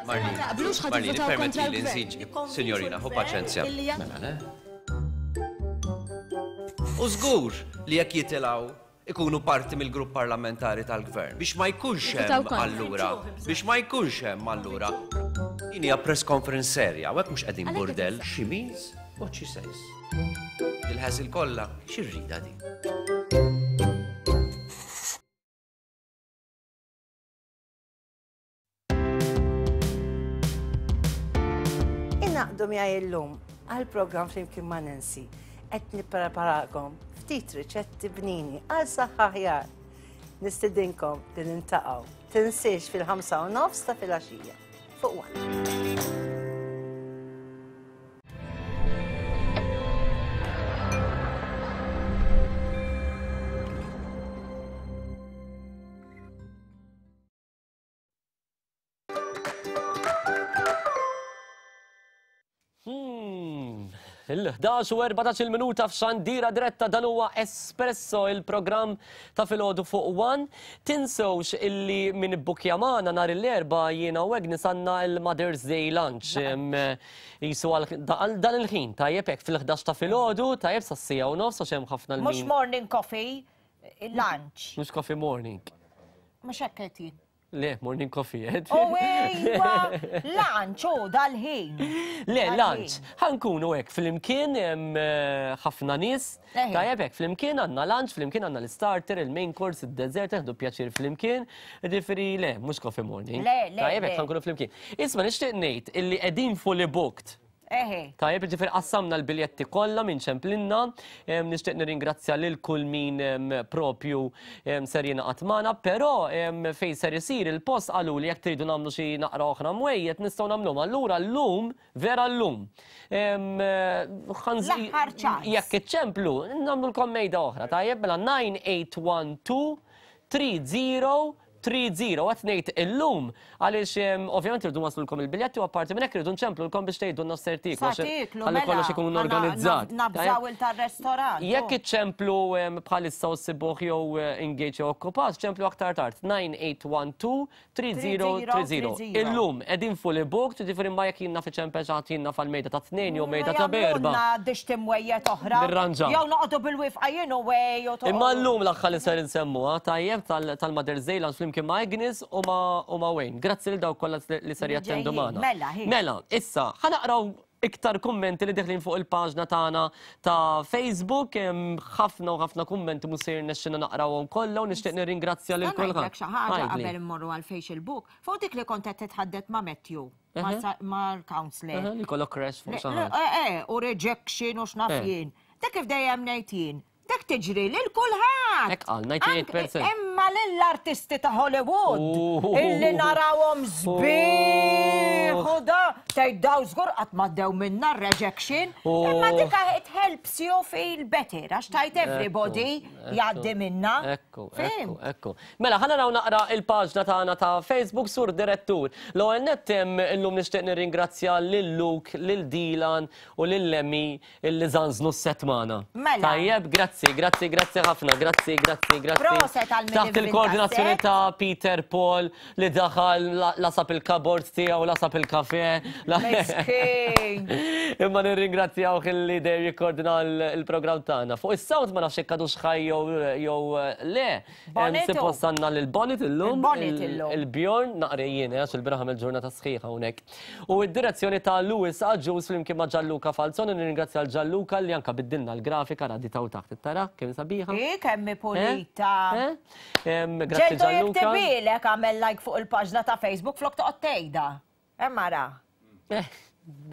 Marlene, Taqblux ħa Marlene, tivvutaw kontra permetti li l-gvern. nżid, signorina, ħu paċenzja. Mela, le? U żgur li jekk jitilgħu ikunu parti mill-grupp parlamentari tal-gvern. Biex ma jkunx Jivvutaw hemm kontra. allura, biex ma jkunx hemm allura. Din hija press conference serja, u hekk mhux qegħdin burdell. She means what she says. Il-ħażil kollha, x'irrida din? Ingħaqdu miegħi illum għall-programm Flimkien ma' Nancy. Qed nippreparakom ftit riċetti bnini għal saħħa aħjar. Nistidinkom li nintaqgħu. Tinsiex fil-5 u nofs ta' filgħaxija fuq One. Il-11 u 14 minuta f'xandira diretta dan huwa Espresso il-programm ta' filgħodu fuq One. Tinsewx illi min ibbukja magħna nhar l-Erbgħa jiena u Agnes għandna l-Mother's Day Lunch. Jisu għal dan il-ħin tajjeb hekk fil-11 ta' filgħodu, tajjeb sas-siegħa u nofs għax hemm ħafna Mhux morning coffee, lunch. Mhux coffee morning. Mhux hekk qed jien. Le, morning coffee, eh? U ejwa, lunch, u dal-ħin. Le, lunch. Ħankunu hekk flimkien eh, ħafna nies. Tajjeb hekk flimkien għandna lunch, flimkien għandna l-starter, il-main course, id-dessert, neħdu pjaċir flimkien. Ġifieri le, mhux coffee morning. Le, le. Tajjeb hekk ħankunu flimkien. Isma' nixtieq ngħid illi qegħdin fully booked. Eħe. Tajjeb, ġifieri qassamna l-biljetti kollha minn ċemplinna. Nixtieq nirringrazzja lil kull min propju ser jingħaqad magħna, però fejn ser isir il-post qaluli jekk tridu nagħmlu xi naqra oħra mwejjed nistgħu nagħmluhom. Allura llum, vera llum, L-aħħar ċans. Jekk iċċemplu, nagħmlulkom mejda oħra, tajjeb, mela 9812 30 30 qed ngħid illum għaliex ovvjament irridu nwaslulkom il-biljetti u apparti minn hekk irridu nċemplulkom biex tgħidulna x'ser tieklu Sa tieklu, ħalli mela, kollox ikun ħa organizzat. nabżaw il tar-restorant. Jekk iċċemplu bħalissa u ssibuh jew engage jew okkupat, ċemplu aktar tard 9812 3030. Illum qegħdin fully booked, jiġifieri ma jekk jien naf iċempel xi ħadd jien naf għal mejda ta' tnejn jew mejda ta' b'erba'. Jagħmlulna dix timwejjed oħra. Nirranġaw. Jew noqogħdu bil-wifqa jien u wej u toqgħodu. Imma llum l-aħħar li ser insemmuha tajjeb tal-Mother's Day Lunch flimkien ma' Agnes u ma' Wayne. Grazzi lil dawk kollha li ser jattendu magħna. Mela, hi. Mela, issa, ħa naqraw iktar kummenti li deħlin fuq il-paġna tagħna ta' Facebook, hemm ħafna u ħafna kummenti mhux se jirnexxina naqrawhom kollha u nixtieq nirringrazzja lil Nista' ngħidlek kulħadd. xi ħaġa Għidli. qabel immorru għal Facebook. Fuq dik li kont qed titħaddet ma' Matthew, mal-counselor. Eħe, Li kollok crash fuq xi ħaġa. Eh, eh, u rejection u x'naf Eh. jien. Dak kif dejjem ngħid jien, dak tiġri lil kulħadd. Hekk qal, 98%. Imma lill-artisti ta' Hollywood illi narawhom sbieħ u da tgħid daw żgur qatt ma ddew minna rejection. Imma dika it helps you feel better għax tgħid everybody jgħaddi minna. Ekku, ekku, ekku. Mela, ħa naraw naqra il-paġna tagħna ta' Facebook Sur Direttur. L-ewwel nett illum nixtieq nirringrazzja lil Luke, lil Dilan u lil Lemmy Illi żanżnu s-set magħna. Mela. Tajjeb, grazzi, grazzi, grazzi ħafna, grazzi, grazzi, grazzi. Proset għal min Taħt ivvinta il-koordinazzjoni s-set. ta' Peter Paul li daħal lasab il-cupboard tiegħu, lasab il-kafe. Miskin. Imma nirringrazzjawh illi dejjem jikkoordina l-programm tagħna. Fuq is-sound ma nafx jekk għadux ħaj jew le. Bonnet hu. Suppost għandna lil Bonnet illum. Il-Bonnet illum. Il-Bjorn naqri jien, eh, għax il-bieraħ għamilt ġurnata sħiħa hawnhekk. U d-direzzjoni ta' Louis Agius flimkien ma' Gianluca Falzone, nirringrazzja lil Gianluca li anka biddilna l-grafika ra di taw taħt. Tara kemm sabiħa? Hi kemm hi pulita. Grazzi Ġeldu Gianluca. jiktibilek għamel like fuq il-paġna ta' Facebook flok toqgħod tgħidha. Hemm ara.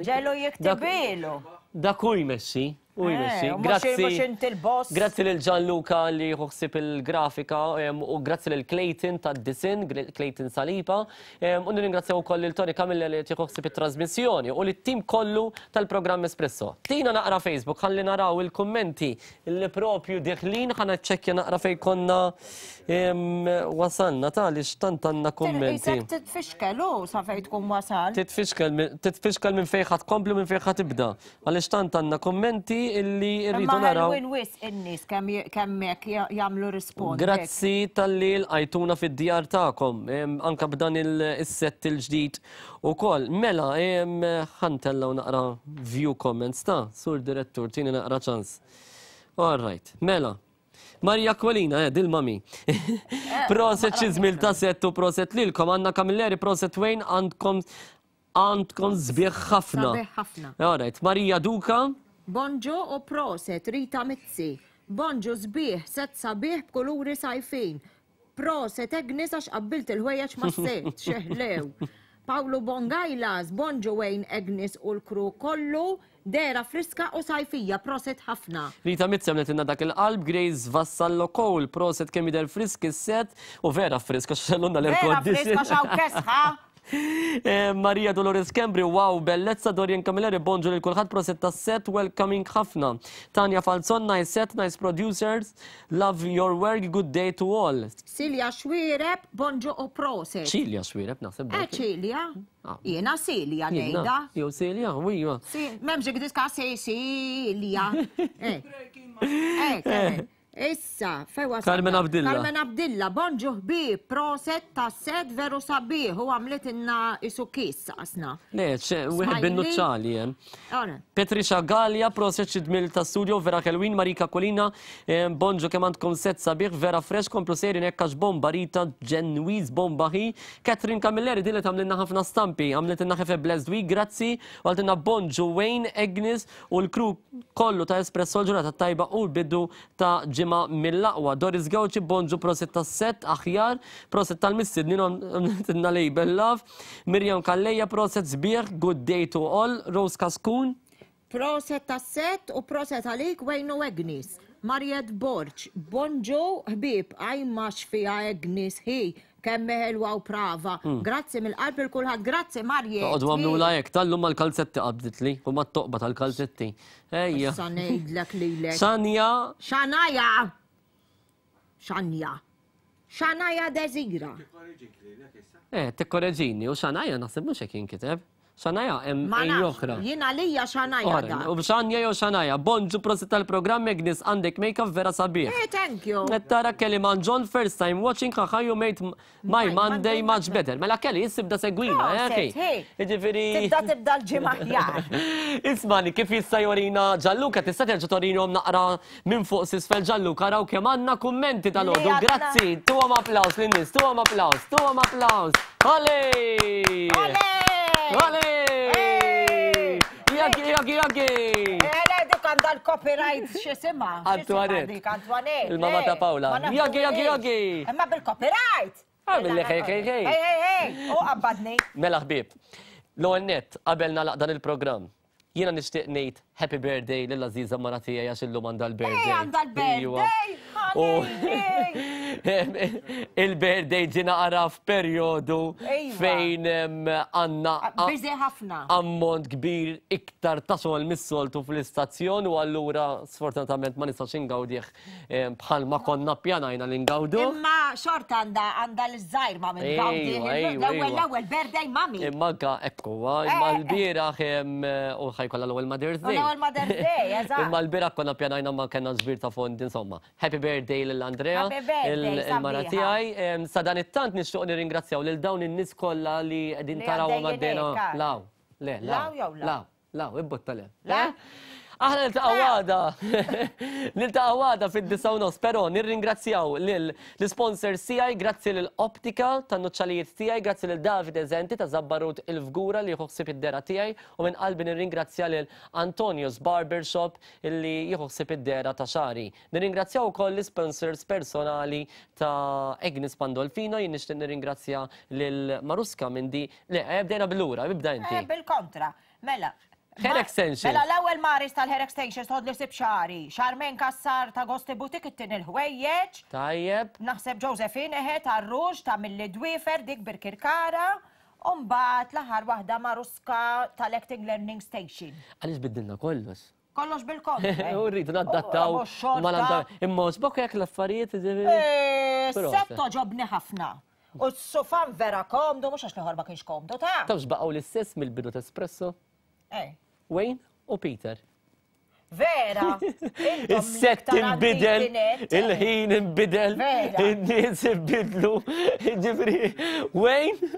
Ġelu jiktibilu. Dak hu jmexxi. U jmexxi. Eh, mhux- Grazzi. Mhux inti l-boss. Grazzi lil Gianluca li jieħu ħsieb il-grafika u grazzi lil Clayton tad-disin, Clayton Saliba. U nirringrazzjaw ukoll lil Tony Camilla li qed jieħu ħsieb it-trasmissjoni u lit-tim kollu tal-programm Espresso. Tina naqra Facebook ħalli naraw il-kummenti li propju deħlin ħa naċċekkja naqra fejn konna wasalna ta' għaliex tant għandna kummenti. Isek titfixkel u sa fejn tkun wasal. Titfixkel titfixkel minn fejn ħa tkompli u minn fejn ħa tibda. Għaliex tant għandna kummenti illi rridu Imma naraw. ħelwin wisq in-nies kemm kemm hekk jagħmlu rispond. Grazzi talli lqajtuna fid-djar tagħkom, anke b'dan is-sett il-ġdid ukoll. Mela, ħa ntellgħu naqra view comments ta' Sur Direttur, tini naqra ċans. All right, mela. Maria Aquilina, eh, dil-mami. Proset xi żmil ta' sett u proset lilkom. Anna Camilleri, proset Wayne, għandkom Għandkom sbieħ ħafna. Sabiħ ħafna. All right. Marija Duka. Bonġu u proset, Rita Mizzi. Bonġu sbieħ, set sabiħ b'kuluri sajfin. Proset Agnes għax qabbilt il-ħwejjeġ mas-set, xeħlew. Pawlu Bongajlas, bonġu Wayne Agnes u l-crew kollu, dehra friska u sajfija, proset ħafna. Rita Mizzi għamletilna dak il-qalb, Grace Vassallo Cole, proset kemm jidher frisk is-set, u vera frisk għax xellunna l-air Vera condition. frisk għax hawn kesħa. Eh, Maria Dolores Kembri, wow, bellezza Dorian Camilleri, bonġu lil kulħadd proset tas-set, welcoming ħafna. Tanja Falzon, nice set, nice producers, love your work, good day to all. Silja Xwireb, bonġu u proset. Ċilja Xwireb, naħseb. Eh, Ċilja. Ah. Jiena Silja ngħidha. Jew Silja, wijwa. M'hemmx diska Silja. Eh. Eh, eh. Issa, fejn wasalna? Carmen Abdilla. Carmen Abdilla, bonġu ħbieb, proset ta' set veru sabiħ u għamlitilna isu kiss saqasna. Le, ċe, wieħed Smiley. bin-nuċċali hemm. Ora. Patricia Gallia, proset xi dmil ta' studio, vera ħelwin, Marika Colina, eh, bonġu kemm għandkom set sabiħ, vera fresh, komplu sejrin hekk għax bomba Rita Ġenwiż bomba hi. Catherine Camilleri din li tagħmlilna ħafna stampi, għamlitilna have a blessed week, grazzi, u għaltilna bonġu Wayne, Agnes, U l-crew kollu ta' Espresso l-ġurnata t-tajba u l-bidu ta' ġimgħa mill-aqwa. Doris Gauci, bonġu prosit tas-sett aħjar, prosit tal-mistednin u għamlitilna label love. Miriam Calleja, proset sbieħ, good day to all. Rose Cascun. Proset tas-sett u proset għalik Wayne u Agnes. Mariette Borg, bonġu ħbieb, ajma x'fiha Agnes hi, Kemm hi ħelwa u prava. Hmm. Grazzi mill-qalb lil kulħadd. Grazzi Marje. Toqgħodu għamlula hekk, tal-lum mal-kalzetti qabditli u mat-toqba tal-kalzetti. Ejja. Issa ngħidlek lilek. Xanja. Xanaja. Xanja. Xanaja Desira. Eh, tikkoreġini u xanaja naħseb mhux hekk jinkiteb. Xanaja hemm Ma ej nafx, oħra. jien għalija xanaja Ora, dak. U xanja jew xanaja. Bonġu prosit tal-programm Agnes għandek make-up vera sabiħ. Eh, thank you. Qed tara Kelly Man John first time watching haha you made my Monday much better. Mela Kelly issa ibda segwina, eh, Proset, okay. hey. Jiġifieri. Tibda tibda l-ġimgħa aħjar. Ismani, kif jista' jorina Gianluca, tista' terġa' torinhom naqra minn fuq s'isfel Gianluca, araw kemm għandna kummenti dalgħodu. Li għandna. Grazzi, tuhom applaws lin-nies, tuhom applaws, tuhom applaws. Olé! Olé! Olé! Jaki, jaki, jaki! Eh, le, dik għandha l-copyright x'isimha. Antoinette. Dik Antoinette. Il-mamma le. ta' Paola. Ma nafu Jaki, jaki, hiex. jaki! Imma bil-copyright. Għamil li hej, hej, hej. Hej, hej, hej. U qabbadni. Mela ħbieb, l-ewwel nett qabel nagħlaq dan il-programm, jiena nixtieq ngħid happy birthday lil Aziza mara tiegħi għax illum għandha l-birthday. Ej, għandha l-birthday! U il-birthday ġie naqra f'perjodu fejn għandna Busy ħafna. ammont kbir iktar ta' xogħol mis-soltu fl-istazzjon u allura sfortunatament ma nistax ingawdih Bħalma konna ppjanajna li ngawdu. Imma xorta għandha għandha l-żgħir ma minn gawdi. L-ewwel l-ewwel birthday mami. Imma anka hekk huwa, imma eh, eh. l-bieraħ u ħajkollha l-ewwel Mother's Day. L-ewwel Mother's Day, eżatt. Imma l-bieraħ konna ppjanajna ma kellna ġbir ta' fondi insomma. Happy birthday lil Andrea, il-mara tiegħi. Sa dan it-tant nixtieq nirringrazzjaw lil dawn in-nies kollha li qegħdin tarawhom għaddejna. Law, le, law, law. Law, ibbotta le. Le? Aħna niltaqgħu għada. Niltaqgħu għada fid-disa u nofs, però nirringrazzjaw lil l-sponsors tiegħi, grazzi lil Optika tan-nuċċalijiet tiegħi, grazzi lil Davide Zenti ta' Zabbarut il-Fgura li jieħu ħsieb id-dehra tiegħi u minn qalbi nirringrazzja lil Antonio's Barber Shop illi jieħu ħsieb id-dehra ta' xagħri. Nirringrazzjaw ukoll l-isponsors personali ta' Agnes Pandolfino, jien nixtieq nirringrazzja lil Maruska minn di. Le, eh, bdejna bil-lura, ibda inti. Eh, bil-kontra. Mela, Hair extensions. Mela l-ewwel Maris tal-hair extensions tħodli sib xagħri. Charmaine Cassar ta' Gosti Boutique ittini l-ħwejjeġ. Tajjeb. Naħseb Josephine eħe tar-ruġ ta' milli dwiefer dik Birkirkara. U mbagħad l-aħħar waħda Maruska tal-Acting Learning Station. Għaliex biddilna kollox? Kollox bil-kontra. U rridu nadattaw. Imma sbok jekk l-affarijiet. Eh, set toġobni ħafna. U s-sufan vera komdu, mhux għax l-ieħor ma kienx komdu ta'. Tafx baqgħu l-istess mill-bidu ta' espresso? Eh. Wayne u Peter. Vera! Is-sett inbidel, il-ħin inbidel, in-nies inbidlu, ġifri, Wayne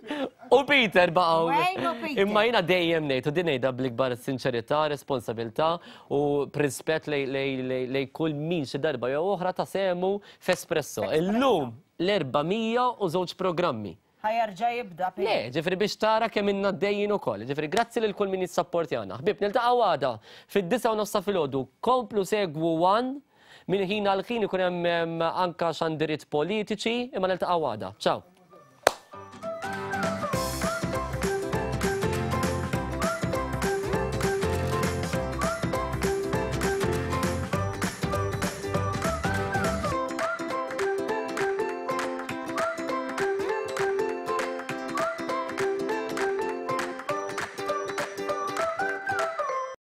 u Peter baqgħu. Wayne u Peter. Imma jiena dejjem ngħid u din ngħidha bl-ikbar sinċerità, responsabilità u b'rispett lej kull min xi darba jew oħra ta sehmu f'Espresso. Illum l-402 programmi. Ħa jerġa' jibda Pete. Le, ġifieri biex tara kemm ilna għaddejjin ukoll. Ġifieri grazzi lil kull min jissapportjana. Ħbieb, niltaqgħu għada fid-disgħa u nofs ta' filgħodu. Komplu segwu one minn ħin għal ħin ikun hemm anka xandiriet politiċi, imma niltaqgħu għada. Ciao.